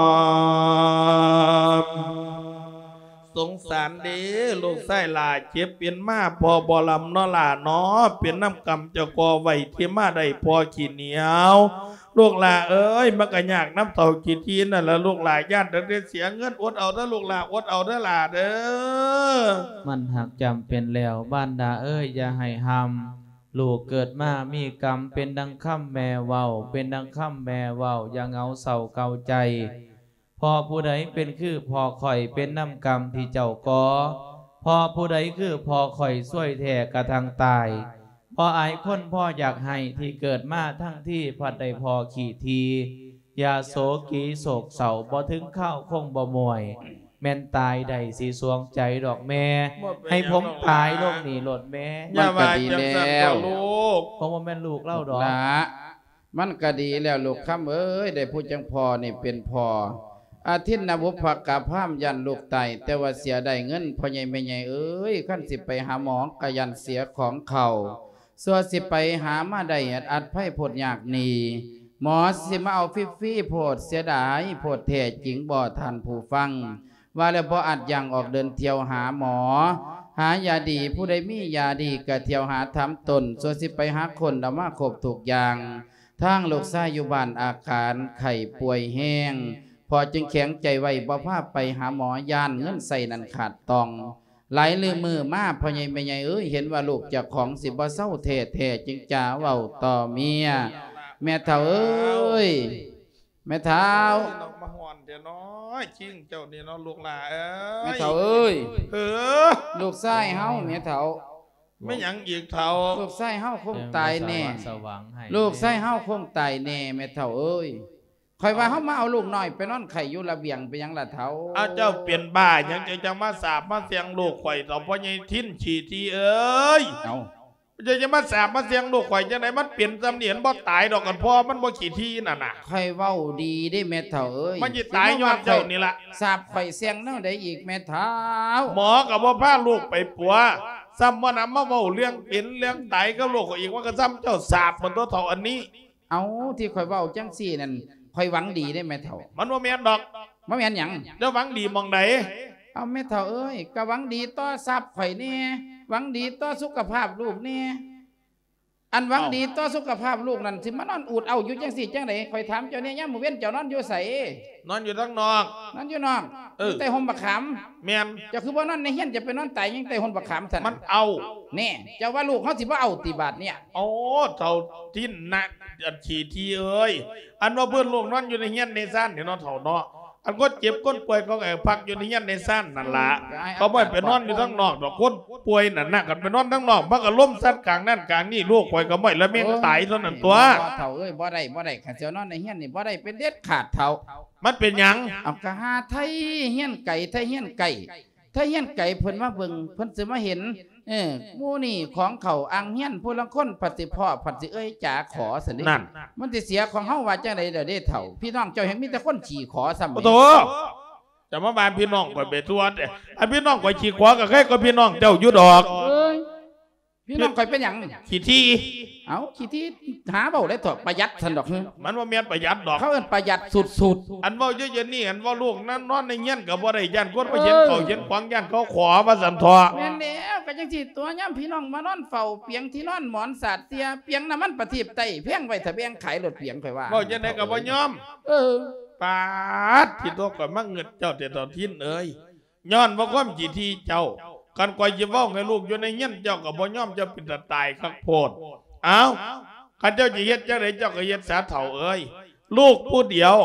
ສງສານເດ້ ລູກຊາຍຫຼ້າເຈັບເປັນມາ ພໍ່ບໍ່ລຳເນາະຫຼ້າເນາະ ເປັນນຳກຳເຈົ້າກໍ່ໄວ້ທີ່ມາໄດ້ພໍ່ຂີ້ໜຽວ. ລູກຫຼ້າເອີຍ ມັນກໍຍາກນຳເຖົ້າຂີ້ຖີ່ນັ້ນລະລູກຫຼ້າ ຢ້ານຕັ້ງແຕ່ເສຍເງິນ. ອົດເອົາເດີລູກຫຼ້າ ອົດເອົາເດີຫຼ້າເດີ. ມັນຫາກຈຳເປັນແລ້ວ ມານດາເອີຍ ຢ່າໃຫ້ຫ້ຳ. ລູກເກີດມາມີກຳ ເປັນດັ່ງຄຳແມ່ເວົ້າ ເປັນດັ່ງຄຳແມ່ເວົ້າ ຢ່າເຫງົາເສົ້າເກົາໃຈ. ເພາະຜູ້ໃດເປັນຄືພໍ່ຂ້ອຍ ເປັນນຳກຳທີ່ເຈົ້າກໍ່. ເພາະຜູ້ໃດຄືພໍ່ຂ້ອຍ ຊວຍແທ້ກະທັ່ງຕາຍ. ບໍ່ອາຍຄົນພໍຢາກໃຫ້ ທີ່ເກີດມາທັງທີ ພັດໄດ້ພໍ່ຂີ້ຖີ່. ຢ່າໂສກີໂສກເສົ້າ ບໍ່ເຖິງຄາວຄົງບໍ່ມ້ວຍ. ແມ່ນຕາຍໄດ້ຊິສວງໃຈດອກແມ່ ບໍ່ເປັນຫຍັງດອກຫຼ້າ ໃຫ້ຜົມຕາຍລົງນີ້ໂລດແມ່. ຢ່າວ່າຈັ່ງຊັ້ນເຖາະລູກ ຜົມບໍ່ແມ່ນລູກລາວດອກ. ຫຼ້າ ມັນກະດີແລ້ວລູກຄຳເອີຍ ໄດ້ຜູ້ຈັ່ງພໍ່ນີ້ເປັນພໍ່. ອາທິນນະບຸບພະກະພາມຢ້ານລູກຕາຍ ແຕ່ວ່າເສຍດາຍເງິນພໍ່ໃຫຍ່ແມ່ໃຫຍ່ເອີຍ ຄັນຊິໄປຫາໝໍກະຢ້ານເສຍຂອງເຂົ້າ. ຊົ່ວຊິໄປຫາມາໄດ້ອັດໄພໂພດຍາກນີ້ ໝໍຊິມາເອົາຟຣີໆໂພດ ເສຍດາຍໂພດແທ້ຈິງບໍ່ທ່ານຜູ້ຟັງ. ວ່າແລ້ວບໍ່ອາດຍ່າງອອກເດີນທ່ຽວຫາໝໍ ຫາຢາດີ ຜູ້ໃດມີຢາດີກະທ່ຽວຫາຖາມຕົນ ຊົ່ວຊິໄປຫາຄົ້ນເອົາມາຄົບທຸກຢ່າງ. ທາງລູກຊາຍຢູ່ບ້ານອາການໄຂ້ປ່ວຍແຮງ ພໍ່ຈຶ່ງແຂງໃຈໄວ້ບໍ່ພາໄປຫາໝໍ ຢ້ານເງິນໃຊ້ນັ້ນຂາດຕ່ອງ. ຫຼາຍລືມື້ມາ ພໍ່ໃຫຍ່ແມ່ໃຫຍ່ເອີຍ ເຫັນວ່າລູກເຈົ້າຂອງຊິບໍ່ເຊົາແທ້ໆ ຈຶ່ງຈະເວົ້າຕໍ່ເມຍ. ແມ່ເຖົ້າເອີຍ ແມ່ເຖົ້າ ໂອ້ຍ ເນາະ ມາຮ້ອນແທ້ເນາະ ຄິງເຈົ້ານີ້ເນາະ ລູກຫຼ້າເອີຍ. ແມ່ເຖົ້າເອີຍ ເອີ ລູກຊາຍເຮົາ ແມ່ເຖົ້າ. ແມ່ນຫຍັງອີກເຖົ້າ? ລູກຊາຍເຮົາຄົງຕາຍແນ່ ເອີ ສະຫວ່າງໃຫ້ ລູກຊາຍເຮົາຄົງຕາຍແນ່ ແມ່ເຖົ້າເອີຍ. ຂ້ອຍວ່າເຮົາມາເອົາລູກນ້ອຍໄປນອນໄຂ້ຢູ່ລະບຽງ ເປັນຫຍັງລະເຖົ້າ? ອ້າວ ເຈົ້າເປັນບ້າຫຍັງ ເຈົ້າຈັ່ງມາສາບມາແຊ່ງລູກຂ້ອຍເຖົ້າ ພໍ່ໃຫຍ່ທິນຂີ້ຖີ່ເອີຍ? ເອົ້າ ເຈົ້າຈະມາສາບມາແຊ່ງລູກຂ້ອຍຈັ່ງໃດ? ມັນເປັນຊ່ຳນີ້ ມັນບໍ່ຕາຍດອກ ຄັນພໍ່ມັນບໍ່ຂີ້ຖີ່ນັ້ນນະ. ຂ້ອຍເວົ້າດີເດ້ແມ່ເຖົ້າເອີຍ ມັນຊິຕາຍຍ້ອນເຈົ້ານີ້ລະ. ສາບຂ້ອຍແຊ່ງແນວໃດອີກແມ່ເຖົ້າ? ໝໍກໍບໍ່ພາລູກໄປປົວ ຊ້ຳບໍ່ນຳມາເວົ້າເລື່ອງເປັນເລື່ອງຕາຍກັບລູກຂ້ອຍອີກ ມັນກໍຊ່ຳເຈົ້າສາບໝົດຕົວເຖົ້າອັນນີ້. ເອົ້າ ທີ່ຂ້ອຍເວົ້າຈັ່ງຊີ້ນັ້ນ ຂ້ອຍຫວັງດີເດ້ແມ່ເຖົ້າ. ມັນບໍ່ແມ່ນດອກ. ບໍ່ແມ່ນຫຍັງ? ເຈົ້າຫວັງດີໝ່ອງໃດ? ເອົາແມ່ເຖົ້າເອີຍ, ກໍຫວັງດີຕໍ່ຊັບຂ້ອຍແດ່, ຫວັງດີຕໍ່ສຸຂະພາບລູກແດ່. ອັນຫວັງດີຕໍ່ສຸຂະພາບລູກນັ້ນ ຊິມານອນອູດເອົາຢູ່ຈັ່ງຊີ້ຈັ່ງໃດ? ຂ້ອຍຖາມເຈົ້າແດ່, ຍາມມື້ເວັນເຈົ້ານອນຢູ່ໃສ? ນອນຢູ່ທາງນອກ. ນອນຢູ່ນອກ? ເອີ. ຢູ່ໃຕ້ຮົ່ມບັກຂາມ? ແມ່ນ. ເຈົ້າຄືບໍ່ນອນໃນເຮືອນ, ເຈົ້າໄປນອນຕາຍຫຍັງໃຕ້ຮົ່ມບັກຂາມຊັ້ນ? ມັນເອົາ. ແນ່, ເຈົ້າວ່າລູກເຮົາຊິບໍ່ເອົາຕິບາດເນີ້ຍ? ໂອ້ ເຖົ້າທິນນະ ອັນຂີ້ຖີ່ເອີຍ, ອັນວ່າເພິ່ນລູກນອນຢູ່ໃນເຮືອນໃນຊານນີ້ເນາະ ເຖົ້າເນາະ. ອັນຄົນເຈັບຄົນປ່ວຍເຂົາກໍໃຫ້ພັກຢູ່ໃນເຮືອນໃນຊານນັ້ນລະ. ເອີ ເຂົາບໍ່ໃຫ້ໄປນອນຢູ່ທາງນອກດອກ. ຄົນປ່ວຍນັ້ນນະ ຄັນໄປນອນທາງນອກ ມັນກໍລົມສັດກາງນັ້ນກາງນີ້, ລູກຂ້ອຍກໍບໍ່ໃຫ້ລະແມ່ນຕາຍເທົ່ານັ້ນຕົວະ. ໂອ້ຍ ບໍ່ເຖົ້າເອີຍ, ບໍ່ໄດ້ ບໍ່ໄດ້, ຄັນຊິນອນໃນເຮືອນນີ້ບໍ່ໄດ້ເດັດຂາດເຖົ້າ. ມັນເປັນຫຍັງ? ເອົາ ກໍຫາໄທເຮືອນໄກ ໄທເຮືອນໄກ ໄທເຮືອນໄກເພິ່ນມາເບິ່ງ ເພິ່ນຊິມາເຫັນ. ເອີ ໝູ່ນີ້ຂອງເຂົາອ່າງຮຽນ, ຜູ້ລາງຄົນພັດຊິພໍ້ ພັດຊິເອີ່ຍຈາຂໍຊັ້ນເດ້. ນັ້ນ ມັນຊິເສຍຂອງເຮົາວ່າຈັ່ງໃດລະເດ້ເຖົ້າ? ພີ່ນ້ອງເຈົ້າແຮ່ງມີແຕ່ຄົນຂີ້ຂໍຊ້ຳ. ໂອ້ໂຫ ຈະມາວ່າພີ່ນ້ອງຂ້ອຍໄປທົ່ວແຕ່. ອັນພີ່ນ້ອງຂ້ອຍຂີ້ຂໍກໍໃຄກວ່າພີ່ນ້ອງເຈົ້າຢູ່ດອກ. ເອີຍ ພີ່ນ້ອງຂ້ອຍເປັນຫຍັງ? ຂີ້ຖີ່. ເອົ້າ ຂີ້ຖີ່ ຫາເວົ້າໄດ້ເຖາະ, ປະຢັດຊັ້ນດອກ. ມັນບໍ່ແມ່ນປະຢັດດອກ, ເຂົາເອີ້ນປະຢັດສຸດໆ. ອັນເວົ້າຢູ່ດຽວນີ້ ອັນເວົ້າລູກນັ້ນນອນໃນເຮືອນກໍບໍ່ໄດ້, ຢ້ານຄົນມາເຫັນ ເອີ ເຂົາເຫັນຂວາງ ຢ້ານເຂົາຂໍວ່າຊັ້ນເຖາະ. ແມ່ນແລ້ວ, ກໍຈັ່ງຊີ້ຕົວະ, ຍາມພີ່ນ້ອງມານອນເຝົ້າປຽງທີ່ນອນໝອນສາດເສຍ, ປຽງນ້ຳມັນປະທີບໄຕ້ແພງໄວ້ ຖ້າແບ່ງຂາຍໂລດປຽງ, ຂ້ອຍວ່າ. ເວົ້າຈັ່ງໃດກໍບໍ່ຍອມ. ເອີ. ປາດ ທີ່ຕົວະ ຂ້ອຍມາງຶດເຈົ້າແຕ່ເຖົ້າທິນເອີຍ. ຍ້ອນວ່າຄວາມຂີ້ຖີ່ເຈົ້າ, ຄັນຂ້ອຍຊິເວົ້າໃຫ້ລູກຢູ່ໃນເຮືອນ ເຈົ້າກໍບໍ່ຍອມ, ເຈົ້າເປັນຕາຕາຍຄັກໂພດ. ເອົ້າ ຄັນເຈົ້າຊິເຮັດຈັ່ງໃດ ເຈົ້າກໍເຮັດສາເຖົ້າເອີຍ. ລູກຜູ້ດຽວ,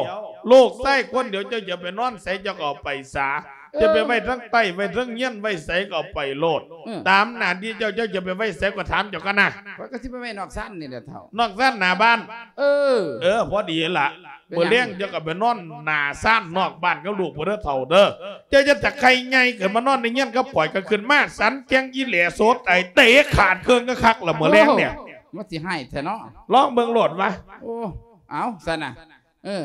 ລູກຊາຍຄົນດຽວ, ເຈົ້າຈະໄປນອນໃສ ເຈົ້າກໍເອົາໄປສາ. ເອີ ຈະໄປໄວ້ທາງໃຕ້ ໄວ້ເທິງເຮືອນ ໄວ້ໃສກໍເອົາໄປໂລດ. ເອີ ຕາມໜ້າທີ່ເຈົ້າ, ເຈົ້າຈະໄປໄວ້ໃສກໍຖາມເຈົ້າກັນນະ. ຂ້ອຍກໍຊິໄປໄວ້ນອກຊານນີ້ແຫຼະເຖົ້າ. ນອກຊານໜ້າບ້ານ? ເອີ. ເອີ ພໍດີລະ. ເປັນຫຍັງ? ມື້ແລງເຈົ້າກໍໄປນອນໜ້າຊານນອກບ້ານກັບລູກພຸ້ນເດີເຖົ້າເດີ. ເຈົ້າຢ່າຕະໄຄໃຫຍ່ຂຶ້ນມານອນໃນເຮືອນກັບຂ້ອຍ, ກໍຂຶ້ນມາສັນແກ່ງອີແຫຼໂສດຕາຍ ເຕະຂາດເຄິ່ງກໍຄັກລະມື້ແລງນີ້. ໂອ້ ມັນຊິຮ້າຍແທ້ເນາະ. ລອງເບິ່ງໂລດວະ. ໂອ້ ເອົາຊັ້ນນະ. ເອີ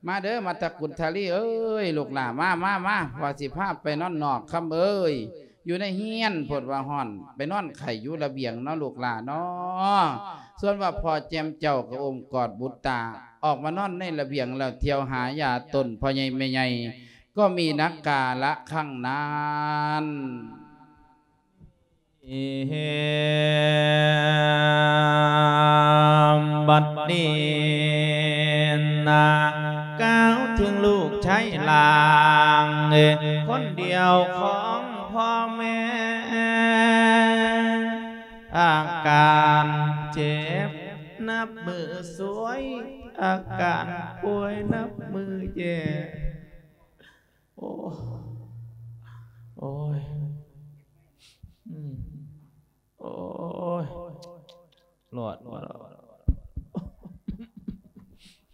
ມາເດີ ມາຕະກຸນທະລີເອີຍ ລູກຫຼ້າ ມາ ມາ ມາ ວ່າຊິພາໄປນອນນອກ ຄຳເອີຍ. ຢູ່ໃນເຮືອນໂພດວ່າຮ້ອນ, ໄປນອນໄຂ້ຢູ່ລະບຽງເນາະລູກຫຼ້າເນາະ. ສ່ວນວ່າພໍ່ແຈ່ມເຈົ້າກໍອົ້ມກອດບຸດຕາ ອອກມານອນໃນລະບຽງ ແລ້ວທ່ຽວຫາຢາຕົນພໍ່ໃຫຍ່ແມ່ໃຫຍ່ ກໍມີນັກກາລະຄັ້ງນັ້ນ. ບັດນີ້ນະ ກ່າວເຖິງລູກຊາຍຫຼ້າງ ຄົນດຽວຂອງພໍ່ແມ່ ອາການເຈັບນັບມື້ຊວຍ ອາການປ່ວຍນັບມື້ແຍ່. ໂອ້ ໂອ້ຍ ອືມ ໂອ້ຍ ລອດ ລອດ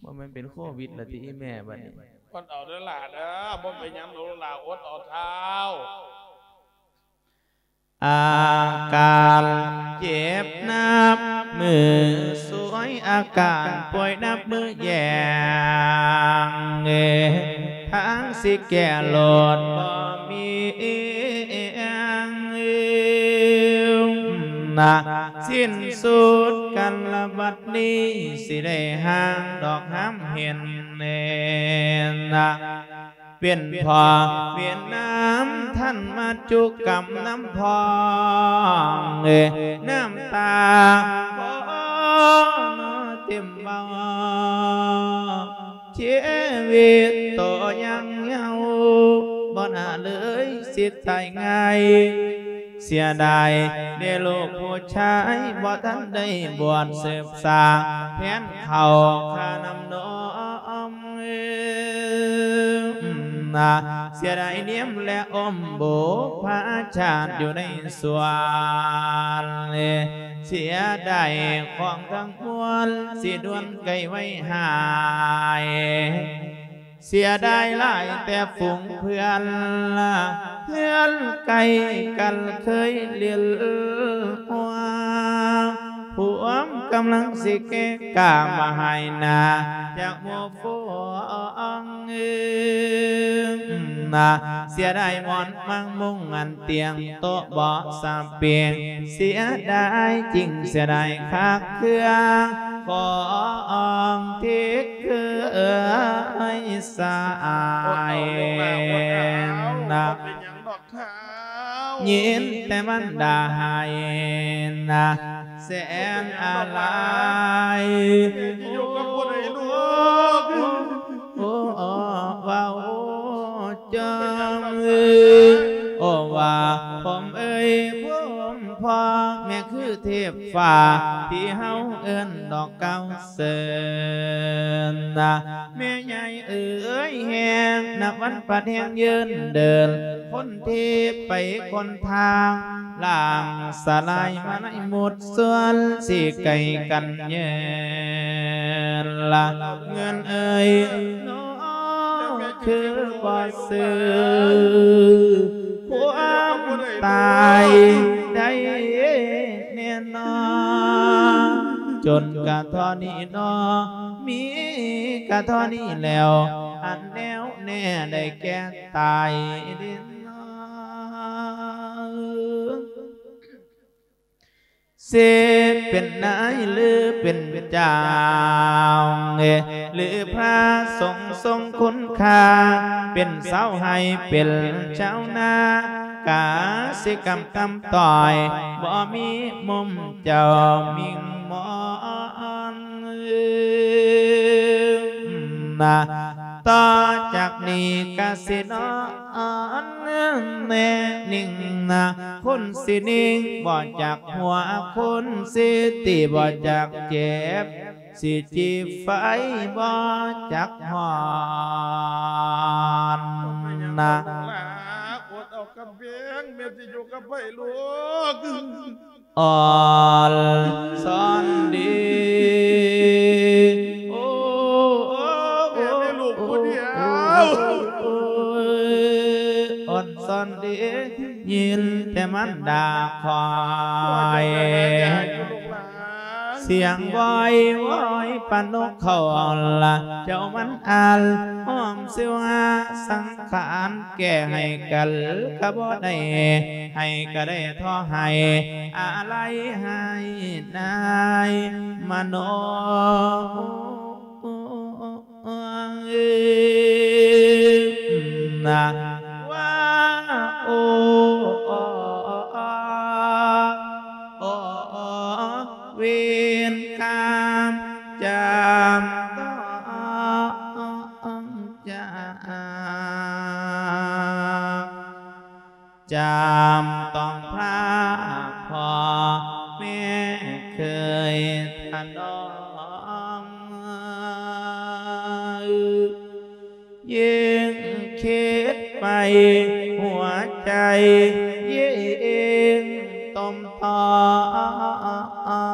ບໍ່ແມ່ນເປັນໂຄວິດລະຕິອີແມ່ບັດນີ້. ອົດເອົາເດີຫຼ້າເດີ ບໍ່ເປັນຫຍັງດອກຫຼ້າ ອົດເອົາທ້າວ. ອາການເຈັບນັບມື້ຊວຍ ອາການປ່ວຍນັບມື້ແຍ່ ທາງຊິແກ້ໂລດບໍ່ມີ ນະ ສິ້ນສຸດກັນລະບັດນີ້ ຊິໄດ້ຫ່າງດອກຫາມເຫັນ ນະ ເປັນພໍ່ເປັນນ້ຳ ທ່ານມາຈຸກຳນຳພ້ອມ ນ້ຳຕາບໍ່ນອເຕັມເບົາ ຊີວິດໂຕຍັງເຍົາ ບໍ່ໜ້າເລີຍຊິຕາຍງ່າຍ ເສຍດາຍເດ້ລູກຜູ້ຊາຍ ບໍ່ທັນໄດ້ບວດສືບສາແທນເຂົາຂ້ານຳນອມ ນະ ເສຍດາຍນຽມແລະອົມບຸບພາຊາດຢູ່ໃນສວນ ເສຍດາຍຂອງທັງມວນ ຊິດ່ວນໄກໄວຫາຍ ເສຍດາຍຫຼາຍແຕ່ຝູງເພື່ອນ ເຮືອນໃກ້ກັນເຄີຍຫຼິ້ນຫົວ ພວມກຳລັງຊິເກະກະມາຫາຍໜ້າຈາກໝູ່ຝູງ ນະ ເສຍດາຍໝອນມັງມຸງອັນຕຽງໂຕະບໍ່ສະເປງ ເສຍດາຍຈິງເສຍດາຍຄັກເຄືອງ ຂອງທີ່ເຄີຍສາຍນະ ຍິນແຕ່ມັນດາໄຫ້ນະ ແສນອາໄລ ໂອ້ ເວົ້າຈ້ອງ ໂອ້ ວ່າຜົມເອີຍ ຜົມພໍ່ ແມ່ຄືເທບຟ້າ ທີ່ເຮົາເອີ້ນດອກກ່າວເຊີນນະ ແມ່ໃຫຍ່ເອີຍ ແຮງນັບວັນພັດແຮງເຍີນເດີນ ຄົນທີ່ໄປຄົນທາງ ລ່າງສະຫຼາຍມາໃນໝົດສ່ວນ ຊິໄກກັນເຍີນລະ ເງິນເອີຍ ນ້ອງຄືບໍ່ຊື້ ຄວາມຕາຍໄດ້ແນ່ນອນ ຈົນກະທໍ່ນີ້ນໍ ມີກະທໍ່ນີ້ແລ້ວ ອັນແນ່ວແນ່ໄດ້ແກ່ຕາຍເດນອ ເສດເປັນນາຍຫຼືເປັນເຈົ້າ ຫຼືພະສົງຊົງຄຸນຄ່າ ເປັນຊາວໄຮ່ເປັນຊາວນາ ກະສິກຳຕຳຕ້ອຍ ບໍ່ມີມຸມເຈົ້າມິ່ງມອນ ນະ ຕໍ່ຈາກນີ້ກະສິນອນແນ່ນິ່ງນະ ຄົນສິນິ່ງ ບໍ່ຈັກຫົວ ຄົນສິຕີ ບໍ່ຈັກເຈັບ ສິຈີບໄຟ ບໍ່ຈັກຮ້ອນນະ ອດເອົາກຳແພງ ແມ່ຊິຢູ່ກັບໃຜລູກ? ອ່ອນຊອນດີ ໂອ້ ແມ່ມີລູກຜູ້ດຽວ ອ່ອນຊອນດີ ຍິນແຕ່ມັນດາຄອຍ ສຽງວອຍວອຍປານນົກເຂົາລະ ເຈົ້າມັນອານ ຫອມສິວຫາສັງຂານ ແກ່ໃຫ້ກັນກະບໍ່ໄດ້ ໃຫ້ກະໄດ້ທໍ່ໃຫ້ ອາໄລໃຫ້ນາຍມະໂນ ນະ ວ່າ ໂອ ເວນກາມຈຳຕ້ອງຈາ ຈຳຕ້ອງພາພໍ່ແມ່ເຄີຍຖະນອມ ຍິ່ງຄິດໄປຫົວໃຈຍິ່ງຕົມຕ້ອ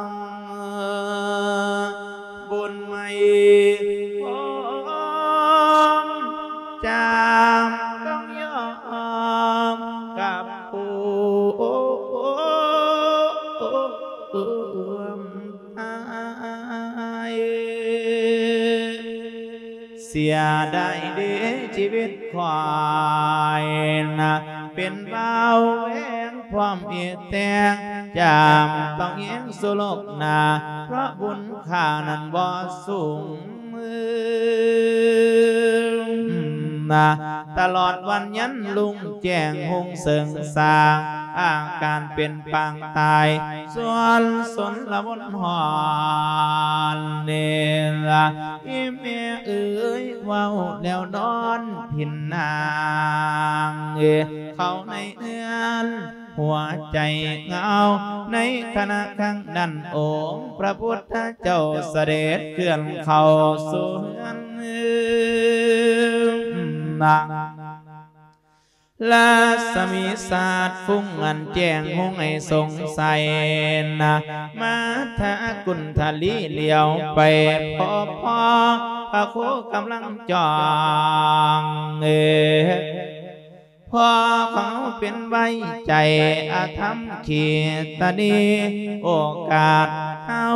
ງ ບຸນໃໝ່ພ້ອມຈາມຕ້ອງຍອມກັບຜູ້ ອ້າຍ ເສຍດາຍເດຊີວິດຂ້ອຍນະ ເປັນບ່າວແວງພ້ອມເອດແຕງ ຈຳຕ້ອງແຍງສູ່ໂລກໜ້າ ເພາະບຸນຂ້ານັ້ນບໍ່ສູງ ນະ ຕະຫຼອດວັນຍັນລຸງແຈ້ງຮຸ່ງເສີງສ້າງ ອາການເປັນປາງຕາຍ ສ່ວນຊົນລະວົນຮ້ອນເນລະ ອີແມ່ເອີຍ ເວົ້າແລ້ວນອນພິນນາງ ເອີ ເຂົ້າໃນເຮືອນ ຫົວໃຈເຫງົາ ໃນຂະນະຄັ້ງນັ້ນ ອົງພະພຸດທະເຈົ້າສະເດັດເຄື່ອນເຂົ້າສູ່ເຮືອນນາງ ລາສະໝີສາດຟຸ້ງອັນແຈ້ງຮຸ່ງໃຫ້ສົງໄສນະ ມາທາກຸນທະລີຫຼຽວໄປພໍພໍ ພະໂຄກຳລັງຈ້ອງ ເອີ ພໍ່ຂອງເຮົາເປັນໄວ້ໃຈອະທຳຂີດຕະນີ ໂອກາດເຮົາ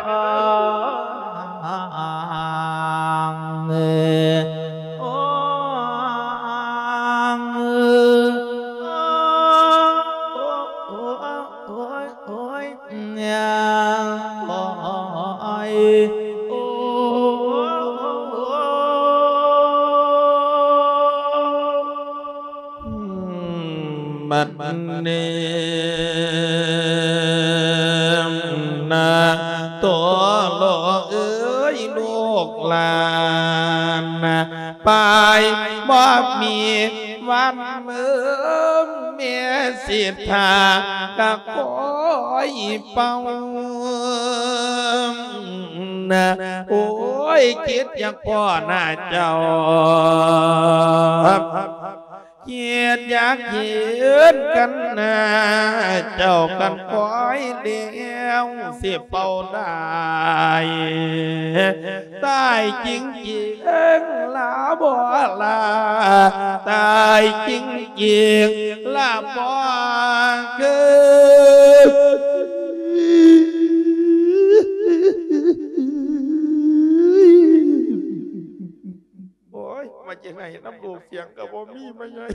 ອງ ໂອງ ໂອຍ ໂອຍ ໂອຍ ໂອຍ ໂອຍ ບັດນີ້ນະ ໂຕໂລເອີຍ ລູກຫຼານນະ ໄປບໍ່ມີວັນເມີ ແມ່ສິດຖາກະຄອຍເຝົ້ານະ ໂອ້ຍ ຄິດຢາກພໍ້ໜ້າເຈົ້າ ເຮັດຢາກເຫັນກັນນາ ເຈົ້າກັນຄອຍແລ້ວຊິເປົ່າໄດ້ ຕາຍຈິງໆລະບໍ່ລາ ຕາຍຈິງໆລະບໍ່ເກີດ. ໂອ້ຍ ມາຈັ່ງໃດນຳລູກ ສຽງກໍບໍ່ມີ ມາໃຫຍ່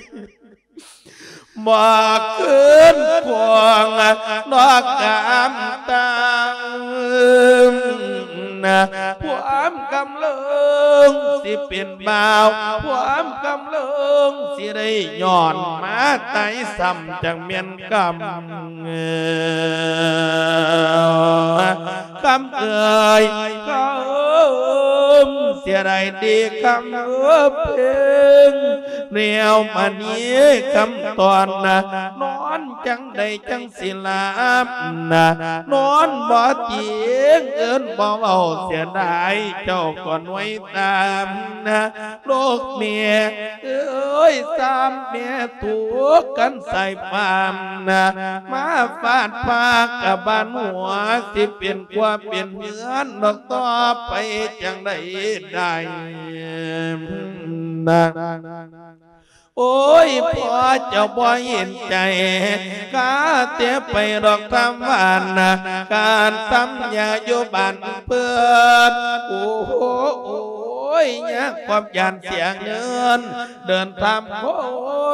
ບໍ່ຄືນຄວາງດອກກຳຕາ ພວມກຳເລີງຊິເປັນບ່າວ ພວມກຳເລີງຊິໄດ້ຍ້ອນມາຕາຍຊ້ຳ ຈັ່ງແມ່ນກຳ ຄຳເອີຍ ຄຳເອີຍ ເສຍດາຍເດຄຳເອີຍເພິ່ງ ແນວມະນີຄຳຕອນນະ ນອນຈັ່ງໃດຈັ່ງຊິຫຼັບນະ ນອນບໍ່ຕຽງ ເອີ້ນບໍ່ເວົ້າ ເສຍດາຍເຈົ້າກໍໜ່ວຍຕາມນະ ລູກແມ່ເອີຍ ສາມແມ່ທຸກກັນສາຍຟ້ານະ ມາຟາດຟ້າກະບານຫົວ ຊິເປັນຄົວເປັນເຮືອນດອກຕໍ່ໄປ ຈັ່ງໃດໄດ້ນະ ໂອ້ຍ ພໍ່ເຈົ້າບໍ່ເຫັນໃຈ ກະແຕ່ໄປດອກທຳຫວານນະ ການທຳຢາຢູ່ບ້ານເພິ່ນ ໂອ້ໂຫ ໂອ້ຍ ຍາກຄວາມຢ້ານເສຍເງິນ ເດີນຕາມຄົ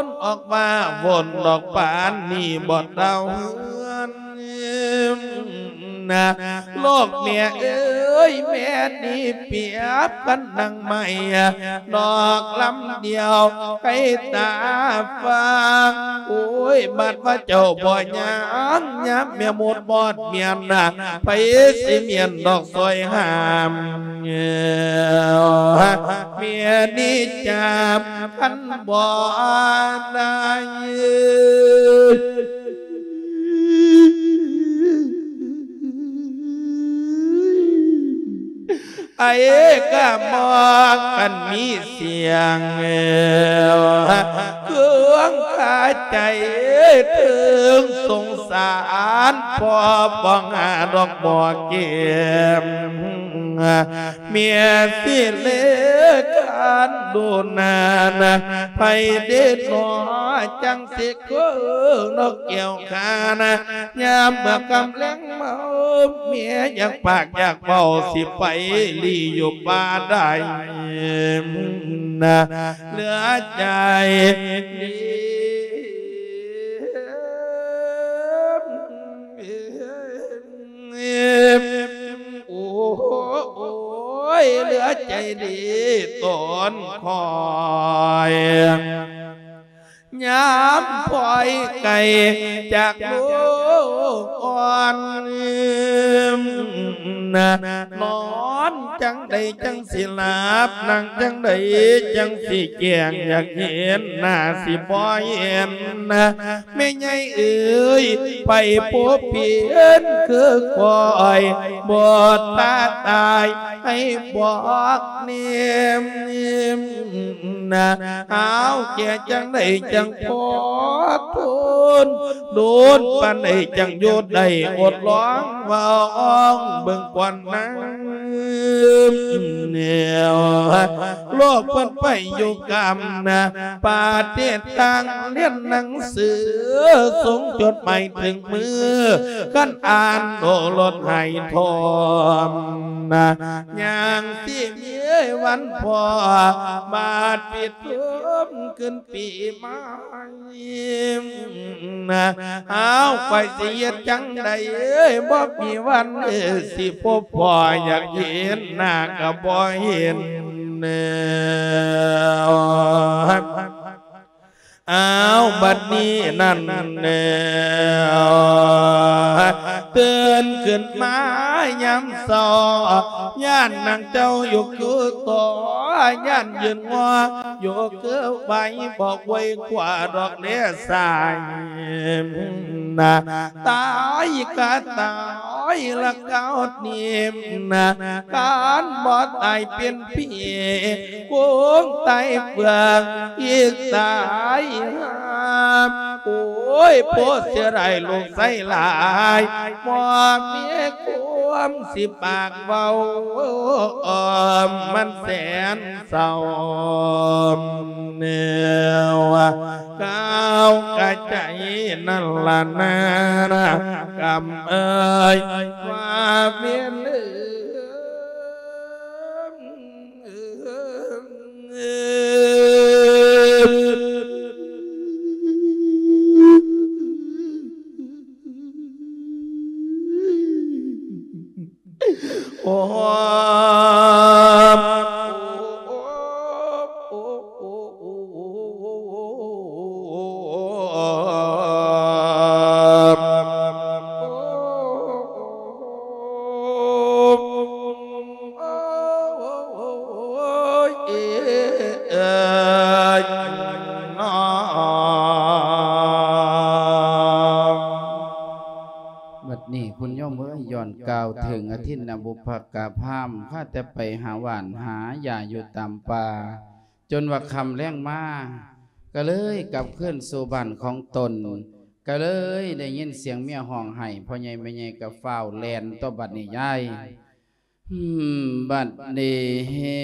ນອອກມາວົນດອກປານນີ້ບໍ່ເຕົາເຮືອນ ນະ ລູກແມ່ເອີຍ ແມ່ນີ້ປຽບກັນດັ່ງໄມ້ດອກລຳດຽວ ໃກ້ຕາຟາງ ໂອ້ຍ ບາດວ່າເຈົ້າບໍ່ຍ່າງ ຍາມແມ່ໝົດບອດມຽນນະ ໃຜຊິມຽນດອກຊ່ອຍຫ້າມ ແມ່ນີ້ຈັບຄັນບໍ່ໄດ້ ໄອ້ກະມອງກັນມີສຽງ ເຄື່ອງຄາໃຈເຖິງສົງສານ ພໍ່ປ້ອງຫາດອກບໍ່ເກມ ເມຍຊິເລການດູນານະ ໃຜເດດໜໍຈັ່ງຊິຄືນກແກ້ວຂານະ ຍາມເມື່ອກຳແລງເມົາ ເມຍຢາກປາກຢາກເວົ້າ ຊິໄປຫຼີ່ຢູ່ປ່າໃດນະ ເຫຼືອໃຈ ໂອ້ຍ ເຫຼືອໃຈດີຕົນຄອຍ ຍາມພອຍໄກຈາກລູກອ່ອນ ນະ ນອນຈັ່ງໃດຈັ່ງຊິຫຼັບ ນັ່ງຈັ່ງໃດຈັ່ງຊິແຈ້ງ ຢາກເຫັນໜ້າຊິບໍ່ເຫັນນະ ແມ່ໃຫຍ່ເອີຍ ໄປພົບເຫັນຄືຂ້ອຍ ບໍ່ຕາຕາຍໃຫ້ບອກແນມນະ ຫາວແກ່ຈັ່ງໃດຈັ່ງພໍທົນ ໂດນປານໃດຈັ່ງຢູ່ໄດ້ ອົດລອງເວົ້າອອງເບິ່ງກ່ອນນາ ແນວ ໂລກເພິ່ນໄປຢູ່ກຳນະ ປະເທດຕ່າງລຽນໜັງສື ສົ່ງຈົດໝາຍເຖິງມື ຄັນອ່ານໂອລົດໃຫ້ທອມນະ ຍັງຊິມີວັນພໍ ບາດປິດເທີມຂຶ້ນປີໃໝ່ນະ ຫາວຂ້ອຍຊິເຮັດຈັ່ງໃດ ບໍ່ມີວັນ ເອີ ຊິພົບພໍ ຢາກເຫັນໜ້າກໍບໍ່ເຫັນ ອ້າວ ບັດນີ້ນັ້ນແລ້ວ ຕື່ນຂຶ້ນມາຍາມເຊົ້າ ຢ້ານນາງເຈົ້າຢູ່ຄືຕໍ່ ຢ້ານຢືນງໍຢູ່ຄືໄວ ບໍ່ໄວກວ່າດອກແລສາຍນະ ຕາຍກະຕາຍ ລະກາວນີ້ນະ ການບໍ່ຕາຍເປັນຜີ ຄົງຕາຍເຟືອງອີກຕາຍຫາ. ໂອ້ຍ ໂພເສຍດາຍລູກຊາຍຫຼາຍ ບໍ່ມີຄວາມຊິປາກເວົ້າ ມັນແສນເສົ້າແນວ ກາວກະໃຈນັ້ນລະນາ ກຳເອີຍ ວ່າເວລາ ໂອ້ ບັດນີ້ຄຸນໂຍມເອີຍ ຍ້ອນກ່າວເຖິງອະທິນນະບຸບພະກາພາມ ຂ້າແຕ່ໄປຫາຫວ່ານຫາຢາຢູ່ຕາມປ່າ ຈົນວ່າຄ່ຳແລງມາ ກະເລີຍກັບຄືນສູ່ບ້ານຂອງຕົນ ກະເລີຍໄດ້ຍິນສຽງເມຍຮ້ອງໄຫ້ ພໍ່ໃຫຍ່ແມ່ໃຫຍ່ກະຟ້າວແລ່ນຕໍ່ບັດນີ້ຍາຍ. ບັດນີ້ເຫັ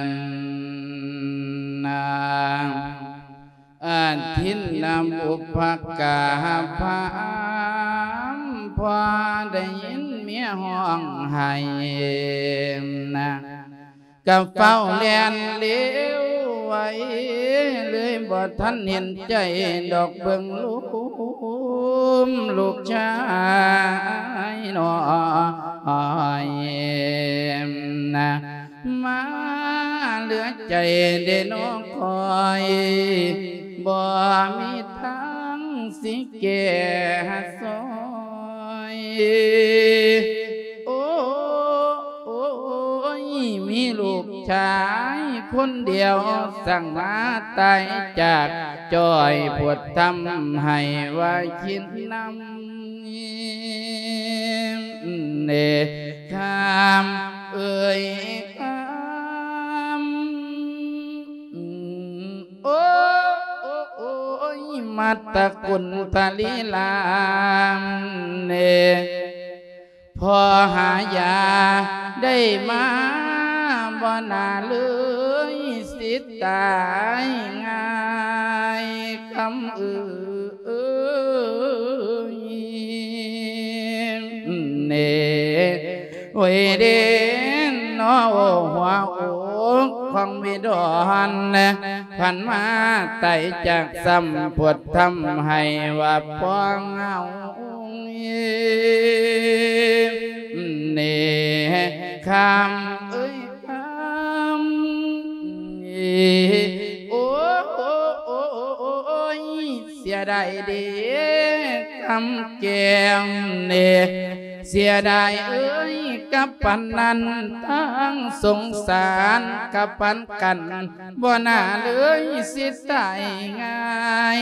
ນນາງອາທິນນະບຸບພະກາພາມ ພໍໄດ້ຍິນເມຍຮ້ອງໄຫ້ນະ ກະຟ້າວແລ່ນເລວໄວ ເລີຍບໍ່ທັນເຫັນໃຈດອກເບິ່ງລູກ ລູກຊາຍນ້ອຍນະ ມາເຫຼືອໃຈເດນ້ອຂ້ອຍ ບໍ່ມີທາງຊິແກ້ຊ່ອຍ. ໂອ້ ໂອ້ຍ ມີລູກຊາຍຄົນດຽວ ສັ່ງມາຕາຍຈາກ ຈ່ອຍປວດທຳໃຫ້ວ່າຄິດນຳ ເນ ຄຳເອີຍຄຳ. ໂອ້ ໂອ້ ໂອ້ຍ ມາດຕະກຸນຕະລີລາມເນ ພໍຫາຢາໄດ້ມາ ບໍ່ໜ້າເລີຍຊິຕາຍງ່າຍ ຄຳເອີຍເນ. ໂອ້ຍເດນອ ຫົວອົກຂອງວິດອນ ພັນມາໄຕຈາກຊ້ຳ ປວດທຳໃຫ້ວ່າພວກເຮົາເນ ຄຳເອີຍຄຳ ໂອ້ຍ ເສຍດາຍເດ ຄຳແກ້ມເນ ເສຍດາຍເອີຍ ກັບປານນັ້ນທັງສົງສານ ກັບປານກັນ ບໍ່ໜ້າເລີຍຊິຕາຍງ່າຍ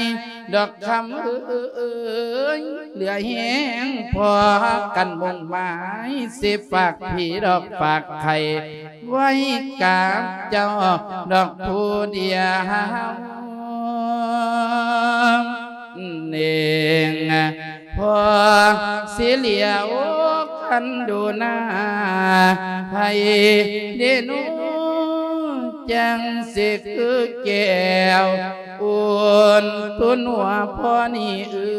ດອກຄຳເອີຍ ເຫຼືອແຮງພໍກັນມຸ່ງໝາຍ ຊິຝາກຜີດອກຝາກໄຂ່ ໄວ້ກັບເຈົ້າດອກຜູ້ດຽວເອງ ພໍຊິຫຼຽວຄັນດູໜ້າ ໃຜເດເນາະ ຈັ່ງຊິຄືແກ້ວອຸ່ນຕຸນຫົວພໍ່ນີ້ເອີ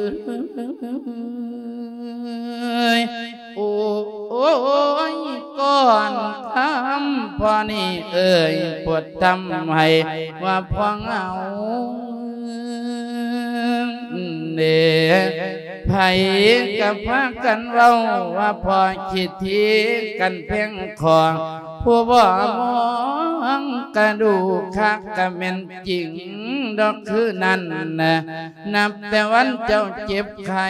ຍ. ໂອ້ຍ ກ່ອນຄຳພໍ່ນີ້ເອີຍ ປວດທຳໃຫ້ວ່າພວກເຮົາເດ້ ໃຜກໍພາກັນເວົ້າວ່າພໍ່ຂີ້ຖີກັນແພງຂອງ ຜູ້ບໍ່ມອງກະດູກຄັກກະແມ່ນຈິງດອກຄືນັ້ນນະ. ນັບແຕ່ວັນເຈົ້າເຈັບໄຂ້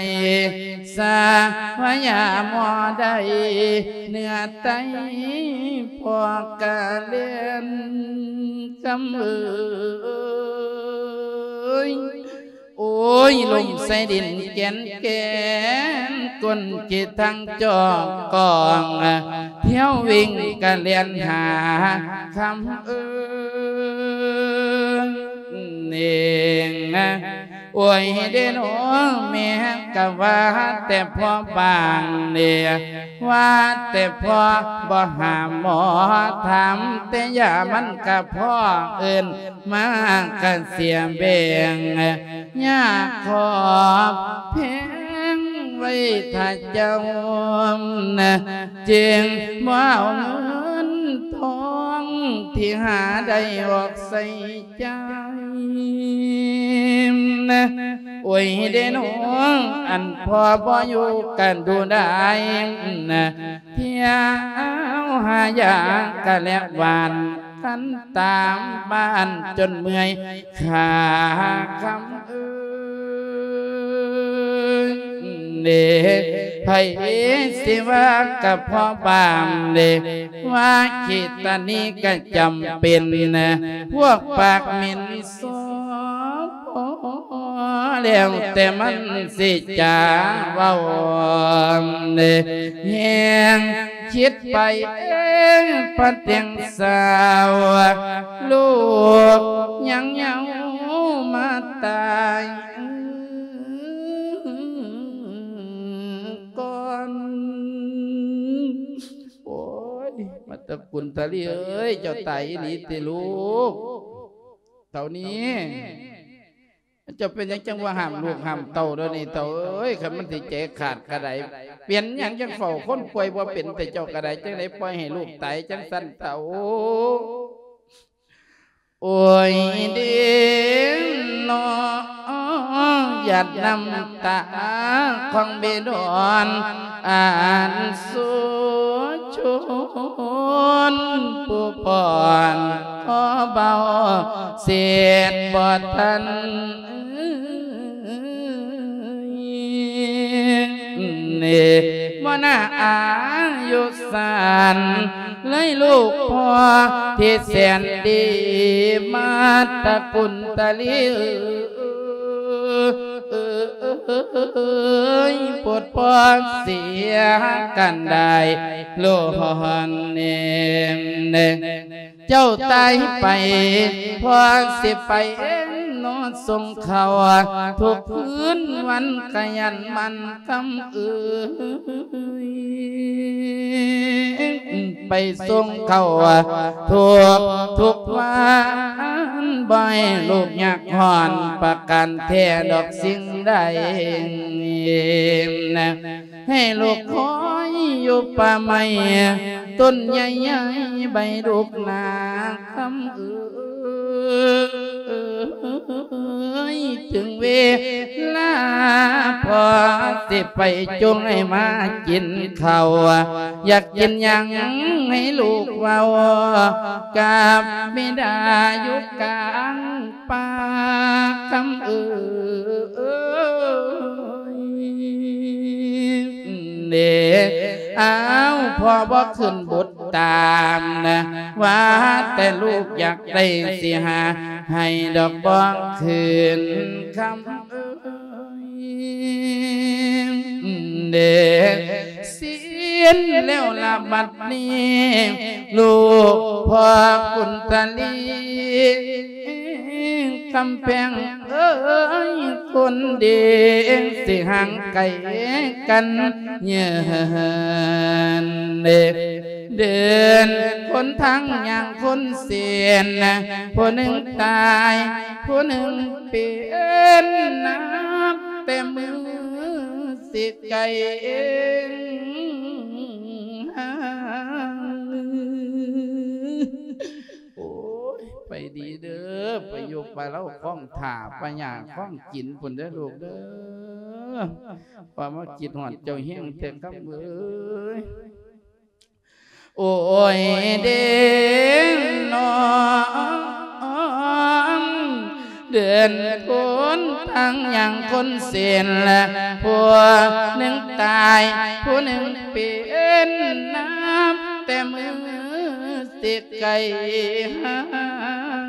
ສາພະຍາໝໍໄດ້ເນື້ອໄຕ ພໍ່ກະເລນຄຳເອີຍ ໂອ້ຍ ລົມໃສ່ດິນແກ່ນແກ່ນ ກົ້ນເຈທັງຈອກກອງ ຖ້ຽວວິ່ງກະແລ່ນຫາຄຳເອີຍເອງ. ໂອ້ຍເດໂນ ແມ່ກະວ່າແຕ່ພໍບາງເດ ວ່າແຕ່ພໍບໍ່ຫາໝໍ ຖາມແຕ່ຢາມັນກະພໍເອີ້ນ ມາກະເສຍແບ່ງ ຢາກຂອບແພງໄວ້ຖ້າເຈົ້າ ຈຶ່ງບໍ່ເອົາເງິນທອງ ທີ່ຫາໄດ້ອອກໃຊ້ຈ່າຍ. ໂອ້ຍເດນ້ອງ ອັນພໍ່ບໍ່ຢູ່ກະດູໄດ້ ທ່ຽວຫາຢາກະແລະຫວ່ານ ຄັນຕາມບ້ານຈົນເມື່ອຍຂາຄຳເອີຍເດ. ໃຜຊິວ່າກະພໍ່ບ້ານເດ ວ່າເຂດຕານີ້ກະຈຳເປັນ ພວກປາກເໝັນ ພໍແລ້ວແຕ່ມັນຊິຈາເວົ້າ ແຮງຄິດໄປເອງ ປະແຕ່ງສາວ ລູກຍັງເຍົາມາຕາຍກ່ອນ. ໂອ້ຍ ມາຕະກຸນຕະລີເອີຍ ເຈົ້າຕາຍອີ່ຫຼີຕິລູກ ເທົ່ານີ້ ເຈົ້າເປັນຫຍັງຈັ່ງວ່າຫ້າມລູກຫ້າມເຕົ້າດຽວນີ້ ເຕົ້າເອີຍ? ຄັນມັນຊິໃຈຂາດກະໄດ້ ເປັນຫຍັງຈັ່ງເຝົ້າຄົນປ່ວຍບໍ່ເປັນ ແຕ່ເຈົ້າກະໄດ້ ຈັ່ງໄດ້ປ່ອຍໃຫ້ລູກຕາຍຈັ່ງຊັ້ນ ເຕົ້າ. ໂອ້ຍເດນອ ຫຍາດນ້ຳຕາຂອງເບດອນ ອັນສຸຊົນ ຜູ້ປ້ອນຂໍເບົາເສດບໍ່ທັນ ເນ ບໍ່ໜ້າອາຍຸສັ້ນ ເລີຍລູກພໍ່ທີ່ແສນດີ ມາຕະກຸນຕະລີເອີຍ ໂປດພໍ່ເສຍກັນໄດ້ ໂລຮອນເນ ເຈົ້າຕາຍໄປ ພໍ່ຊິໄປເນາະ ສົ່ງເຂົ້າທຸກຄືນວັນ ຂະຫຍັນໝັ່ນຄຳເອີຍ ໄປສົ່ງເຂົ້າທຸກທຸກວັນ ບໍ່ໃຫ້ລູກຍາກຮ້ອນປະການແທ້ດອກສິ່ງໃດ. ໃຫ້ລູກຄອຍຢູ່ປ່າໄມ້ຕົ້ນໃຫຍ່ໆ ໃບດຸກໜາຄຳເອີຍ ເຖິງເວລາພໍ່ຊິໄປຈູງໃຫ້ມາກິນເຂົ້າ ຢາກກິນຫຍັງໃຫ້ລູກເວົ້າກັບບິດາຢູ່ກາງປ່າຄຳເອີຍ. ເດ ອ້າວ ພໍ່ບໍ່ຂຶ້ນບຸດຕາມນະ ວ່າແຕ່ລູກຢາກໄດ້ຊິຫາໃຫ້ດອກ ບໍ່ຄືນຄຳເອີຍ ເດ ສິ້ນແລ້ວລະບັດນີ້ ລູກພໍ່ກຸນຕະລີ ຄຳແພງເອີຍ ຄົນດີ ຊິຫ່າງໄກກັນເຍີນເດ ເດີນຄົນທາງຍ່າງຄົນເສັ້ນ ຜູ້ໜຶ່ງຕາຍ ຜູ້ໜຶ່ງເປັນ ນັບແຕ່ມື້ຊິໃກ້ເອງ ໂອ້ຍ ໄປດີເດີ ໄປຢູ່ປະເລົາຄອງຖ້າ ປະຫຍ້າຄອງກິນພຸ້ນເດີລູກເດີ ວ່າມາຄິດຮອດເຈົ້າແຮງແທ້ຄຳເອີຍ. ໂອ້ຍເດນ້ອງ ເດີນຄົນທາງຍ່າງຄົນເສັ້ນ ຜູ້ໜຶ່ງຕາຍ ຜູ້ໜຶ່ງເປັນ ນັບແຕ່ມື້ ຊິໃກ້ຫ່າງ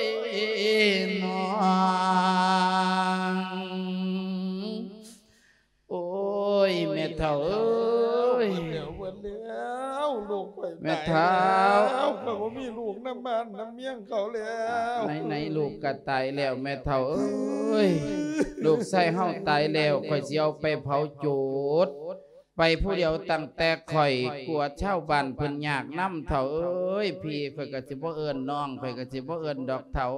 ຍ ນ້ອງ ໂອ້ຍ ແມ່ເຖົ້າເອີຍ ເບິດແລ້ວ ເບິດແລ້ວ ລູກຂ້ອຍ ແມ່ເຖົ້າ ຕາຍແລ້ວ ຂ້ອຍບໍ່ມີລູກນຳບ້ານນຳເມືອງເຂົາແລ້ວ ໃນໆ ລູກກໍຕາຍແລ້ວ ແມ່ເຖົ້າເອີຍ ລູກຊາຍເຮົາຕາຍແລ້ວ ຂ້ອຍຊິເອົາໄປເຜົາໂຈດ ໄປຜູ້ດຽວຕັ້ງແຕ່ຂ້ອຍ ກົວຊາວບ້ານເພິ່ນຍາກນຳ ເຖົ້າເອີຍ ພີ່ຂ້ອຍກໍຊິບໍ່ເອີ້ນ ນ້ອງຂ້ອຍກໍຊິບໍ່ເອີ້ນດອກເຖົ້າ.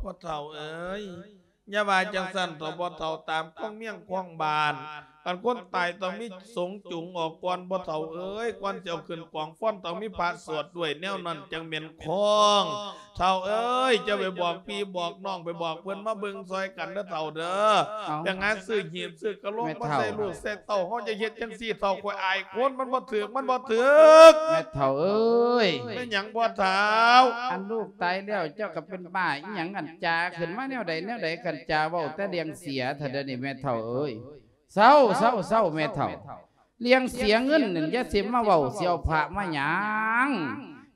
ພໍ່ເຖົ້າເອີຍ ຢ່າວ່າຈັ່ງຊັ້ນເຖົ້າ ພໍ່ເຖົ້າ ຕາມຄອງເມືອງຄອງບ້ານ ຄັນຄົນຕາຍຕ້ອງມີສົງຈູງອອກກ່ອນ ພໍ່ເຖົ້າເອີຍ ກ່ອນຊິເອົາຂຶ້ນກອງຟອນ ຕ້ອງມີພະສວດດ້ວຍ ແນວນັ້ນຈັ່ງແມ່ນຄອງ. ເຖົ້າເອີຍ ເຈົ້າໄປບອກພີ່ບອກນ້ອງ ໄປບອກເພິ່ນມາເບິ່ງຊ່ອຍກັນເດີເຖົ້າເດີ. ເອົ້າ ໄປຫາຊື້ຫີບຊື້ກະໂຫຼງ ແມ່ເຖົ້າ ມາໃສ່ລູກໃສ່ເຕົ້າ ເຮົາຈະເຮັດຈັ່ງຊີ້ເຖົ້າ ຂ້ອຍອາຍຄົນ ມັນບໍ່ຖືກ ມັນບໍ່ຖືກ ແມ່ເຖົ້າເອີຍ. ແມ່ນຫຍັງພໍ່ເຖົ້າ? ອັນລູກຕາຍແລ້ວ ເຈົ້າກໍເປັນບ້າອີ່ຫຍັງ ອັນຈາຂຶ້ນມາແນວໃດແນວໃດ ຄັນຈາເວົ້າແຕ່ເລື່ອງເສຍ ເທົ່າດຽວນີ້ແມ່ເຖົ້າເອີຍ. ເຊົາ ເຊົາ ເຊົາ ແມ່ເຖົ້າ ເລື່ອງເສຍເງິນນັ້ນຢ່າຊິມາເວົ້າ ຊິເອົາພະມາຫຍັງ?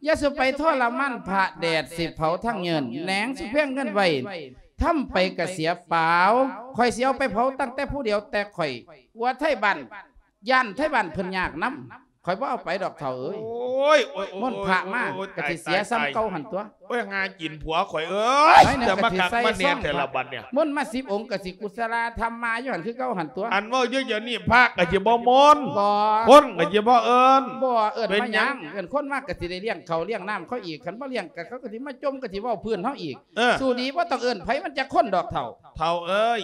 ຢ່າສູ່ໄປທໍລະມານພະ ແດດຊິເຜົາທັງເງິນ ແໜງສູ່ແພງເງິນໄວ້ ທຳໄປກະເສຍເປົ່າ. ຂ້ອຍຊິເອົາໄປເຜົາຕັ້ງແຕ່ຜູ້ດຽວແຕ່ຂ້ອຍ ກົວໄທບ້ານ ຢ້ານໄທບ້ານເພິ່ນຍາກນຳ ຂ້ອຍບໍ່ເອົາໄປດອກເຖົ້າເອີຍ. ໂອ້ຍ ໂອ້ຍ ໂອ້ຍ ມົນພະມາ ໂອ້ຍ ໂອ້ຍ ກະຊິເສຍ ຕາຍ ສ່ຳ ຕາຍ ເກົ່າຫັ້ນຕົວະ. ໂອ້ຍ ຫາກິນຜົວຂ້ອຍເອີຍ ໄປ ແຕ່ມາຄັກມາແນ່ແຕ່ລະບັດນີ້ ມົນມາສິບອົງກະຊິກຸສະລາທຳມາຢູ່ຫັ້ນຄືເກົ່າຫັ້ນຕົວະ. ອັນເວົ້າຢູ່ດຽວນີ້ພະກະຊິບໍ່ມົນ ບໍ່ ຄົນກະຊິບໍ່ເອີ້ນ ບໍ່ເອີ້ນ ເປັນຫຍັງ ມາຫຍັງ ເອີ້ນຄົນມາກະຊິໄດ້ລ້ຽງເຂົ້າລ້ຽງນ້ຳເຂົາອີກ ຄັນບໍ່ລ້ຽງກະເຂົາກະຊິມາຈົ່ມ ກະຊິເວົ້າພື້ນເຮົາອີກ. ເອີ ສູ້ດີບໍ່ຕ້ອງເອີ້ນໃຜ ມັນຈັກຄົນດອກເຖົ້າ. ເຖົ້າເອີຍ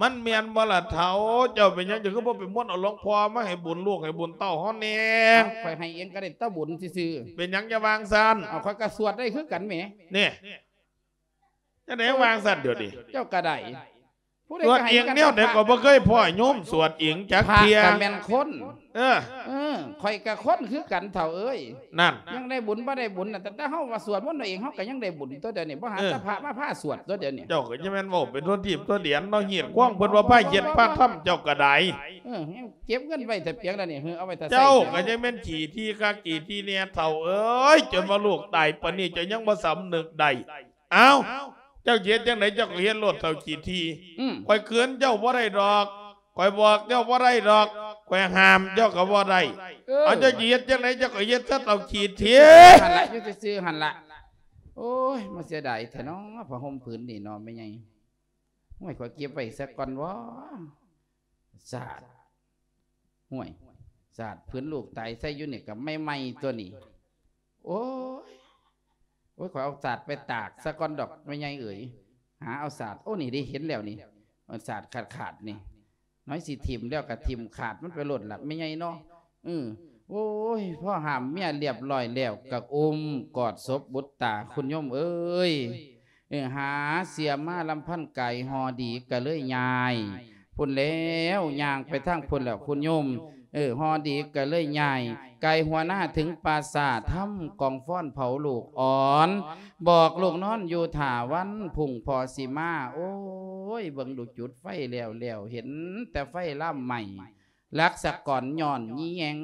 ມັນແມ່ນບໍ່ລະເຖົ້າ? ເຈົ້າເປັນຫຍັງເຈົ້າຄືບໍ່ໄປມົນເອົາຫຼວງພໍ່ມາໃຫ້ບຸນລູກໃຫ້ບຸນເຕົ້າເຮົາແດ່? ເອົ້າ ຂ້ອຍໃຫ້ເອງກໍໄດ້ແຕ່ບຸນຊື່ໆ. ເປັນຫຍັງຈະວ່າງຊັ້ນ? ເອົາ ຂ້ອຍກໍສວດໄດ້ຄືກັນແໝ. ນີ້ ຈັ່ງໃດວ່າງຊັ້ນດຽວນີ້? ເຈົ້າກໍໄດ້ ຜູ້ໃດ ສວດເອງແນວໃດກໍບໍ່ເຄີຍພໍ້ໂຍມສວດເອງຈັກເທື່ອ ພະກໍແມ່ນຄົນ ເອີ ເອີ ຂ້ອຍກໍຄົນຄືກັນເຖົ້າເອີຍ ນັ້ນ ຍັງໄດ້ບຸນບໍ່ໄດ້ບຸນນະ ແຕ່ເຮົາວ່າສວດມົນເອົາເອງ ເຮົາກໍຍັງໄດ້ບຸນຕົວະດຽວນີ້ ບໍ່ຫາ ເອີ ແຕ່ພະມາພາສວດຕົວະດຽວນີ້ ເຈົ້າກໍຈະແມ່ນເວົ້າໄປທົ່ວທີບທົ່ວແດນເນາະ ຮີດຄວາມເພິ່ນວ່າພາເຮັດພາທຳເຈົ້າກໍໄດ້ ເອີ ເກັບເງິນໄວ້ແຕ່ປຽງແລ້ວນີ້ ເອີ ເອົາໄວ້ຖ້າໃຊ້ ເຈົ້າກໍຈະແມ່ນຂີ້ຖີ່ຄັກຂີ້ຖີ່ແນ່ເຖົ້າເອີຍ ຈົນວ່າລູກຕາຍປານນີ້ເຈົ້າຍັງບໍ່ສຳນຶກໄດ້ ເອົ້າ ເຈົ້າຊິເຮັດຈັ່ງໃດເຈົ້າກໍເຮັດໂລດເຖົ້າຂີ້ຖີ່ ອືມ ຂ້ອຍເຂືອນເຈົ້າບໍ່ໄດ້ດອກ ຂ້ອຍບອກເຈົ້າບໍ່ໄດ້ດອກ ຂ້ອຍຫ້າມເຈົ້າກໍບໍ່ໄດ້ ເອີ ເອົາ ເຈົ້າຊິເຮັດຈັ່ງໃດເຈົ້າກໍເຮັດຊະເຖົ້າຂີ້ຖີ່ ຫັ້ນລະ ຢູ່ຊື່ໆຫັ້ນລະ ໂອ້ຍ ມາເສຍດາຍແທ້ເນາະ ຜ້າຫົ່ມຜືນນີ້ເນາະ ແມ່ໃຫຍ່ ໂອ້ຍ ຂ້ອຍເກັບໄວ້ຊະກ່ອນວະ ສາດ ຫ້ວຍ ສາດ ເພິ່ນລູກຕາຍໃສ່ຢູ່ນີ້ກໍໃໝ່ໆຕົວະນີ້ ໂອ້ຍ ໂອ້ຍ ຂ້ອຍເອົາສາດໄປຕາກຊະກ່ອນດອກ ແມ່ໃຫຍ່ເອີຍ ຫາເອົາສາດ ໂອ້ ນີ້ເດ້ ເຫັນແລ້ວນີ້ ເອົາສາດຂາດໆນີ້ ນ້ອຍຊິຖິ້ມແລ້ວກໍຖິ້ມຂາດມັນໄປໂລດລະ ແມ່ໃຫຍ່ເນາະ ເອີ ໂອ້ຍ ພໍຫ້າມເມຍລຽບຮ້ອຍແລ້ວ ກໍອຸ້ມກອດສົບບຸດຕາ ຄຸນໂຍມເອີຍ ເອີ ຫາເສຍມາລຳພັນກາຍ ຫໍ່ດີກໍເລີຍຍ້າຍພຸ້ນແລ້ວ ຍ່າງໄປທາງພຸ້ນແລ້ວ ຄຸນໂຍມ ເອີ ຫໍ່ດີກໍເລີຍຍ້າຍ ກາຍຫົວໜ້າເຖິງປ່າຊ້າ ທຳກອງຟ້ອນເຜົາລູກອ່ອນ ບອກລູກນອນຢູ່ຖ້າວັນພຸ້ງພໍ່ຊິມາ ໂອ້ຍ ເບິ່ງດູ ຈຸດໄຟແລ້ວໆ ເຫັນແຕ່ໄຟລາມໄໝ້ ລັກສະກອນຍ້ອນຍີ່ແຍງ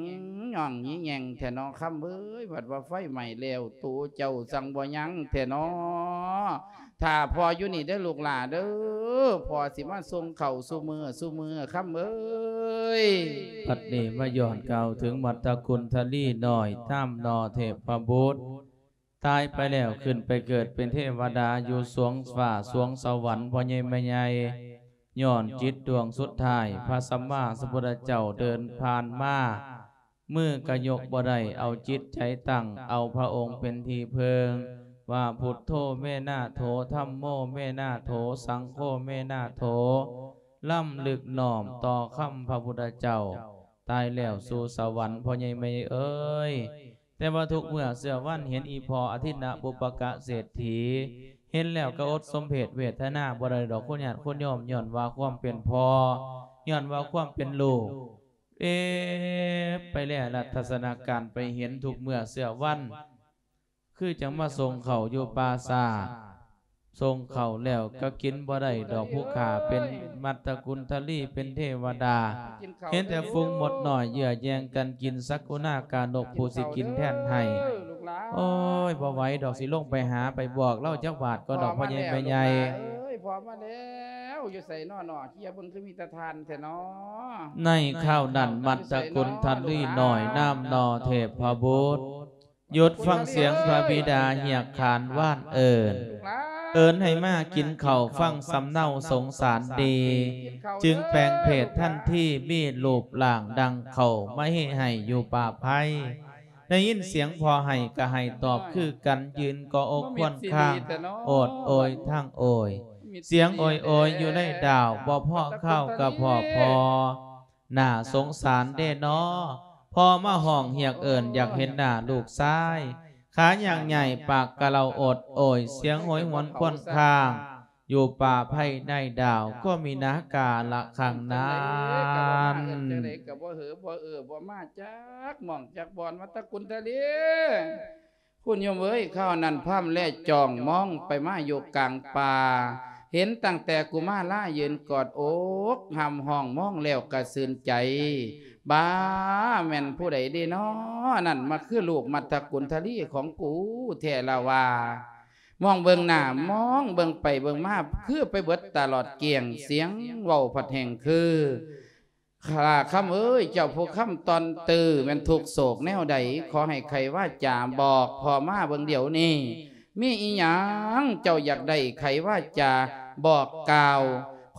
ຍ້ອນຍີ່ແຍງແທ້ເນາະ ຄຳເອີຍ ບັດວ່າໄຟໄໝ້ແລ້ວ ໂຕເຈົ້າຈັ່ງບໍ່ຍັງແທ້ເນາະ ຖ້າພໍ່ຢູ່ນີ້ເດີລູກຫຼ້າເດີ ພໍ່ຊິມາສົ່ງເຂົ້າສູ່ມື້ສູ່ມື້ ຄຳເອີຍ. ບັດນີ້ມາຍ້ອນກ່າວເຖິງມັດຕະກຸນທະລີນ້ອຍ ນາມໜໍ່ເທບພະບຸດ ຕາຍໄປແລ້ວຂຶ້ນໄປເກີດເປັນເທວະດາຢູ່ສວງຟ້າສວງສະຫວັນ ພໍ່ໃຫຍ່ແມ່ໃຫຍ່ ຍ້ອນຈິດດວງສຸດທ້າຍ ພະສຳມາສຳພຸດທະເຈົ້າເດີນຜ່ານມາ ມືກະຍົກບໍ່ໄດ້ ເອົາຈິດໃຈຕັ້ງ ເອົາພະອົງເປັນທີ່ເພິ່ງ ວ່າ ພຸດໂທ ເມນາໂຖ ທຳໂມ ເມນາໂຖ ສັງໂຄ ເມນາໂຖ ລຳລຶກນ້ອມຕໍ່ຄຳພະພຸດທະເຈົ້າ ຕາຍແລ້ວສູ່ສະຫວັນ ພໍ່ໃຫຍ່ແມ່ໃຫຍ່ເອີຍ. ແຕ່ວ່າທຸກເມື່ອເຊື່ອວັນເຫັນອີ່ພໍ່ອະທິນະບຸບປະກະເສດຖີ ເຫັນແລ້ວກໍອົດສົມເພດເວທະນາບໍ່ໄດ້ດອກ ຄຸນຍາດຄຸນໂຍມ ຍ້ອນວ່າຄວາມເປັນພໍ່ ຍ້ອນວ່າຄວາມເປັນລູກ ເອ ໄປແລລັດທັດສະນະການໄປເຫັນທຸກເມື່ອເຊື່ອວັນ ຄືຈັ່ງມາສົ່ງເຂົ້າຢູ່ປ່າຊ້າ ສົ່ງເຂົ້າແລ້ວກໍກິນບໍ່ໄດ້ດອກ ຜູ້ຂ້າເປັນມັດຕະກຸນທະລີ ເປັນເທວະດາ ເຫັນແຕ່ຝູງມົດນ້ອຍເຍື້ອແຍ່ງກັນກິນ ສັກກຸນາການົກຜູ້ຊິກິນແທນໃຫ້. ໂອ້ຍ ບໍ່ໄຫວດອກ ຊິລົງໄປຫາ ໄປບອກລາວຈັກບາດກ່ອນດອກ ພໍ່ໃຫຍ່ແມ່ໃຫຍ່. ເອີຍ ພໍ່ມາແລ້ວ ຢູ່ໃສນໍ ເຈົ້າເບິ່ງຄືມີແຕ່ທ່ານແທ້ນໍ. ໃນຄາວນັ້ນ ມັດຕະກຸນທະລີນ້ອຍ ນາມໜໍ່ເທບພະບຸດ ຢຸດຟັງສຽງພະບິດາຮຽກຂານຫວານເອີ້ນ ເອີ້ນໃຫ້ມາກິນເຂົ້າ ຟັງສຳເນົາສົງສານດີ ຈຶ່ງແປງເພດທັນທີ ມີຮູບຮ່າງດັ່ງເຂົ້າມາເຮໄຫ້ຢູ່ປ່າໄພ. ໄດ້ຍິນສຽງພໍ່ໄຫ້ກະໄຫ້ຕອບຄືກັນ ຢືນກໍອົກຄວນຄາງ ໂອດໂອຍທັງໂອຍ ສຽງໂອຍໂອຍຢູ່ໃນດາວ ບໍ່ພໍຄາວກະພໍພໍ ໜ້າສົງສານເດນໍ ພໍ່ມາຮ້ອງຮຽກເອີ້ນ ຢາກເຫັນໜ້າລູກຊາຍ ຂາຍ່າງໃຫຍ່ປາກກະເລົາ ໂອດໂອຍ ສຽງໂຫຍຫວນຄວນຄາງ ຢູ່ປ່າໄພໃນດາວ ກໍມີນາກາລະຄັ້ງນັ້ນ. ຈັ່ງໃດກໍບໍ່ເຫີບໍ່ເອີບໍ່ມາຈັກໝ່ອງຈັກບ່ອນ ມາຕະກຸນທະເລ ຄຸນໂຍມເອີຍ ຄາວນັ້ນພາມແລຈອງມອງໄປມາຢູ່ກາງປ່າ ເຫັນຕັ້ງແຕ່ກຸມາລາຢືນກອດອົກ ຮ່ຳຮ້ອງມອງແລ້ວກະຊື່ນໃຈ ບາ ແມ່ນຜູ້ໃດເດນໍ ນັ້ນມາຄືລູກມັດຕະກຸນທະລີຂອງກູແທ້ລະວ່າ ມອງເບິ່ງໜ້າ ມອງເບິ່ງໄປເບິ່ງມາ ຄືໄປເບິດຕະຫຼອດກ້ຽງ ສຽງເວົ້າພັດແຮ່ງຄື ຂ້າຄຳເອີຍ ເຈົ້າຜູ້ຄຳຕ່ອນຕື້ ແມ່ນທຸກໂສກແນວໃດ ຂໍໃຫ້ໄຂວາຈາບອກພໍ່ມາເບິ່ງດຽວນີ້ ມີອີ່ຫຍັງເຈົ້າຢາກໄດ້ໄຂວາຈາບອກກ່າວ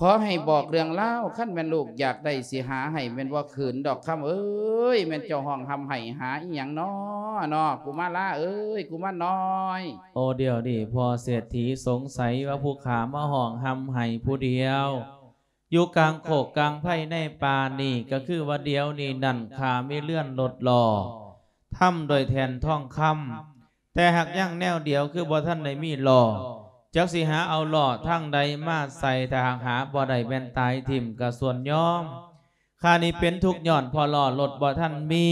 ຂໍໃຫ້ບອກເລື່ອງລາວ ຄັນແມ່ນລູກຢາກໄດ້ຊິຫາໃຫ້ ແມ່ນບໍ່ຂືນດອກຄຳເອີຍ ແມ່ນເຈົ້າຮ້ອງຮ່ຳໄຫ້ຫາອີ່ຫຍັງນໍ ນໍ ກຸມາລາເອີຍ ກຸມານນ້ອຍ. ໂອ ດຽວນີ້ພໍ່ເສດຖີສົງໄສວ່າຜູ້ຂ້າມາຮ້ອງຮ່ຳໄຫ້ຜູ້ດຽວ ຢູ່ກາງໂຄກກາງໄພໃນປ່ານີ້ ກໍຄືວ່າດຽວນີ້ນັ້ນ ຂ້າມີເຮືອນລົດລໍ້ ທຳດ້ວຍແທ່ນທອງຄຳ ແຕ່ຫາກຍັງແນວດຽວ ຄືບໍ່ທັນໄດ້ມີລໍ້ ຈັກຊິຫາເອົາລໍ້ທາງໃດມາໃສ່ ຖ້າຫາກຫາບໍ່ໄດ້ແມ່ນຕາຍຖິ້ມກະສ່ວນຍອມ. ຂ້ານີ້ເປັນທຸກຍ້ອນເພາະລໍ້ລົດບໍ່ທັນມີ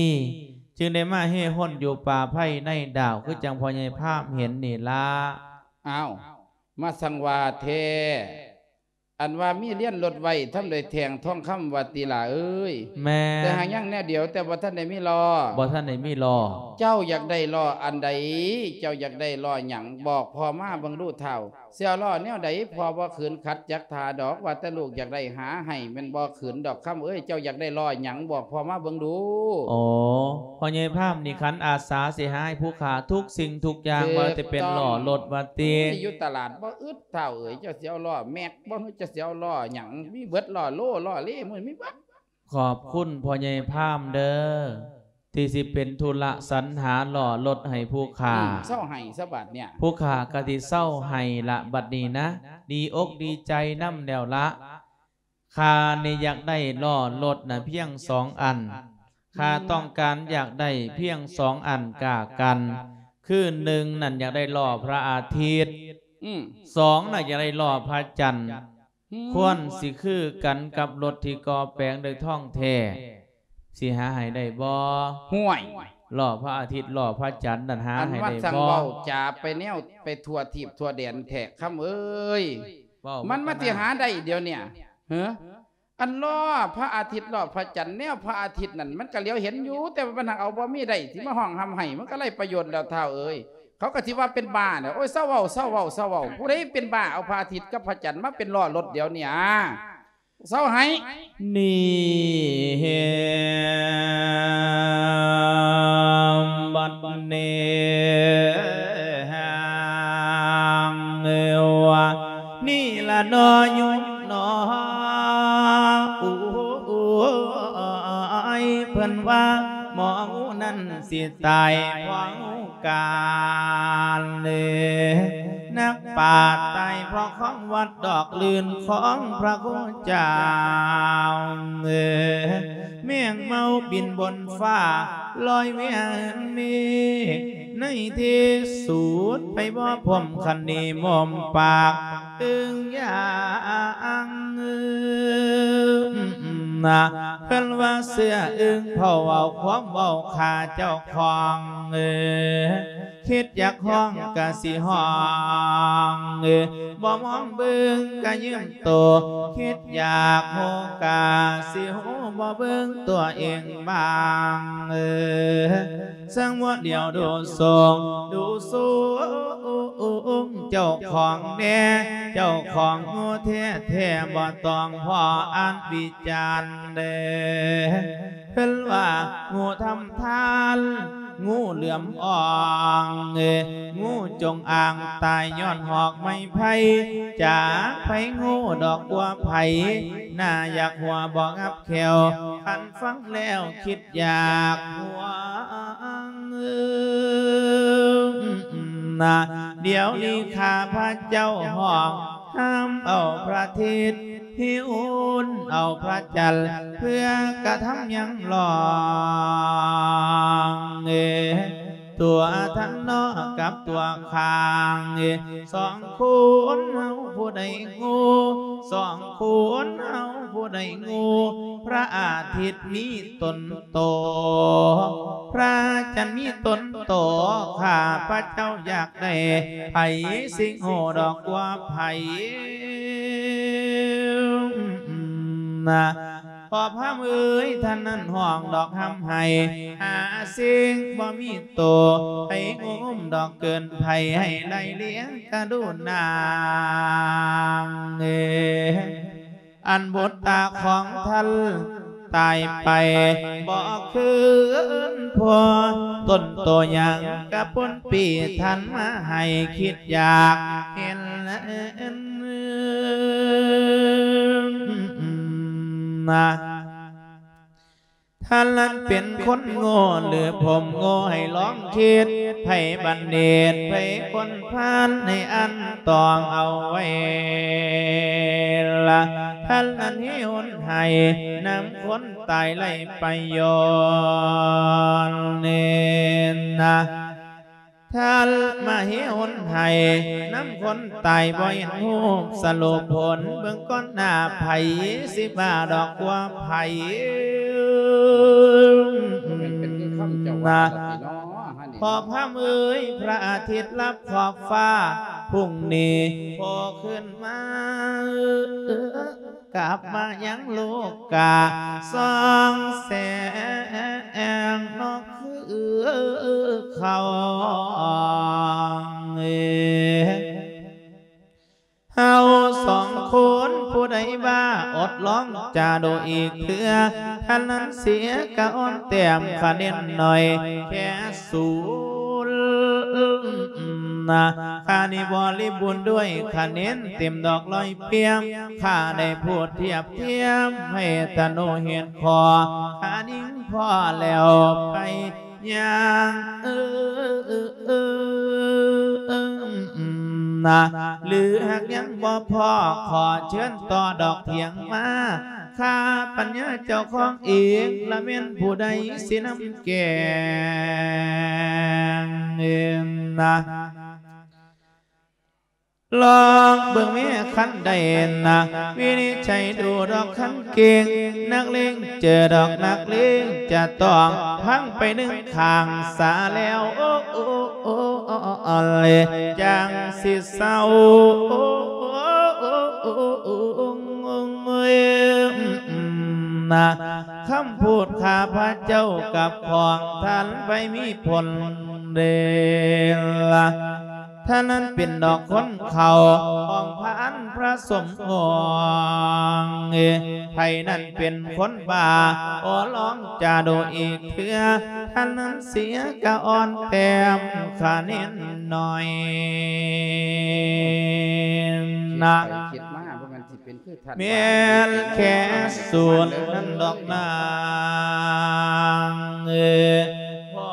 ຈຶ່ງໄດ້ມາເຮ່ຮົນຢູ່ປ່າໄພໃນດາວ ຄືຈັ່ງພໍ່ໃຫຍ່ພາມເຫັນນີ້ລະ. ອ້າວ ມາສັງວ່າແທ້ ອັນວ່າມີລຽນລົດໄວ້ທຳດ້ວຍແທ່ງທອງຄຳວ່າຕິຫຼ້າເອີຍ. ແມ່ນ. ແຕ່ຫາກຍັງແນວດຽວ ແຕ່ບໍ່ທັນໄດ້ມີລໍ້. ບໍ່ທັນໄດ້ມີລໍ້. ເຈົ້າຢາກໄດ້ລໍ້ອັນໃດ? ເຈົ້າຢາກໄດ້ລໍ້ຫຍັງ? ບອກພໍ່ມາເບິ່ງດູທ້າວ. ຊິເອົາລໍ້ແນວໃດ? ພໍ່ບໍ່ຂືນຂັດຈັກທ່າດອກ ວ່າແຕ່ລູກຢາກໄດ້ຫາໃຫ້ ແມ່ນບໍ່ຂືນດອກຄຳເອີຍ. ເຈົ້າຢາກໄດ້ລໍ້ຫຍັງ? ບອກພໍ່ມາເບິ່ງດູ. ໂອ້ ພໍ່ໃຫຍ່ພາມນີ້ຂັນອາສາຊິຫາໃຫ້ຜູ້ຂ້າທຸກສິ່ງທຸກຢ່າງ ບໍ່ວ່າຈະເປັນລໍ້ລົດວ່າຕິ. ໂອ້ຍ ຢູ່ຕະຫຼາດບໍ່ອຶດ ທ້າວເອີຍ ເຈົ້າຊິເອົາລໍ້ແມັກບໍ່ ຫຼື ເຈົ້າຊິເອົາລໍ້ຫຍັງ? ມີເບິດ ລໍ້ໂລ ລໍ້ເລ ມີເບິດ. ຂອບຄຸນພໍ່ໃຫຍ່ພາມເດີ ທີ່ຊິເປັນທຸລະສັນຫາລໍ້ລົດໃຫ້ຜູ້ຂ້າ. ອືມ ເຊົາໄຫ້ຊະບາດເນີ້ຍ. ຜູ້ຂ້າກະຊິເຊົາໄຫ້ລະບັດນີ້ນະ ດີອົກດີໃຈນຳແລ້ວລະ. ຂ້ານີ້ຢາກໄດ້ລໍ້ລົດນະພຽງສອງອັນ. ອືມ ຂ້າຕ້ອງການຢາກໄດ້ພຽງສອງອັນກາກັນ ຄືໜຶ່ງນັ້ນຢາກໄດ້ລໍ້ພະອາທິດ. ອືມ ສອງນະຢາກໄດ້ລໍ້ພະຈັນ. ອືມ ຄວນຊິຄືກັນກັບລົດທີ່ກໍ່ແປງດ້ວຍທອງແທ້ ຊິຫາໃຫ້ໄດ້ບໍ່? ຫ້ວຍ ລໍ້ພະອາທິດ ລໍ້ພະຈັນນັ້ນຫາໃຫ້ໄດ້ບໍ່? ອັນວ່າຊ່າງເວົ້າຈາໄປແນວໄປທົ່ວທີບທົ່ວແດນແທ້ ຄຳເອີຍ. ມັນມາຊິຫາໄດ້ດຽວເນີ້ຍ ເຮີ? ອັນລໍ້ພະອາທິດ ລໍ້ພະຈັນ ແນວພະອາທິດນັ້ນ ມັນກະຫຼຽວເຫັນຢູ່ ແຕ່ວ່າມັນຫາກເອົາບໍ່ມີໄດ້ ຊິມາຮ້ອງຮ່ຳໄຫ້ ມັນກະໄຮ້ປະໂຫຍດແລ້ວທ້າວເອີຍ. ເຂົາກະຊິວ່າເປັນບ້າແຫຼະ. ໂອ້ຍ ເຊົາເວົ້າ ເຊົາເວົ້າ ເຊົາເວົ້າ. ຜູ້ໃດເປັນບ້າເອົາພະອາທິດກັບພະຈັນມາເປັນລໍ້ລົດດຽວນີ້ ອາ ເຊົາໄຫ້. ນີ້ ບັດນີ້ ວ່ານີ້ລະນໍ ໂຍມນໍ ໂອ້ຍ ເພິ່ນວ່າໝໍງູນັ້ນຊິຕາຍເພາະ ການເລີ ນັກປາດຕາຍເພາະຂອງວັດດອກລື່ນຂອງພະຄຸເຈົ້າເອີ ແມງເມົາບິນບົນຟ້າລອຍວຽນເມກ ໃນທີ່ສຸດໄປບໍ່ພົມຄັນນີ້ໝົມປາກ ອຶ່ງຢ່າງ ເພິ່ນວ່າເຊື່ອອຶ່ງເຝົ້າເວົ້າຄວາມເວົ້າຂ້າເຈົ້າຂອງ ເອີ ຄິດຢາກຮ້ອງກະຊິຮ້ອງ ເອີ ບໍ່ມອງເບິ່ງກະຢືມໂຕ ຄິດຢາກຮູ້ກະຊິຮູ້ ບໍ່ເບິ່ງຕົວເອງບ້າງ ເອີ ສັງວະດຽວດູສູງ ດູສູງ ເຈົ້າຂອງແດ່ ເຈົ້າຂອງງູແທ້ໆ ບໍ່ຕ້ອງພໍອ່ານວິຈານເດີ ເພິ່ນວ່າງູທຳທານ ງູເຫຼືອມອ່ອງ ງູຈົງອາງ ຕາຍຍ້ອນຫອກໄມ້ໄຜ່ ຈາກໄຜງູດອກກົວໄຜ ໜ້າຢາກຫົວບໍ່ງັບແຂ້ວ ຄັນຟັງແລ້ວຄິດ ຢາກຫວງນະ ດຽວນີ້ຂ້າພະເຈົ້າຮ້ອງ ຫ້າມເອົາພະທິດ ຫິ້ວເອົາພະຈັນ ເພື່ອກະທຳຍັງລອງ ຕົວທ່ານນອກກັບຕົວຂ້າງ ສອງຄົນເຮົາຜູ້ໃດງູ ສອງຄົນເຮົາຜູ້ໃດງູ ພະອາທິດມີຕົນໂຕ ພະຈັນມີຕົນໂຕ ຂ້າພະເຈົ້າຢາກໄດ້ ໃຜຊິງູດອກກວ່າໃຜ ນະ ພໍ່ພາມເອີຍ ທ່ານນັ້ນຮ້ອງດອກຮ່ຳໄຫ້ ຫາສິ່ງບໍ່ມີໂຕ ໃຫ້ງຸ້ມດອກເກີນໄຜ ໃຫ້ໄລ່ລ້ຽງກະດູນາງເອີຍ ອັນບຸດຕາຂອງທ່ານຕາຍໄປ ບໍ່ຄືນພົວ ຕົ້ນໂຕຫຍັງກະປົນປີທ່ານມາໃຫ້ ຄິດຢາກເຫັນນະ ທ່ານນັ້ນເປັນຄົນໂງ່ ຫຼື ຜົມໂງ່ ໃຫ້ລອງຄິດ ໃຜບັນດິດ ໃຜຄົນພານ ໃຫ້ອັນຕອງເອົາໄວ້ລະ ທ່ານນັ້ນເຮັດໃຫ້ນຳຄົນຕາຍໄຮ້ປະໂຫຍດເນນນະ. ທ່ານມະເຫຫົນໃຫ້ນຳຄົນຕາຍບໍ່ເຫັນຮູບສະຫຼຸບຜົນ ເບິ່ງກ່ອນໜ້າໃຜຊິບ້າດອກກວ່າໃຜ. ແມ່ນເປັນຄືຄຳເຈົ້າວ່າລະຕິເນາະ ຮະນີ້ ພໍ່ພາມເອີຍ ພະອາທິດລັບຂອບຟ້າ ພຸ່ງນີ້ໂຜຂຶ້ນມາ ກັບມາຍັງໂລກາ ສ່ອງແສງນອກຄືເຂົາ. ເຮົາສອງຄົນຜູ້ໃດວ່າ ອົດລອງຈາດູອີກເທື່ອ ທ່ານນັ້ນເສຍກະອ່ອນແຕ້ມຄະແນນໜ້ອຍແຄ່ສູນ. ຂ້ານີ້ບໍລິບູນດ້ວຍຄະແນນເຕັມດອກຮ້ອຍປ່ຽມ ຂ້າໄດ້ພູດທຽບທຽມໃຫ້ທະນູເຮັດຂໍ້ ຂ້າຍິງພໍແລ້ວໄປຍ່າງ ເອີ ຫຼືຫາກຍັງບໍ່ພໍ ຂໍເຊີນຕໍ່ດອກຖຽງມາ ຂ້າປັນຍາເຈົ້າຂອງເອງ ລະແມ່ນຜູ້ໃດຊິນຳແກງ ລອງເບິ່ງແມ້ຄັນໃດນະ ວິນິດໄຈດູດອກຄັນເກັ່ງ ນັກເລງເຈີດອກນັກເລງຈະຕ້ອງພັງໄປໜຶ່ງຂ້າງສາແລ້ວ ໂອ້ ໂອ້ ໂອ້ ໂອ້ ໂອ້ຍ ຈັ່ງຊິເຊົາ ໂອ້ ໂອ້ ໂອ້ ໂອ້ ໂອ້ ນະ ຄຳພູດຂ້າພະເຈົ້າກັບຂອງທ່ານໄປມີຜົນເດລະ ທ່ານນັ້ນເປັນດອກຄົນເຂົ້າຂອງພະອັນພະສົມຫວັງ ໃຜນັ້ນເປັນຄົນບ້າ ຂໍລອງຈາດູອີກເທື່ອ ທ່ານນັ້ນເສຍກະອ່ອນແຕ້ມຄະແນນໜ້ອຍນະ ຄິດໄປຄິດມາ ບໍ່ແມ່ນຊິ ເປັນຄືທ່ານ ແມ່ນແຄ່ສູນນັ້ນດອກນາງ ເອີ ພໍ່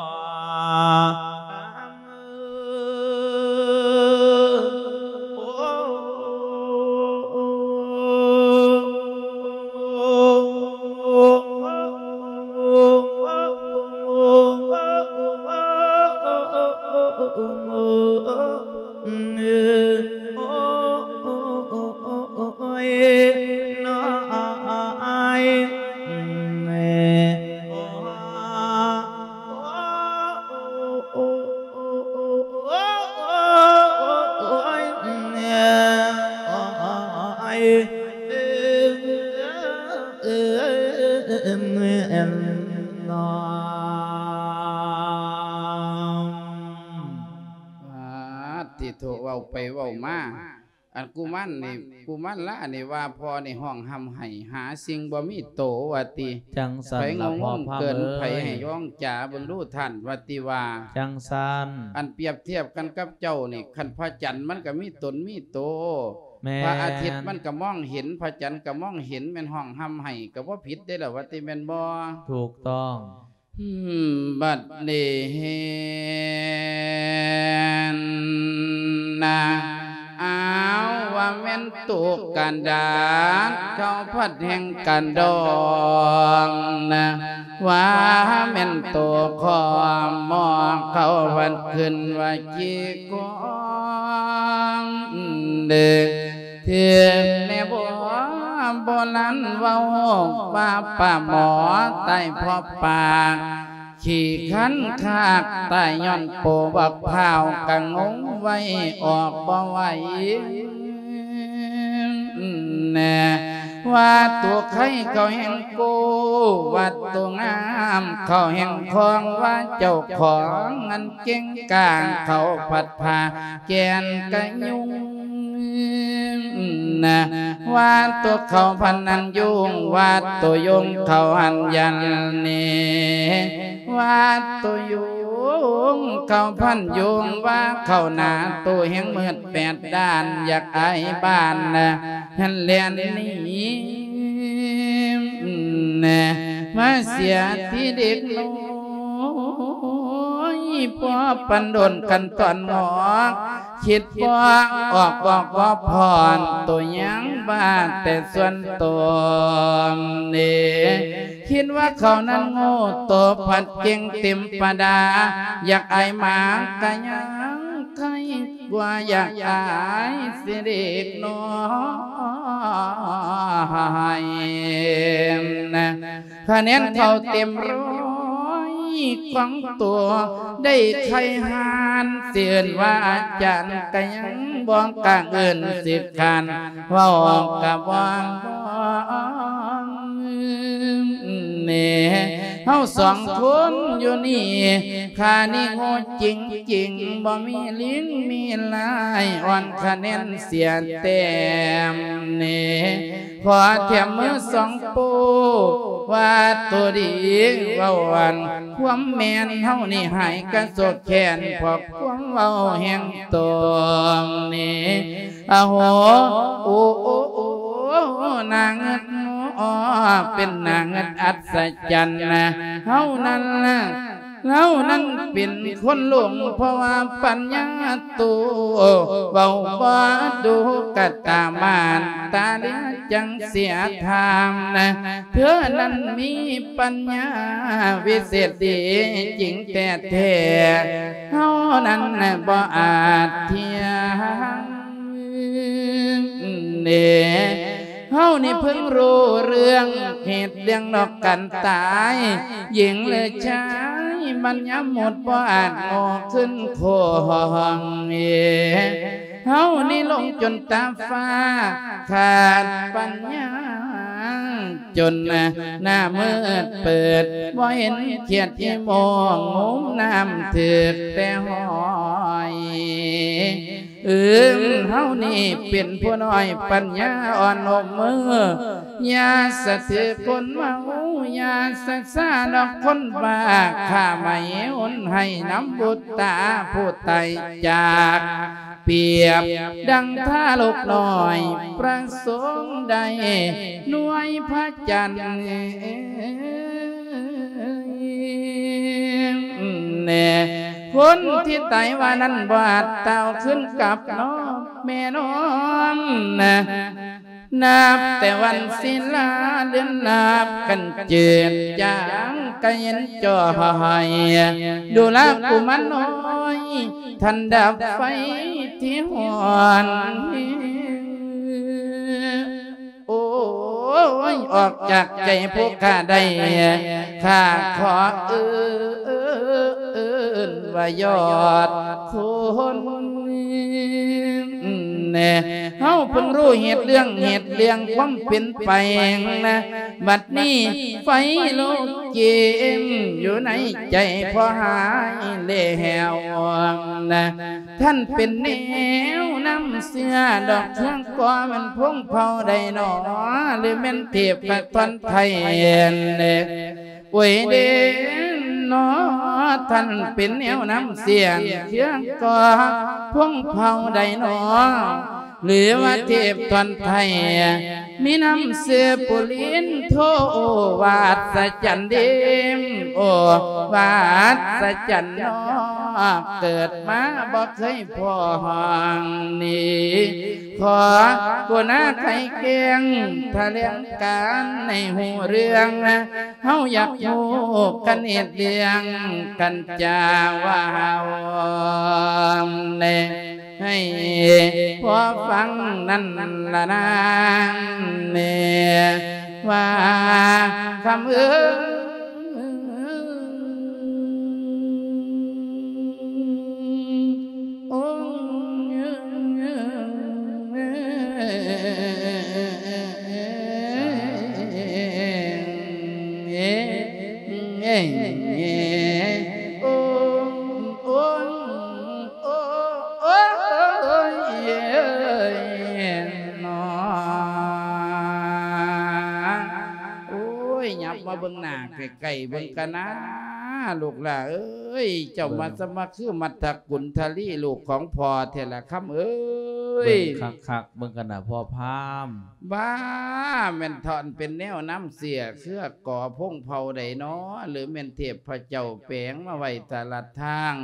ປາດຕິໂທ ເວົ້າໄປເວົ້າມາ ອັນກຸມານນີ້ ກຸມານລານີ້ວ່າພໍ່ນີ້ຮ້ອງຮ່ຳໄຫ້ ຫາສິ່ງບໍ່ມີໂຕວ່າຕິ ຈັ່ງຊັ້ນລະ ໃຜງຸ່ມເກີນ ພໍ່ພາມເອີຍ ໃຜໃຫ້ຮ້ອງຈາເບິ່ງດູທ່ານ ວ່າຕິວ່າ ຈັ່ງຊັ້ນ ອັນປຽບທຽບກັນກັບເຈົ້ານີ້ ຄັນພະຈັນມັນກະມີຕົນມີໂຕ ແມ່ນ ພະອາທິດມັນກະມອງເຫັນ ພະຈັນກະມອງເຫັນ ແມ່ນຮ້ອງຮ່ຳໄຫ້ກະບໍ່ຜິດເດ້ລະ ວ່າຕິແມ່ນບໍ່? ຖືກຕ້ອງ. ບັດນີ້ເຫັນນະ ອ້າວ ວ່າແມ່ນໂຕກະດາດ ເຂົາພັດແຫ່ງກະດອງນະ ວ່າແມ່ນໂຕຂອມໝໍກ ເຂົາພັດຂຶ້ນວ່າຂີ້ ກອງເດ ເຖິງແມ່ນບໍ່ ໂບລານເວົ້າວ່າປາໝໍຕາຍເພາະປາກ ຂີ້ຄັນຄາກຕາຍຍ້ອນໂປບັກພ້າວ ກະງົງໄວ້ອອກບໍ່ໄຫວ ແນ່ ວ່າໂຕໄຄເຂົາແຮ່ງໂກ້ ວ່າໂຕງາມເຂົາແຮ່ງຄອງ ວ່າເຈົ້າຂອງອັນເກັ່ງກາງ ເຂົາພັດພາແກ່ນກະຍຸງ ນະ ວ່າໂຕເຂົາພັນອັນຍຸງ ວ່າໂຕຍຸງເຂົາອັນຢັນເນ ວ່າໂຕຍຸງເຂົາພັນຍຸງ ວ່າເຂົາໜ້າໂຕແຮ່ງມືດແປດດ້ານ ຢາກອາຍບ້ານນະ ຫັ້ນແລ່ນໜີ ແນ່ ມາເສຍທີ່ເດັກນ້ອຍ ພໍປັນດົນກັນຕອນງອກ ຄິດບໍ່ອອກບອກບໍ່ຜ່ອນ ໂຕຍັງບ້າແຕ່ສ່ວນຕົນເດ ຄິດວ່າເຂົານັ້ນໂງ່ ໂຕພັດເກັ່ງເຕັມປະດາ ຢາກອາຍໝາກະຍັງໄຄກວ່າ ຢາກອາຍຊິເດັກນ້ອຍນະ. ຄະແນນເຂົາເຕັມຮ້ອຍຂອງໂຕ ໄດ້ໄຄຫານ ຊິເອີ້ນວ່າອາຈານກະຍັງບໍ່ກ້າເອີ້ນ ຊິຄ້ານເວົ້າກະບໍ່ແນ່. ເຮົາສອງຄົນຢູ່ນີ້ ຂ້ານີ້ໂງ່ຈິງໆ ບໍ່ມີລິງມີລາຍ ອ່ອນຄະແນນເສຍແຕ້ມແນ່. ຂໍແຖມມືສອງໂປ້ ວ່າໂຕດີເວົ້າອັນຄວາມແມ່ນ ເຮົານີ້ຫາຍກະໂສກແຄ້ນ ເພາະຄວາມເວົ້າແຮງໂຕນີ້ ອາໂຫ ໂອ ໂອ ໂອ ໜ້າງຶດ ເປັນໜ້າງຶດອັດສະຈັນນະ ເຮົານັ້ນລະ ເຮົານັ້ນເປັນຄົນຫຼົງ ເພາະວ່າປັນຍາໂຕ ເວົ້າບໍ່ດູກະຕາມານຕາເຫຼືອຈັ່ງເສຍທາມນະ ເທື່ອນັ້ນມີປັນຍາວິເສດດີຈິງແທ້ໆ ເຮົານັ້ນບໍ່ອາດທຽງເດ. ເຮົານີ້ເພິ່ງຮູ້ເລື່ອງເຫດເລື່ອງນອກກັນຕາຍ ຍິງຫຼືຊາຍມັນຍາໝົດບໍ່ອາດໂງ່ຂຶ້ນຄົງເອ. ເຮົານີ້ຫຼົງຈົນຕາຟ້າຂາດປັນຍາ ຈົນໜ້າມືດເປີດ ບໍ່ເຫັນຂຽດອີໂມງ ງຸມນ້ຳຖືກແຕ່ຫອຍ. ເອີ ເຮົານີ້ເປັນຜູ້ນ້ອຍປັນຍາອ່ອນອົບມື ຢ່າສະຖືຄົນເມົາ ຢ່າສະຊາດອກຄົນບ້າ ຂ້າໄໝຫຸນໃຫ້ນຳບຸດຕາຜູ້ຕາຍຈາກ ປຽບດັ່ງທາລົກນ້ອຍ ປະສົງໄດ້ໜ່ວຍພະຈັນ ແນ່ ຄົນທີ່ຕາຍວ່ານັ້ນ ບໍ່ອາດຕາວຄືນກັບນ້ອງແມ່ນ້ອງນະ. ນັບແຕ່ວັນສິລາເດືອນນັບກັນເຈີດຈາງກະເຢັນຈ່ອຍ ດູລາກຸມານນ້ອຍ ທ່ານດັບໄຟທີ່ຮ້ອນ ໂອ້ຍ ອອກຈາກໃຈຜູ້ຂ້າໄດ້ ຂ້າຂໍເອີ້ນວ່າຍອດຄຸນແນ່. ເຮົາເພິ່ງຮູ້ເຫດເລື່ອງ ເຫດເລື່ອງຄວາມເປັນໄປນະ ບັດນີ້ໄຟລຸກຈິ້ມຢູ່ໃນໃຈພໍ່ຫາຍແລ້ວນະ. ທ່ານເປັນແນວນຳເຊື້ອດອກເຄື່ອງ ກໍແມ່ນພົງເຜົ່າໃດນໍ ຫຼືແມ່ນເທບກະທ່ອນໄທແລ? ໂອ້ຍເດນໍ ທ່ານເປັນແນວນຳເຊື້ອເຄື່ອງ ກໍພົງເຜົ່າໃດນໍ ຫຼືວ່າເທບທ່ອນໄທ ມີນຳຊື່ປຸລິນໂທ ວ່າອັດສະຈັນເດ ໂອ້ ວ່າອັດສະຈັນນໍ ເກີດມາບໍ່ເຄີຍພໍ້ຫ້ອງນີ້ ຂໍກົນາໄຂແກ້ງຖະແຫຼງການໃຫ້ຮູ້ເລື່ອງ ເຮົາຢາກຮູ້ກັນເຫດເລື່ອງກັນຈາວ່າເຮົາແນ່ ໃຫ້ພໍຟັງນັ້ນລະນາງແນ່ ວ່າຄຳເອີຍ ໂອ້ຍ ໂອ້ຍ ໂອ້ຍ ໂອ້ຍ ໂອ້ຍ ນອ ໂອ້ຍ ຫຍັບມາເບິ່ງໜ້າໃກ້ໆເບິ່ງກະນາ ລູກຫຼ້າເອີຍ ເຈົ້າມາສະມາຄືມັດທະກຸນທະລີລູກຂອງພໍ່ແທ້ລະ ຄຳເອີຍ. ເບິ່ງຄັກໆເບິ່ງກະນາພໍ່ພາມ. ບ້າ ແມ່ນທ່ອນເປັນແນວນຳເຊື້ອເຄືອກໍພົງເຜົ່າໃດນໍ ຫຼືແມ່ນເທບພະເຈົ້າແປງມາໄວ້ຕະຫຼາດທາງ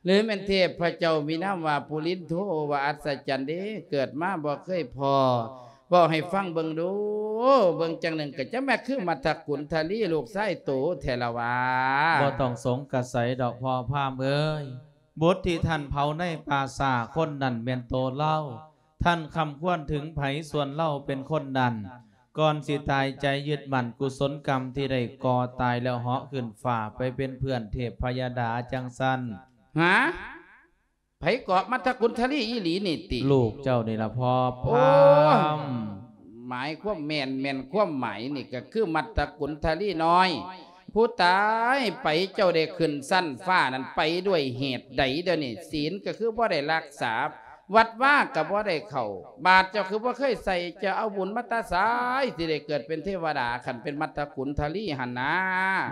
ຫຼືແມ່ນເທບພະເຈົ້າມີນາມວ່າປຸລິນໂທ ວ່າອັດສະຈັນເດ ເກີດມາບໍ່ເຄີຍພໍ້ ເວົ້າໃຫ້ຟັງເບິ່ງດູ ເບິ່ງຈັ່ງໜຶ່ງກໍຈະແມ່ນຄືມັດທະກຸນທະລີລູກຊາຍໂຕແທ້ລະຫວາ. ບໍ່ຕ້ອງສົງກະໄສດອກພໍ່ພາມເອີຍ, ບຸດທີ່ທ່ານເຜົາໃນປ່າຊ້າຄົນນັ້ນແມ່ນໂຕລາວ. ທ່ານຄຳຄວນເຖິງໃຜ ສ່ວນລາວເປັນຄົນນັ້ນ. ກ່ອນຊິຕາຍໃຈຍຶດໝັ້ນກຸສົນກຳທີ່ໄດ້ກໍ່ຕາຍແລ້ວເຫາະຂຶ້ນຟ້າໄປເປັນເພື່ອນເທບພະຍະດາຈັ່ງຊັ້ນ. ຫາ? ໃຜເກາະມັດທະກຸນທະລີອີ່ຫຼີນີ້ຕິ? ລູກເຈົ້ານີ້ລະພໍ່ພາມ. ໂອ້ຍ ໝາຍຄວາມແມ່ນ ແມ່ນຄວາມໝາຍນີ້ກໍຄືມັດທະກຸນທະລີນ້ອຍ ຜູ້ຕາຍໄປ ເຈົ້າໄດ້ຂຶ້ນຊັ້ນຟ້ານັ້ນໄປດ້ວຍເຫດໃດ? ດຽວນີ້ສິນກໍຄືບໍ່ໄດ້ຮັກສາ, ວັດວາກໍບໍ່ໄດ້ເຂົ້າ, ບາດເຈົ້າຄືບໍ່ເຄີຍໃສ່, ເຈົ້າເອົາບຸນມາແຕ່ໃສ ຊິໄດ້ເກີດເປັນເທວະດາ ຄັນເປັນມັດທະກຸນທະລີຫັ້ນນາ?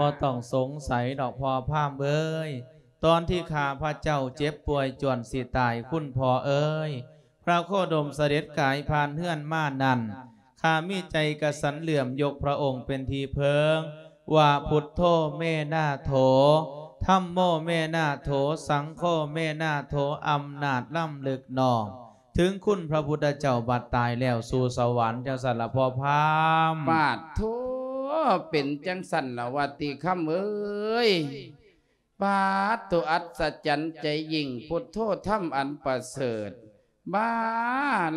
ບໍ່ຕ້ອງສົງໄສດອກພໍ່ພາມເອີຍ. ຕອນທີ່ຂ້າພະເຈົ້າເຈັບປ່ວຍຈວນຊິຕາຍ ຄຸນພໍ່ເອີຍ, ພະໂຄດົມສະເດັດກາຍຜ່ານເຮືອນມານັ້ນ, ຂ້າມີໃຈກະສັນເຫຼື້ອມຍົກພະອົງເປັນທີ່ເພິ່ງ, ວ່າ ພຸດໂທ ເມນາໂຖ, ທຳໂມ ເມນາໂຖ, ສັງໂຄ ເມນາໂຖ, ອຳນາດລຳລຶກນ້ອມ ເຖິງຄຸນພະພຸດທະເຈົ້າບັດຕາຍແລ້ວສູ່ສະຫວັນ ຈັ່ງຊັ້ນລະພໍ່ພາມ. ປາດໂທ ເປັນຈັ່ງຊັ້ນລະຫວາຕິຄຳເອີຍ. ປາດໂທ ອັດສະຈັນໃຈຍິ່ງ ພຸດໂທ ທຳອັນປະເສີດ. ບາ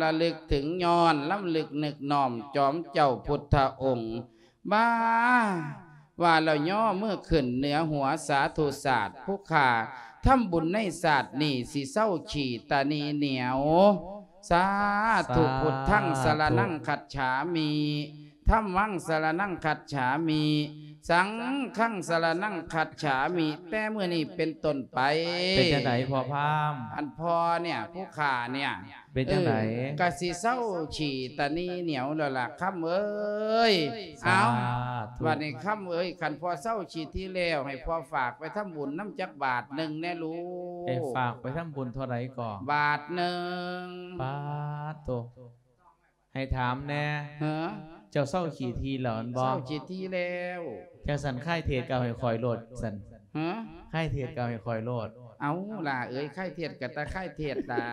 ລະລຶກເຖິງຍ້ອນ ລຳລຶກນຶກນ້ອມຈອມເຈົ້າພຸດທະອົງ. ບາ ວ່າແລ້ວຍໍມືຂຶ້ນເໜືອຫົວ ສາທຸສາດ ຜູ້ຂ້າທຳບຸນໃນຊາດນີ້ ຊິເຊົາຂີ້ຕາໜີໜຽວ. ສາທຸ ສາທຸ ພຸດທັງສະລະນັງຄັດສາມິ ທຳມັງສະລະນັງຄັດສາມິ ສັງຄັງສະລະນັງຄັດສາມິ ແຕ່ມື້ນີ້ເປັນຕົ້ນໄປ. ເປັນຈັ່ງໃດພໍ່ພາມ? ອັນພໍ່ເນຍ ຜູ້ຂ້າເນຍ ເປັນຈັ່ງໃດ? ເອີ ກະຊິເຊົາຂີ້ຕາໜີໜຽວແລ້ວລະຄຳເອີຍ. ສາທຸ ເອົາ ບັດນີ້ຄຳເອີຍ ຄັນພໍ່ເຊົາຂີ້ຖີ່ແລ້ວ ໃຫ້ພໍ່ຝາກໄປທຳບຸນນຳຈັກບາດໜຶ່ງແດ່ລູກ. ໃຫ້ຝາກໄປທຳບຸນເທົ່າໃດກໍ? ບາດໜຶ່ງ. ປາດໂທ ໃຫ້ຖາມແດ່. ຫະ? ເຈົ້າເຊົາຂີ້ຖີ່ແລ້ວແມ່ນບໍ່? ເຊົາຂີ້ຖີ່ແລ້ວ. ຈັ່ງຊັ້ນຄາຍເທດກໍເອົາໃຫ້ຂ້ອຍໂລດຊັ້ນ. ຫະ? ຄາຍເທດກໍເອົາໃຫ້ຂ້ອຍໂລດ. ເອົາຫຼ້າເອີຍ ຄາຍເທດກໍຕາຄາຍເທດລະ.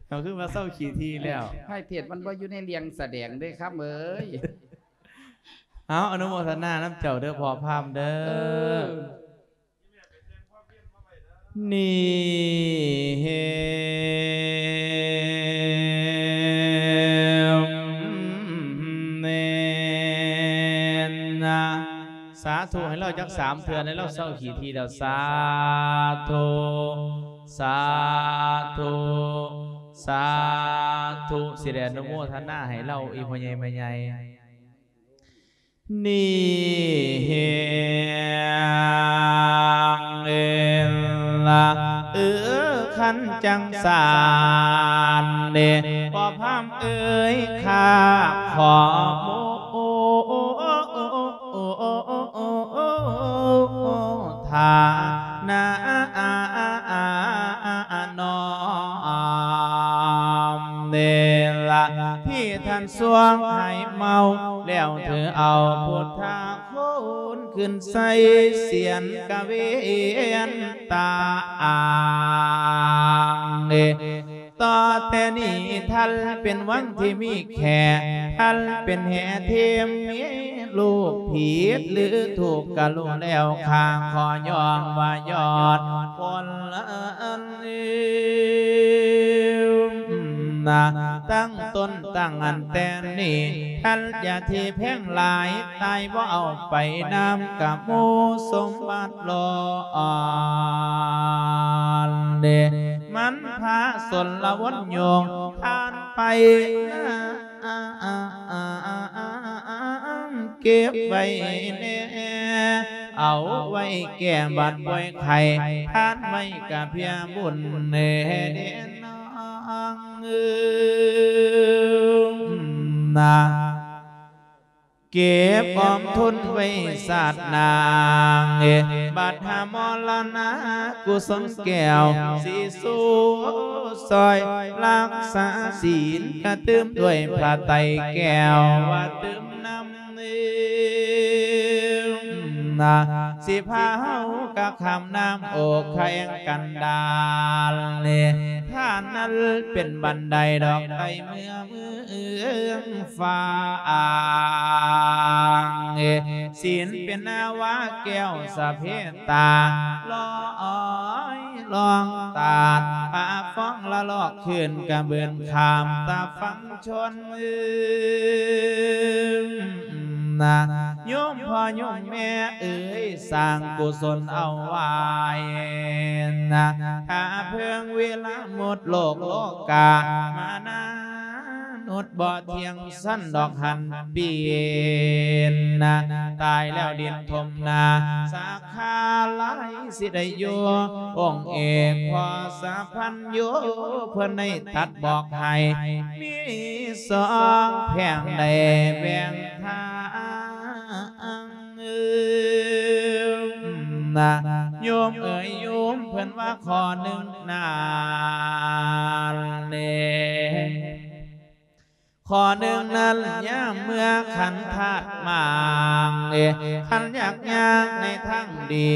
ເຮົາຄືວ່າເຊົາຂີ້ຖີ່ແລ້ວ. ຄາຍເທດມັນບໍ່ຢູ່ໃນເລື່ອງສະແດງເດ້ຄຳເອີຍ. ເອົາ ອະນຸໂມທະນານຳເຈົ້າເດີພໍ່ພາມເດີ. ເອີ. ນີ້ເຫັນນະ ສາທຸໃຫ້ລາວຈັກສາມເທື່ອ ໃຫ້ລາວເຊົາຂີ້ຖີ່ແລ້ວ. ສາທຸ ສາທຸ ສາທຸ ຊິໄດ້ອະນຸໂມທະນາໃຫ້ລາວ ອີ່ພໍ່ໃຫຍ່ແມ່ໃຫຍ່. ນີ້ເຫັນລະ ເອີ ຄັນຈັ່ງຊັ້ນເດ ພໍ່ພາມເອີຍ ຂ້າຂໍໂມທະນານ້ອມເດລະ ທີ່ທ່ານຊ່ວງໃຫ້ເມົາ ແລ້ວຖືເອົາພຸດທະ ໂຄນຂຶ້ນໃສ່ສຽນກະເວນຕາອາງເດ. ຕໍ່ແຕ່ນີ້ທ່ານເປັນວັງທີ່ມີແຂກ ທ່ານເປັນແຫ່ເທມ ມີລູກຜິດຫຼືຖືກກະລຸແລ້ວ ຂ້າຂໍຍ້ອງວ່າຍ້ອນຄົນນະ ຕັ້ງຕົ້ນຕັ້ງອັນແຕ່ນີ້ ທ່ານຢ່າທີ່ແພງຫຼາຍ ຕາຍບໍ່ເອົາໄປນຳກະໝູ່ສົມບັດຫຼອນເດ ມັນພາສົນລະວົນໂຍງ ທ່ານໄປນຳເກັບໄວ້ແດ່ ເອົາໄວ້ແກ້ບາດປ່ວຍໄຂ້ ທ່ານໄວ້ກະເພື່ອບຸນແດ່ ເອີ ນາ ເກັບອອມທຶນໄວ້ຊາດໜ້າ ບັດຫາມໍລະນະກຸສົນແກ້ວ ສີສູ່ຊ່ອຍຮັກສາສີນ ກະຕື່ມດ້ວຍພະໄຕແກ້ວ ວ່າຕື່ມນຳ ນາ ຊິພາເຮົາກະຂ້າມນ້ຳໂອກແຄງກັນດານ ທ່ານນັ້ນເປັນບັນໄດດອກໄຕ່ເມືອເມືອງຟ້າ ສິນເປັນນາວາແກ້ວສະເພຕາ ລອຍລ່ອງຕາດ ພາຟ້ອງລະລອກ ຂຶ້ນກະເບິ່ນຂ້າມຕາຝັ່ງຊົນ ນະ ໂຍມພໍ່ໂຍມແມ່ເອີຍ ສ້າງກຸສົນເອົາໄວ້ນະ ຖ້າເພິ່ງເວລາໝົດ ໂລກໂລກາມານານຸດ ບໍ່ທ່ຽງສັນດອກຫັນປ່ຽນນະ ຕາຍແລ້ວດິນຖົມໜ້າ ສາ ຂາຫຼາຍຊິໄດ້ຢູ່ ອົງເອກພໍ່ສະພັນໂຍ ເພິ່ນໄດ້ຕັດບອກໃຫ້ ມີສອງແພ່ງໄດ້ແບ່ງທາງ ນະ ໂຍມເອີຍໂຍມ ເພິ່ນວ່າຂໍ້ໜຶ່ງນັ້ນເດ ຂໍ້ໜຶ່ງນັ້ນ ຍາມເມື່ອຂັນທາດໝາງ ເອ ຄັນຢາກຍ່າງໃນທາງດີ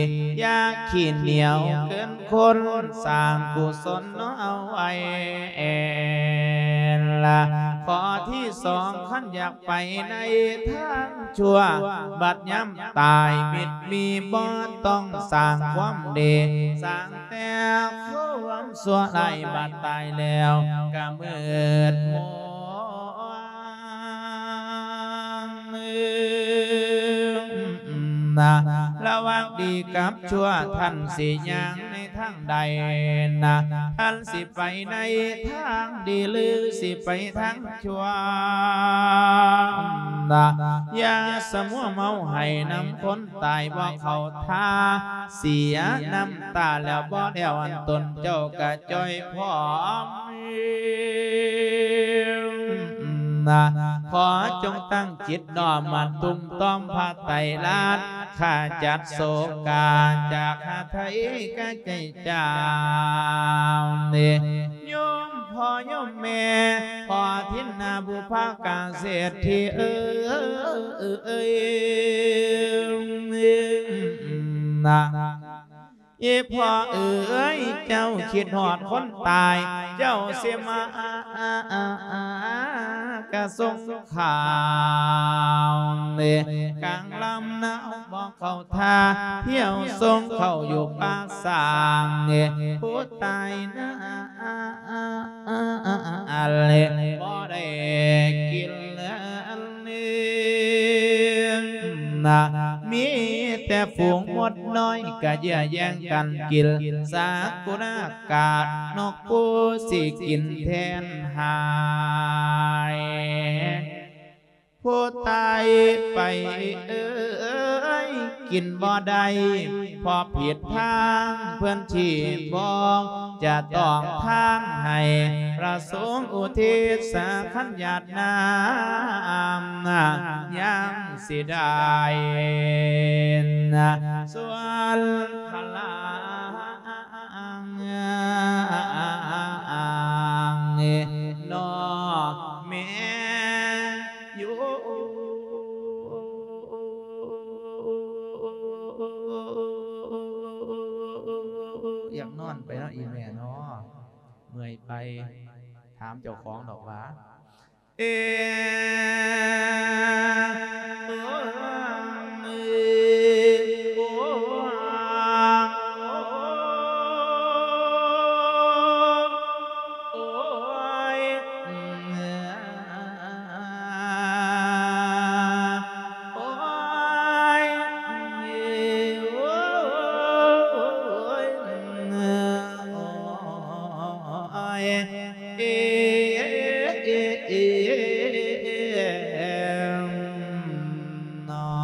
ຢ່າຂີ້ໜຽວເກີນຄົນ ສ້າງກຸສົນເອົາໄວ້ລະ ຂໍ້ທີສອງ ຄັນຢາກໄປໃນທາງຊົ່ວ ບັດຍາມຕາຍມິດມີບໍ່ຕ້ອງສ້າງຄວາມດີ ສ້າງ ແຕ່ຄວາມຊົ່ວຮ້າຍ ບາດຕາຍແລ້ວກະມືດມົວນະ ລະຫວ່າງດີກັບຊົ່ວ ທ່ານຊິຍ່າງໃນທາງໃດນະ ທ່ານຊິໄປໃນທາງດີ ຫຼື ຊິໄປທາງ ຊົ່ວນະ ຢ່າສະມົວເມົາໃຫ້ນຳຄົນຕາຍ ບໍ່ເຂົ້າທ່າ ເສຍນ້ຳຕາແລ້ວບໍ່ແລ້ວ ອັນຕົນເຈົ້າກະຈ່ອຍພ້ອມນະ ຂໍຈົ່ງຕັ້ງຈິດນ້ອມມາ ຕຸ້ມຕ້ອມພະໄຕລາດ ຂ້າຈັດໂສກາຈາກຫາໄທກະໃຈ ເຈົ້ານີ້ ໂຍມພໍ່ໂຍມແມ່ ພໍ່ທິນນາບຸພາກາເສດຖີເອີຍນະ ອີ່ພໍ່ເອີຍ ເຈົ້າຄິດຮອດຄົນຕາຍ ເຈົ້າຊິມາກະສົ່ງ ຂ້າວນີ້ ກາງລຳໜາວບໍ່ເຂົ້າທ່າ ທ່ຽວສົ່ງເຂົ້າຢູ່ປາກສ້າງນີ້ ຜູ້ຕາຍນະ ອັນນີ້ບໍ່ໄດ້ກິນເລີຍນະ ມີແຕ່ຝູງມົດນ້ອຍ ກະເຍື້ອແຍ່ງກັນກິນ ສາກຸນາ ກາດນົກປູຊິກິນແທນຫາຍ ຜູ້ຕາຍໄປເອີຍ ກິນບໍ່ໄດ້ ເພາະຜິດທາງເພິ່ນຊີ້ບອກ ຈະຕ້ອງທານໃຫ້ພະສົງອຸທິດ ສາຄັນຍາດນ້ຳ ຍັງຊິໄດ້ ສ່ວນພະລາ ອັງ ອັງ ອັງ ເນາະແມ່ຢູ່ ຢາກນອນໄປເນາະ ອີ່ແມ່ເນາະ ເມື່ອຍໄປ ຖາມເຈົ້າຂອງດອກວ່າ ເອ ໂອ ເອ ໂອ ໂອຍ ໂອຍ ໂອຍ ເອ ເອ ເອ ເອ ເນາະ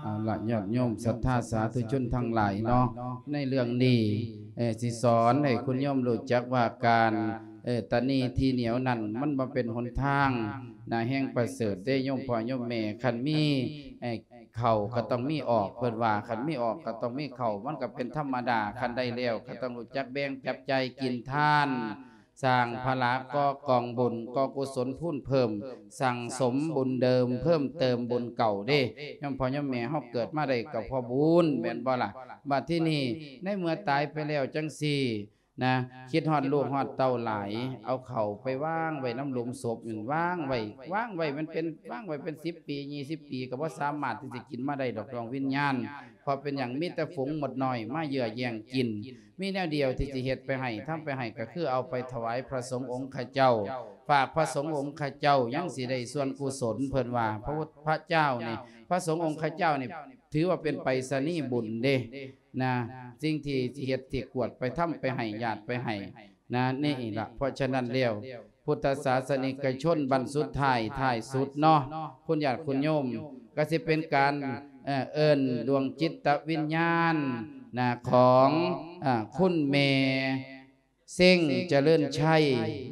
ເອົາລະ ຍອດໂຍມສັດທາສາທຸຊົນທັງຫຼາຍເນາະ ໃນເລື່ອງນີ້ ເອີ ຊິສອນໃຫ້ຄຸນໂຍມຮູ້ຈັກວ່າການ ເອີ ຕະໜີທີ່ໜຽວນັ້ນ ມັນບໍ່ເປັນຫົນທາງນະ ແຫ່ງປະເສີດເດ້ ໂຍມພໍ່ໂຍມແມ່ ຄັນມີ ເອີ ເຂົ້າກໍຕ້ອງມີອອກ ເພິ່ນວ່າ ຄັນມີອອກກໍຕ້ອງມີເຂົ້າ ມັນກໍເປັນທຳມະດາ ຄັນໄດ້ແລ້ວກໍຕ້ອງຮູ້ຈັກແບ່ງຈັບຈ່າຍກິນທານ ສ້າງພະລະ ກໍ່ກອງບຸນ ກໍ່ກຸສົນພູນເພີ່ມ ສັ່ງສົມບຸນເດີມ ເພີ່ມເຕີມບຸນເກົ່າເດ້. ໂຍມພໍ່ໂຍມແມ່ເຮົາເກີດມາໄດ້ກໍເພາະບຸນ ແມ່ນບໍ່ລະ? ບັດທີນີ້ໃນເມື່ອຕາຍໄປແລ້ວຈັ່ງຊີ້ນະ ຄິດຮອດລູກຮອດເຕົ້າຫຼາຍ ເອົາເຂົ້າໄປວາງໄວ້ນຳຫຼຸມສົບນັ້ນ ວາງໄວ້ ວາງໄວ້ມັນເປັນ ວາງໄວ້ເປັນສິບປີ ຊາວປີ ກໍບໍ່ສາມາດທີ່ຊິກິນມາໄດ້ດອກ ດວງວິນຍານ. ເພາະເປັນຫຍັງ? ມີແຕ່ຝູງມົດນ້ອຍມາເຍື້ອແຍ່ງກິນ. ມີແນວດຽວທີ່ຊິເຮັດໄປໃຫ້ ທຳໄປໃຫ້ ກໍຄືເອົາໄປຖວາຍພະສົງອົງຄະເຈົ້າ ຝາກພະສົງອົງຄະເຈົ້າ ຍັງຊິໄດ້ສ່ວນກຸສົນ. ເພິ່ນວ່າ ພະພຸດ ພະເຈົ້ານີ້ ພະສົງອົງຄະເຈົ້ານີ້ ຖືວ່າເປັນໄປສະນີບຸນເດ້ນະ ສິ່ງທີ່ຊິເຮັດ ທີ່ກວດໄປ ທຳໄປໃຫ້ ຢາດໄປໃຫ້ນະ ນີ້ລະ. ເພາະສະນັ້ນແລ້ວ ພຸດທະສາສະນິກະຊົນບັ້ນສຸດທ້າຍ ທ້າຍສຸດເນາະ ຄຸນຍາດຄຸນໂຍມ ກໍຊິເປັນການ ເອີ ເອີ້ນດວງຈິດຕະວິນຍານນະ ຂອງ ເອີ ຄຸນແມ່ເຊັງຈະເລີນໄຊ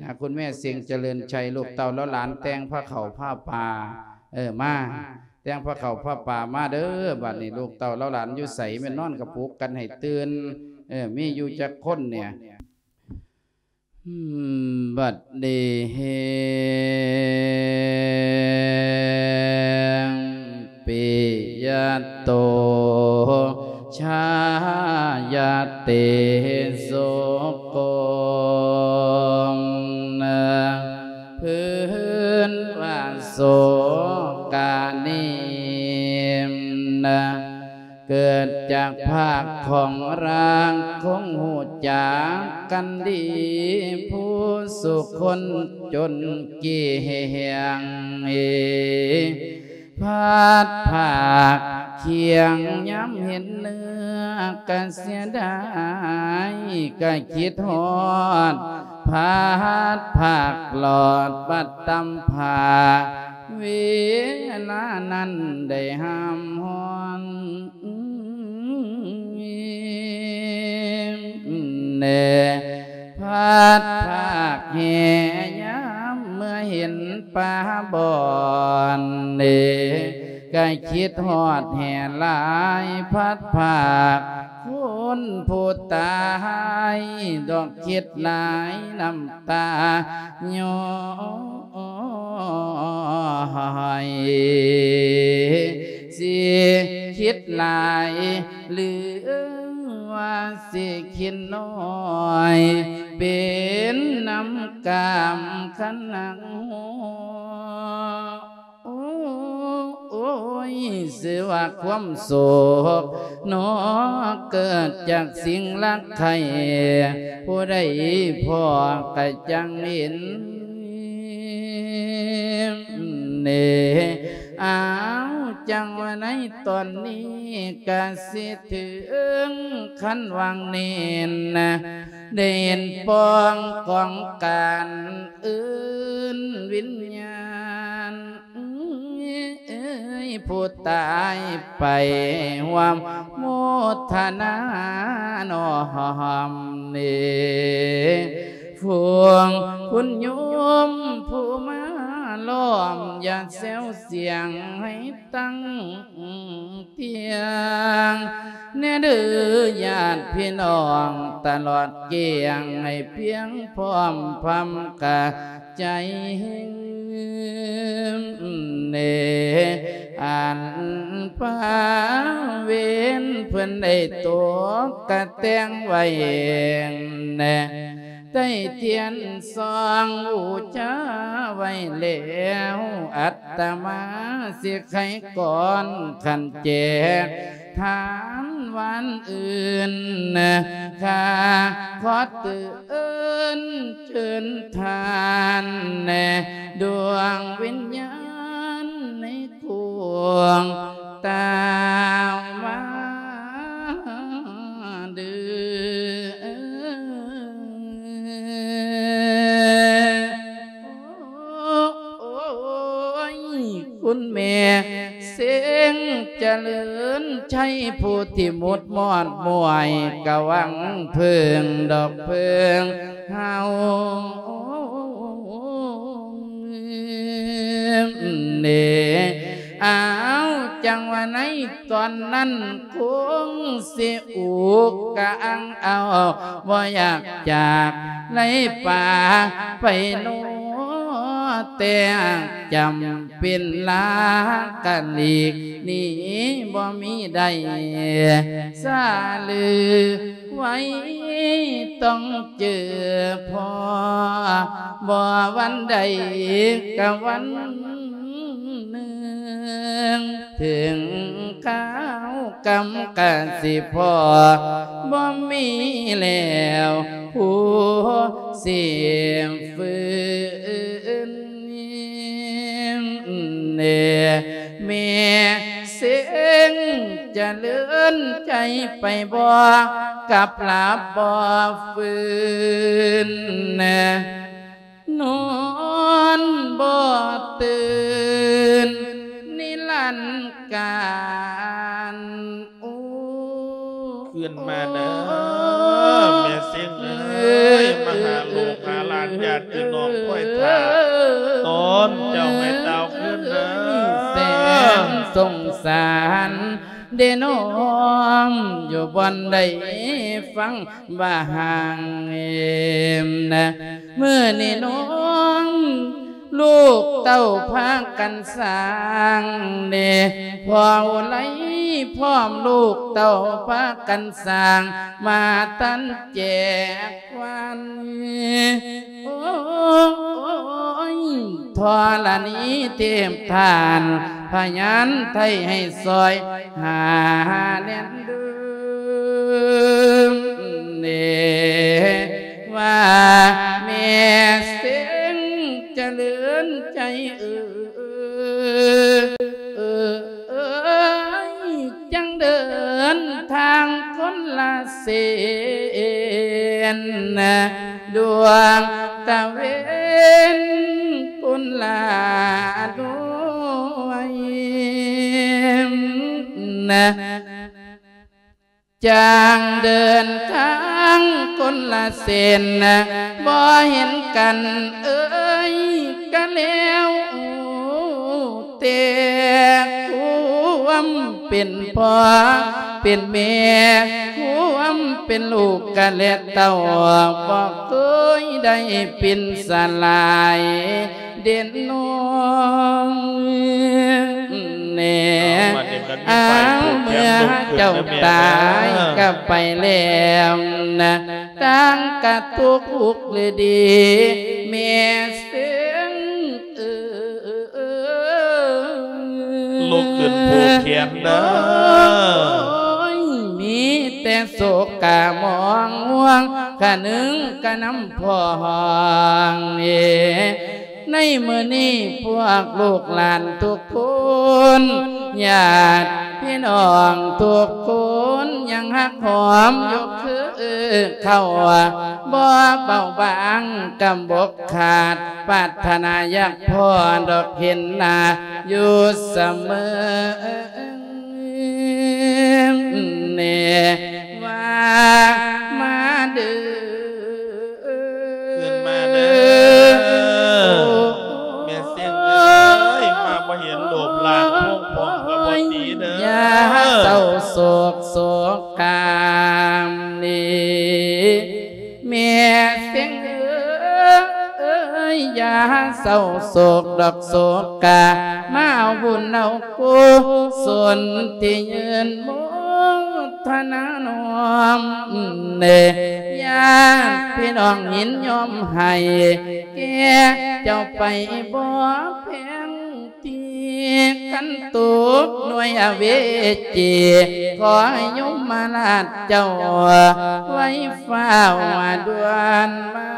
ນະ ຄຸນແມ່ເຊັງຈະເລີນໄຊ ລູກເຕົ້າເຫຼົ່າຫຼານແຕ່ງພາເຂົ້າພາປາ ເອີ ມາ ແຕ່ງພາເຂົ້າພາປາມາເດີ. ບັດນີ້ລູກເຕົ້າເຫຼົ່າຫຼານຢູ່ໃສ? ແມ່ນນອນກະປຸກກັນໃຫ້ຕື່ນ ເອີ ມີຢູ່ຈັກຄົນແດ່? ອືມ ບັດນີ້ແຮງ ປິຍະໂຕ ຊາຍະເຕ ສຸໂກ ນະ ພື້ນວ່າໂສການິ ນະ ເກີດຈາກພາກຂອງຮ່າງ ຄົງຮູ້ຈັກກັນດີ ຜູ້ສຸຄົນຈົນກ່ຽງ ເອ ພັດພາກຄຽງ ຍາມເຫັນເນື້ອກະເສຍດາຍ ກະຄິດຮອດ ພັດພາກຫຼອດບັດຕຳພາ ເວລານັ້ນໄດ້ຫ້າມຮ້ອນ ແນ່ ພັດພາກແຫ່ຍາມເມື່ອເຫັນປາບ່ອນ ເນ ກະຄິດຮອດແຫ່ຫຼາຍ ພັດພາກຄົນຜູ້ຕາຍ ດອກຄິດຫຼາຍນ້ຳຕາຍ້ອຍ ຊິຄິດຫຼາຍ ຫຼືວ່າຊິຄິດນ້ອຍ ເປັນນ້ຳກາມຄັນນັກ ໂອ້ຍ ຊື່ວ່າຄວາມໂສກເນາະ ເກີດຈາກສິ່ງລັກໃຄ່ ຜູ້ໃດພໍ້ກະຈັ່ງເຫັນ ເນ ອ້າວ ຈັ່ງວ່າໃນຕອນນີ້ກະຊິເຖິງຂັ້ນຫວ່າງເນນນະ ໄດ້ເຫັນປ້ອງກອງການເອີ້ນວິນຍານ ເອີຍ ເອີຍ ຜູ້ຕາຍໄປຮ່ວມໂມທະນານ້ອມເນ ພວກຄຸນໂຍມຜູ້ມາລ້ອມ ຢ່າແຊວສຽງໃຫ້ຕັ້ງ ທ່ຽງແນ່ເດີ ຍາດພີ່ນ້ອງຕະຫຼອດກ້ຽງ ໃຫ້ພຽງພ້ອມພຳກະໃຈເຮັງເນ ອັນພາເວນເພິ່ນໄດ້ຕົກກະແຕ່ງໄວ້ແນ່ ໄດ້ທຽນສ່ອງບູຊາໄວ້ແລ້ວ ອັດຕະມາຊິໄຂກ່ອນ ຄັນແຈກທານຫວານອື່ນ ຂ້າຂໍເຕືອນເຊີນທ່ານແນ່ ດວງວິນຍານໃນ ກວງຕາມມາເດີ ໂອ້ຍ ຄຸນແມ່ເສັງຈະເລີນໄຊ ຜູ້ທີ່ໝຸດມອດມ່ວຍ ກະຫວັງເພິ່ງດອກເພິ່ງເຮົາ ເນ ອ້າວ ງວ່າໃນຕອນນັ້ນຄົງຊິອຸກກະອັງເອົາ ບໍ່ຢາກຈາກໄລປາໄປໂນແຕ່ ຈຳເປັນລາກະຫຼີກໜີບໍ່ມີໄດ້ ສາລືໄວ້ຕ້ອງເຈີພໍ ບໍ່ວັນໃດກະວັນໜຶ່ງ ເຖິງຄາວກຳກະຊິພໍ ບໍ່ມີແລ້ວຜູ້ຊິຟື້ນ. ແມ່ເສັງຈະເລີນໃຈໄປບໍ່ ກັບຫຼັບບໍ່ຟື້ນ ນອນບໍ່ຕື່ນນິລັນການ. ໂອ້ ຄືນມາເດີ ແມ່ເສັງເອີຍ ມາຫາລູກຫາຫຼານ ຍາດພີ່ນ້ອງຄອຍຖ້າ ຕອນເຈົ້າໃຫ້ຕາວຄືນເດີ ແສນສົງສານເດນ້ອງ ຢູ່ບ່ອນໃດຟັງວ່າຫ່າງເອີມນະ ມື້ນີ້ນ້ອງ ລູກເຕົ້າພາກັນສ້າງເນ ພໍ່ໄລພ້ອມລູກເຕົ້າພາກັນສ້າງ ມາຕັນແຈກວັນ ໂອ້ຍ ທໍລະນີເທບທ່ານ ພະຍານໄທໃຫ້ຊ່ອຍຫາແນມເດີ ເນ ວ່າແມ່ເສັງຈະເລີນໃຈເອີ ເອີ ເອີຍ ຈັ່ງເດີນທາງຄົນລະເສັ້ນ ດວງຕາເວັນຄົນລະໜ່ວຍ ຈັ່ງເດີນທາງຄົນລະເສັ້ນ ບໍ່ເຫັນກັນເອີຍກະແລ້ວ ແຕ່ຄວາມເປັນພໍ່ເປັນແມ່ ຄວາມເປັນລູກກະແລະເຕົ້າ ບໍ່ເຄີຍໄດ້ປິ່ນສະຫຼາຍ ເດັ່ນນ້ອງແນ່ ເອົາ ບາດນີ້ມັນມີ ອ້າວ ຝ່າຍຜູ້ແຂນ ເມື່ອເຈົ້າຕາຍກະໄປແລ້ວນະ ຕ່າງກະທຸກອຸກຫຼືດີ ແມ່ເສັງເອີຍ ລຸກຂຶ້ນຜູກແຂນເດີ ໂອ້ຍ ມີແຕ່ໂສກະໝອງຫ່ວງ ຄະນຶງກະນຳພໍ່ຫ້ອງເອ ໃນມື້ນີ້ພວກລູກຫຼານທຸກຄົນ ຍາດພີ່ນ້ອງທຸກຄົນ ຍັງຮັກຫອມຍົກຄືເຂົ້າ ບໍ່ເບົາບາງກຳບົກຂາດ ປາດຖະໜາຢາກພໍດອກເຫັນໜ້າຢູ່ສະເໝີ ແນ່ວ່າມາເດີ ຄືນມາເດີ ແມ່ເສັງເອີຍ ມາບໍ່ເຫັນໂລບລາງໂພງພອງກະບໍ່ດີເດີ ຢ່າເສົ້າໂສກໂສການີ້ ແມ່ເສັງເອີຍ ຢ່າເສົ້າໂສກດອກໂສກາ ມາເອົາບຸນເອົາກຸສົນທີ່ຍືນໂມທະນານ້ອມເນ ຍາດພີ່ນ້ອງຍິນຍອມໃຫ້ແກ່ເຈົ້າໄປບໍ່ແພງ ທີ່ຄັນຕົກໜ່ວຍອະເວຈີ ຂໍໃຫ້ຍົມມະລາດເຈົ້າໄວຟ້າວດ່ວນມາ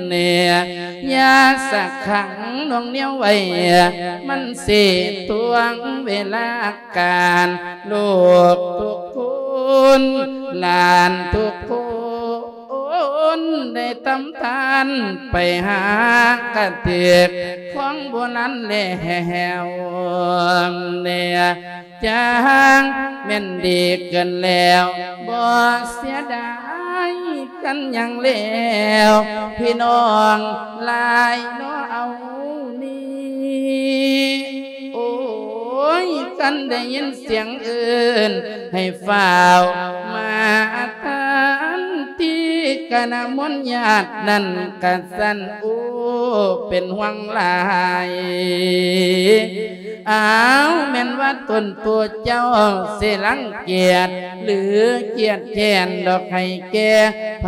ແນ່ ຢ່າສະຂັງໜ່ວງໜຽວໄວ້ ມັນຊິຖ້ວງເວລາການ ລູກທຸກຄົນ ຫຼານທຸກຄົນ ຄົນໄດ້ຕຳທານໄປຫາກະຖືກຂອງໂບລານແລ້ວແນ່ ຈາງແມ່ນດີເກີນແລ້ວ ບໍ່ເສຍດາຍກັນຫຍັງແລ້ວ ພີ່ນ້ອງຫຼາຍເນາະເອົານີ້ ຄັນໄດ້ຍິນສຽງເອີ້ນໃຫ້ຟ້າວມາທັນທີ ຄະນະມົນຍາດນັ້ນກະສັ່ນອູເປັນຫ່ວງຫຼາຍ. ອ້າວ ແມ່ນວ່າຕົນຕົວເຈົ້າຊິລັງກຽດ ຫຼື ຄຽດແຄ້ນດອກໃຫ້ແກ່ໃຜ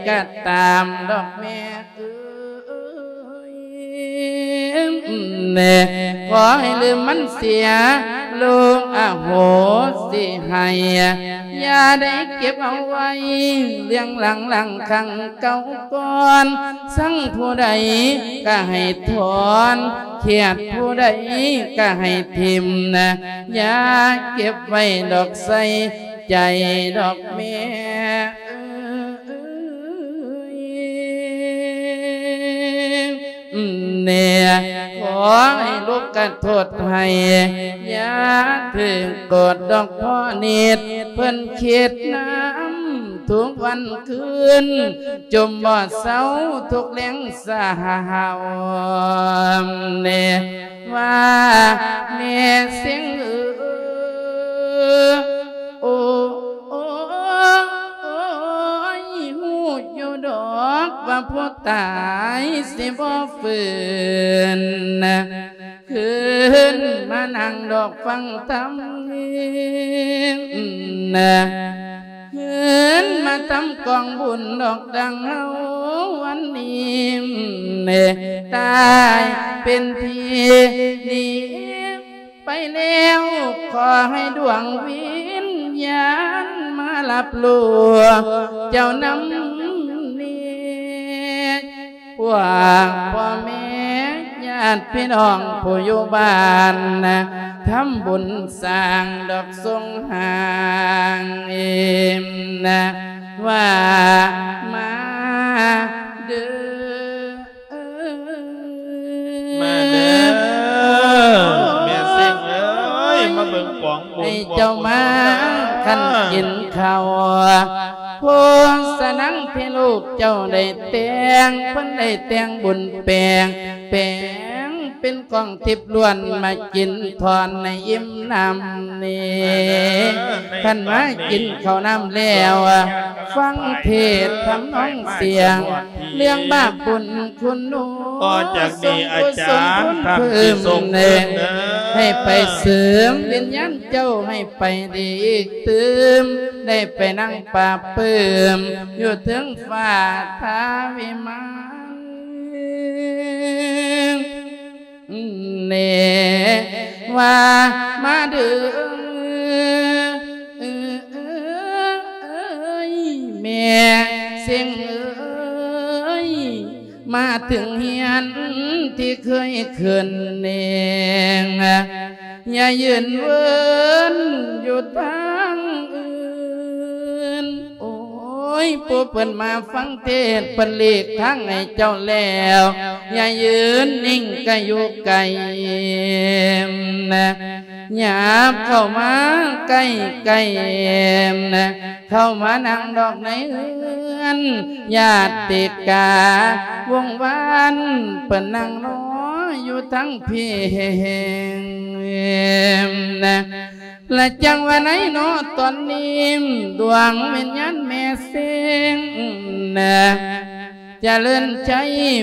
ກະຕາມດອກແມ່ ເອີຍ ຂໍໃຫ້ລືມມັນເສຍ ລູກອະໂຫສິໃຫ້ ຢ່າໄດ້ເກັບເອົາໄວ້ ເລື່ອງຫຼັງໆຄັ້ງເກົ່າກ່ອນ. ຊັງຜູ້ໃດກະໃຫ້ຖອນ ຄຽດຜູ້ໃດກະໃຫ້ຖິ້ມ ຢ່າເກັບໄວ້ດອກໃສ່ໃຈດອກແມ່ ເອີຍ ແນ່ ຂໍໃຫ້ລູກກະໂທດໃຫ້ ຢ່າຖືກໂກດດອກພໍ່ນິດ ເພິ່ນຄິດນຳທຸກວັນຄືນ ຈົມບໍ່ເຊົາທຸກແລງສາວ ແນ່ ວ່າແມ່ເສັງເອີຍ ໂອ້ ໂອ້ ໂອ້ຍ ຮູ້ຢູ່ດອກວ່າຜູ້ຕາຍຊິບໍ່ຟື້ນ ຄືນມານັ່ງດອກຟັງທຳ ຄືນມາທຳກອງບຸນດອກດັ່ງເຮົາວັນນີ້ ຕາຍເປັນທີ່ດີ ໄປແລ້ວ ຂໍໃຫ້ດວງວິນຍານມາຮັບຮູ້ ເຈົ້ານຳນີ້ ພວກພໍ່ແມ່ຍາດພີ່ນ້ອງຜູ້ຢູ່ບ້ານ ທຳບຸນສ້າງດອກສົງຫາງ ວ່າມາເດີ ມາເດີ ແມ່ເສັງເອີຍ ມາເບິ່ງກອງບຸນ ໃຫ້ເຈົ້າມາ ກອງກຸສົນ ຄັນກິນເຂົ້າ ໂພສະນັງທີ່ລູກເຈົ້າໄດ້ແຕ່ງ ເພິ່ນໄດ້ແຕ່ງບຸນແປງ ແປງເປັນກອງທິບລ້ວນ ມາກິນທ່ອນໃຫ້ອີ່ມນ້ຳນີ້ ມາເດີ ຄັນມາກິນເຂົ້ານ້ຳແລ້ວ ຟັງເທດທຳນອງສຽງ ເລື່ອງບາບບຸນຄຸນໜູ ຕໍ່ຈາກນີ້ອາຈານທ່ານຊິສົ່ງເດີ ໃຫ້ໄປເສີມວິນຍານເຈົ້າໃຫ້ໄປດີອີກຕື່ມ ໄດ້ໄປນັ່ງປາບປື້ມຢູ່ເທິງຟ້າທາວິມານ ແນ່ ວ່າມາເດີ ເອີຍ ແມ່ເສັງເອີຍ ມາເຖິງຮຽນທີ່ເຄີຍຂຶ້ນເອງ ຢ່າຢືນເວີນຢູ່ທາງອື່ນ ໂອ້ຍ ຜູ້ເພິ່ນມາຟັງເທດ ເພິ່ນຫຼີກທາງໃຫ້ເຈົ້າແລ້ວ ຢ່າຢືນນິ່ງກະຢູ່ໄກ ຫຍັບເຂົ້າມາໃກ້ໆ ເຂົ້າມານັ່ງດອກໃນເຮືອນ ຍາດຕິກາວົງວານ ເພິ່ນນັ່ງລໍຢູ່ທາງພີ້ ລະຈັ່ງວ່າໃນເນາະຕອນນີ້ ດວງວິນຍານແມ່ເສັງ ຈະເລີນໄຊ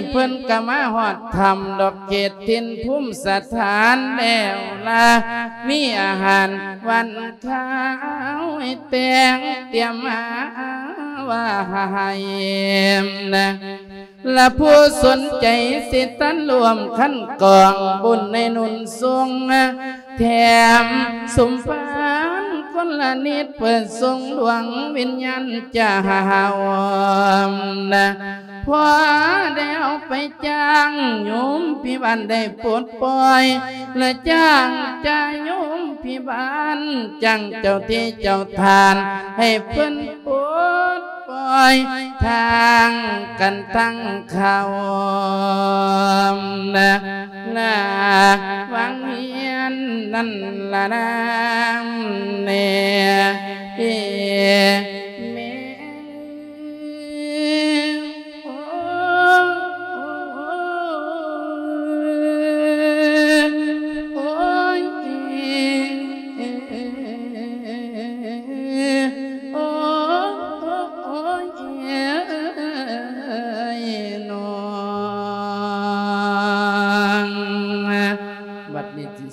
ເພິ່ນກະມາຮອດຖ້ຳດອກເຂດຖິ່ນພູມສະຖານແລ້ວລະ ມີອາຫານຫວານຄາວໃຫ້ແຕ່ງຕຽມມາໄວ້ ລະຜູ້ສົນໃຈຊິທັນຮ່ວມຄັນກອງບຸນໃນນຸ່ນຊົງ ແຖມສົມພານຄົນລະນິດ ເພື່ອສົ່ງດວງວິນຍານຈາວ ພໍໄດ້ເອົາໄປຈ້າງໂຍມພິບານໄດ້ປົດປ່ອຍ ລະຈ້າງຈາໂຍມພິບານ ຈ້າງເຈົ້າທີ່ເຈົ້າທ່ານ ໃຫ້ເພິ່ນປົດ ປ່ອຍທາງກັນທາງເຂົ້າ ນະ ນະ ວັງວຽນນັ້ນລະນາ ແນ່ ເອ ແມ່ ໂອ້ ໂອ້ຍ ເອ.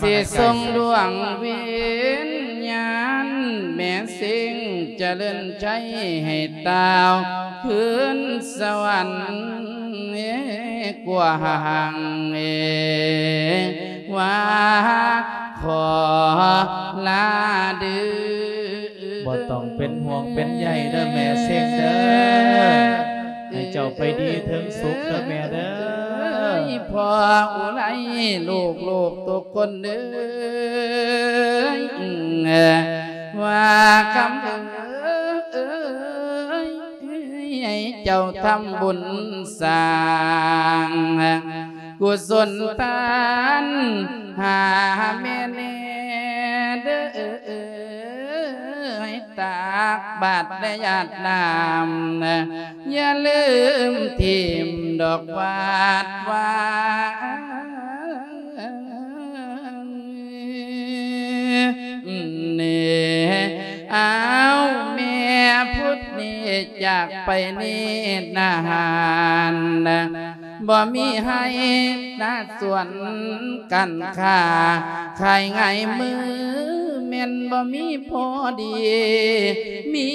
ຊິສົ່ງດວງວິນຍານແມ່ເສັງຈະເລີນໄຊໃຫ້ຕ່າວຄືນສະຫວັນກວ້າງ ວ່າຂໍລາເດີ້. ບໍ່ຕ້ອງເປັນຫ່ວງເປັນໃຍເດີ້ແມ່ເສັງເດີ້ ໃຫ້ເຈົ້າໄປດີເຖິງສຸກເດີ້ແມ່ເດີ້. ພໍ່ອຸໄລ ລູກໆທຸກຄົນເອີຍ ວ່າຄຳເອີຍ ໃຫ້ເຈົ້າທຳບຸນສ້າງ ກຸສົນທານຫາແມ່ແນ່ເດີ້ ໃຫ້ຕັກບາດແລະຢາດນ້ຳ ຢ່າລືມຖິ້ມດອກວາດວານ ເນ ອ້າວ ແມ່ພຸດນີ້ຈາກໄປນິດນານ ບໍ່ມີໄຮ່ນາສວນ ການຄ້າຂາຍງ່າຍມື ແມ່ນບໍ່ມີພໍດີ ມີ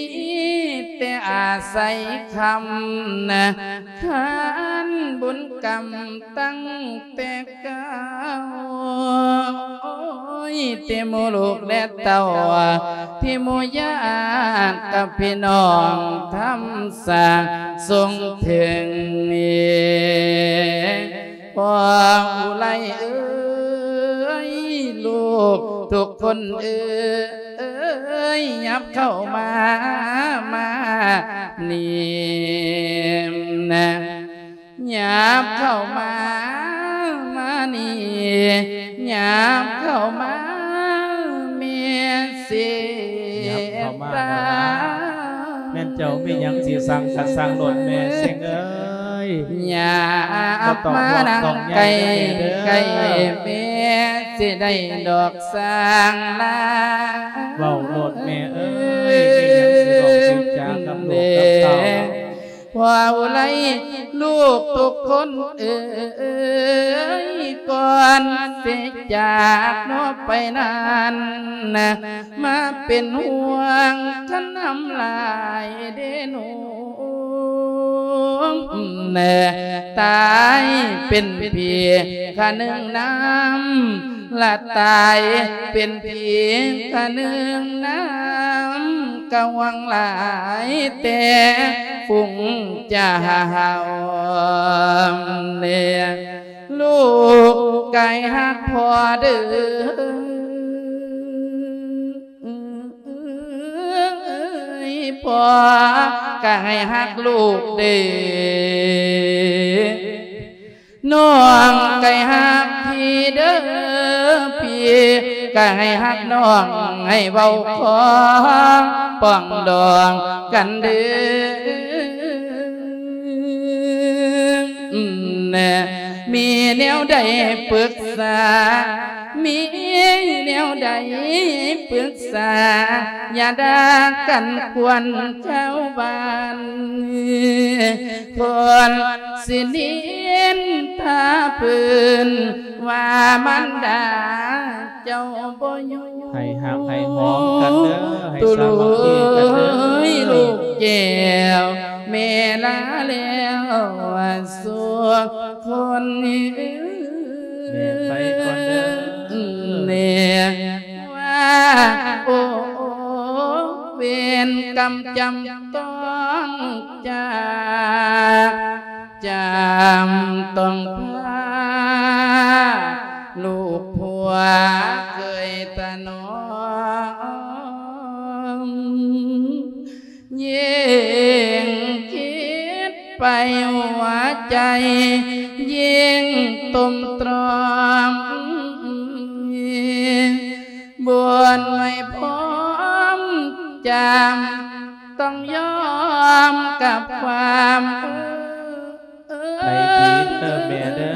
ແຕ່ອາໄສຄຳ ຄານບຸນກຳຕັ້ງແຕ່ເກົ່າ ໂອ້ຍ ທີ່ໝູ່ລູກແລະເຕົ້າ ທີ່ໝູ່ຍາດກັບພີ່ນ້ອງທຳ ສາສົ່ງເຖິງນີ້ ພໍ່ອຸໄລເອີຍ ລູກທຸກຄົນເອີຍ ຫຍັບເຂົ້າມາ ມານີ້ນະ ຫຍັບເຂົ້າມາ ມານີ້ ຫຍັບເຂົ້າມາ ແມ່ເສງ ຫຍັບເຂົ້າມາ ຕາ ແມ່ນເຈົ້າມີຫຍັງຊິສັ່ງກະສັ່ງໂລດແມ່ເສງເອີຍ ຫຍັບມານັ່ງໃກ້ ໃກ້ແມ່ ຊິໄດ້ດອກສ້າງລາ ເວົ້າໂລດແມ່ເອີຍ ມີຫຍັງຊິເວົ້າຊິຈາກັບລູກກັບເຕົ້າ ພໍ່ອຸໄລ ລູກທຸກຄົນເອີຍ ກ່ອນຊິຈາກເນາະໄປນັ້ນ ມາເປັນຫ່ວງຄັນນຳຫຼາຍເດ້ໜູ ຕາຍເປັນຜີຄະໜຶ່ງນຳ ລະຕາຍເປັນຜີຄະໜຶ່ງນຳ ກະຫວັງຫຼາຍແຕ່ຝູງເຈົ້າ ແລະ ລູກກະໃຫ້ຮັກພໍ່ເດີ ພໍ່ກະໃຫ້ຮັກລູກເດີ ນ້ອງກະໃຫ້ຮັກພີ່ເດີ ພີ່ກະໃຫ້ຮັກນ້ອງ ໃຫ້ເວົ້າຂໍປອງດອງກັນເດີ ມີແນວໃດປຶກສາ ມີແນວໃດປຶກສາ ຢ່າດ່າກັນຄວນຊາວບ້ານ ຄົນຊິນິນທາເພິ່ນວ່າມານດາເຈົ້າບໍ່ຢູ່ ໃຫ້ຮັກໃຫ້ຫອມກັນເດີ ໃຫ້ສາມັກຄີກັນເດີ ເອີຍ ລູກແກ້ວ ແມ່ລາແລ້ວສູ່ຄົນ ແມ່ໄປກ່ອນເດີ ແມ່ວ່າ ໂອ້ ເວນກຳຈຳຕ້ອງຈາກ ຈຳຕ້ອງພາ ລູກຜົວເຄີຍຖະໜອມ ຍິ່ງຄິດໄປຫົວໃຈຍິ່ງຕົມຕຣອມ ບຸນໄວ້ພ້ອມຈຳ ຕ້ອງຍອມກັບຄວາມ ໄປດີເດີແມ່ເດີ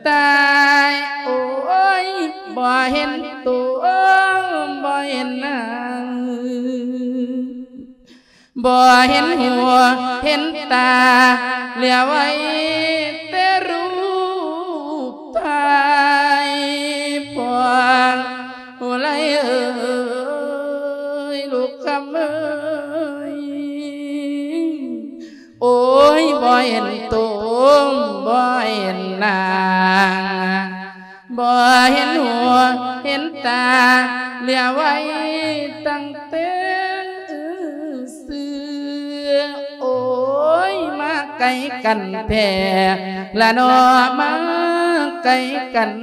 ຕາຍໂອ້ຍ ບໍ່ເຫັນໂຕ ບໍ່ເຫັນໜ້າ ບໍ່ເຫັນຫົວເຫັນຕາ ເຫຼືອໄວ້ແຕ່ຮູບຖ່າຍ ໂອ້ຍ ບໍ່ເຫັນໂຕ ບໍ່ເຫັນນາງ ບໍ່ເຫັນຫົວເຫັນຕາ ເຫຼືອໄວ້ຕັ້ງແຕ່ຊື່ ໂອ້ຍ ມາໄກກັນແທ້ລະເນາະ ມາໄກກັນ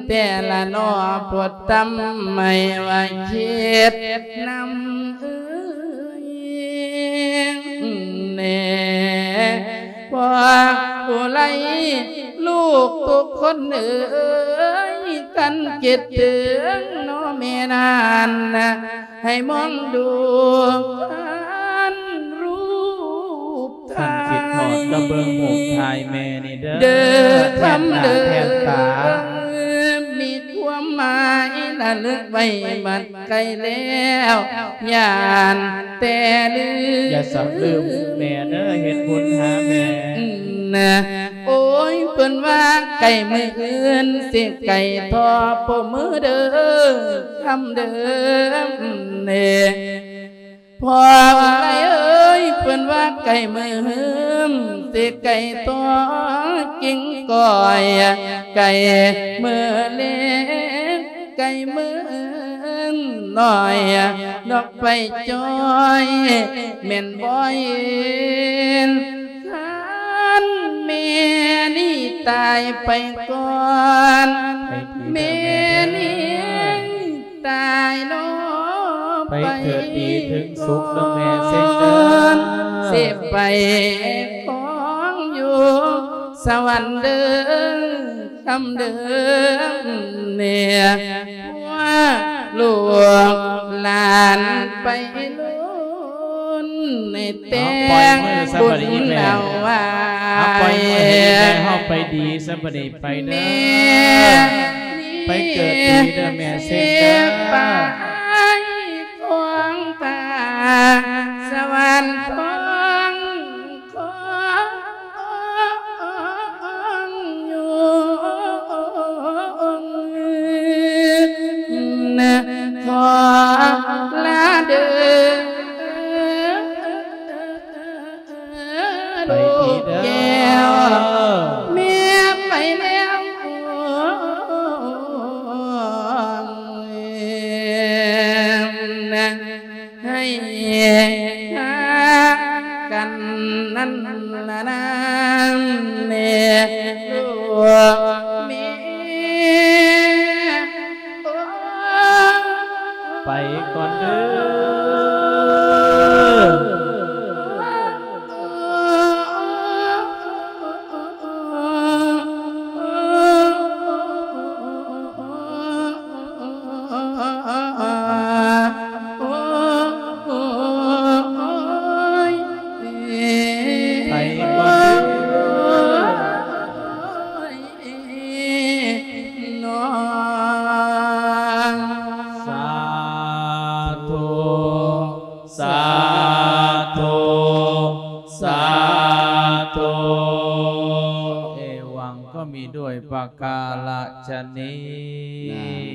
ແທ້ລະເນາະ ໂພດທຳໃຫ້ວ່າຄິດນຳເອີຍ ແນ່ ພໍ່ຜູ້ໄຮ້ລູກທຸກຄົນເອີຍ ຄັນຄິດເຖິງເນາະແມ່ນັ້ນ ໃຫ້ມອງດູຄັນຮູບ ຄັນຄິດຮອດກໍເບິ່ງຮູບຖ່າຍແມ່ນີ້ເດີ ເດີ ຄຳເດີ ແທນໜ້າແທນຕາ ມີຄວາມໝາຍລະລຶກໄວ້ບັດ ໄກແລ້ວຢ້ານແຕ່ລືມ ຢ່າສຳລືມແມ່ເດີ ເຮັດບຸນຫາແມ່ ໂອ້ຍ ເພິ່ນວ່າໄກມື້ອື່ນ ຊິໄກທໍ່ຜູ້ມື້ເດີ ຄຳເດີ ເນ ພໍ່ເອີຍ ເພິ່ນວ່າໄກມື້ອື່ນ ຊິໄກທໍ່ກິ່ງກ້ອຍ ໄກມື້ເລັກ ໄກມື້ນ້ອຍ ດອກໄຟຈ່ອຍ ແມ່ນບໍ່ເຫັນ ຄັນແມ່ນີ້ຕາຍໄປກ່ອນ ແມ່ນີ້ຕາຍເນາະ ໄປເກີດດີເຖິງສຸກເດີແມ່ເສັງເດີ ຊິໄປຄອງຢູ່ສະຫວັນເດີ ຄຳເດີ ເນຍ ພວກລູກຫຼານໄປລຸ້ນໃນແຕ່ງບຸນເອົາໄວ້ ເອົາ ປ່ອຍມືໃຫ້ແມ່ເຮົາໄປດີຊະ ບັດນີ້ໄປເດີ ແມ່ ໄປເກີດດີເດີແມ່ເສັງເດີ ໄປຄອງຕາສະຫວັນຄອງ ຂອງຢູ່ນະ ຂໍລາເດີ ໄປດີເດີ ລູກແກ້ວ ແມ່ໄປແລ້ວ ໃຫ້ຮັກກັນນັ້ນລະນາ ແມ່ລູກແມ່ໂອ້ ໄປກ່ອນເດີ. ໄປກ່ອນເດີນ້ອງ. ສາທຸ ສາທຸ ສາທຸ. ເອວັງກໍມີດ້ວຍປະກາລະຊະນີ້.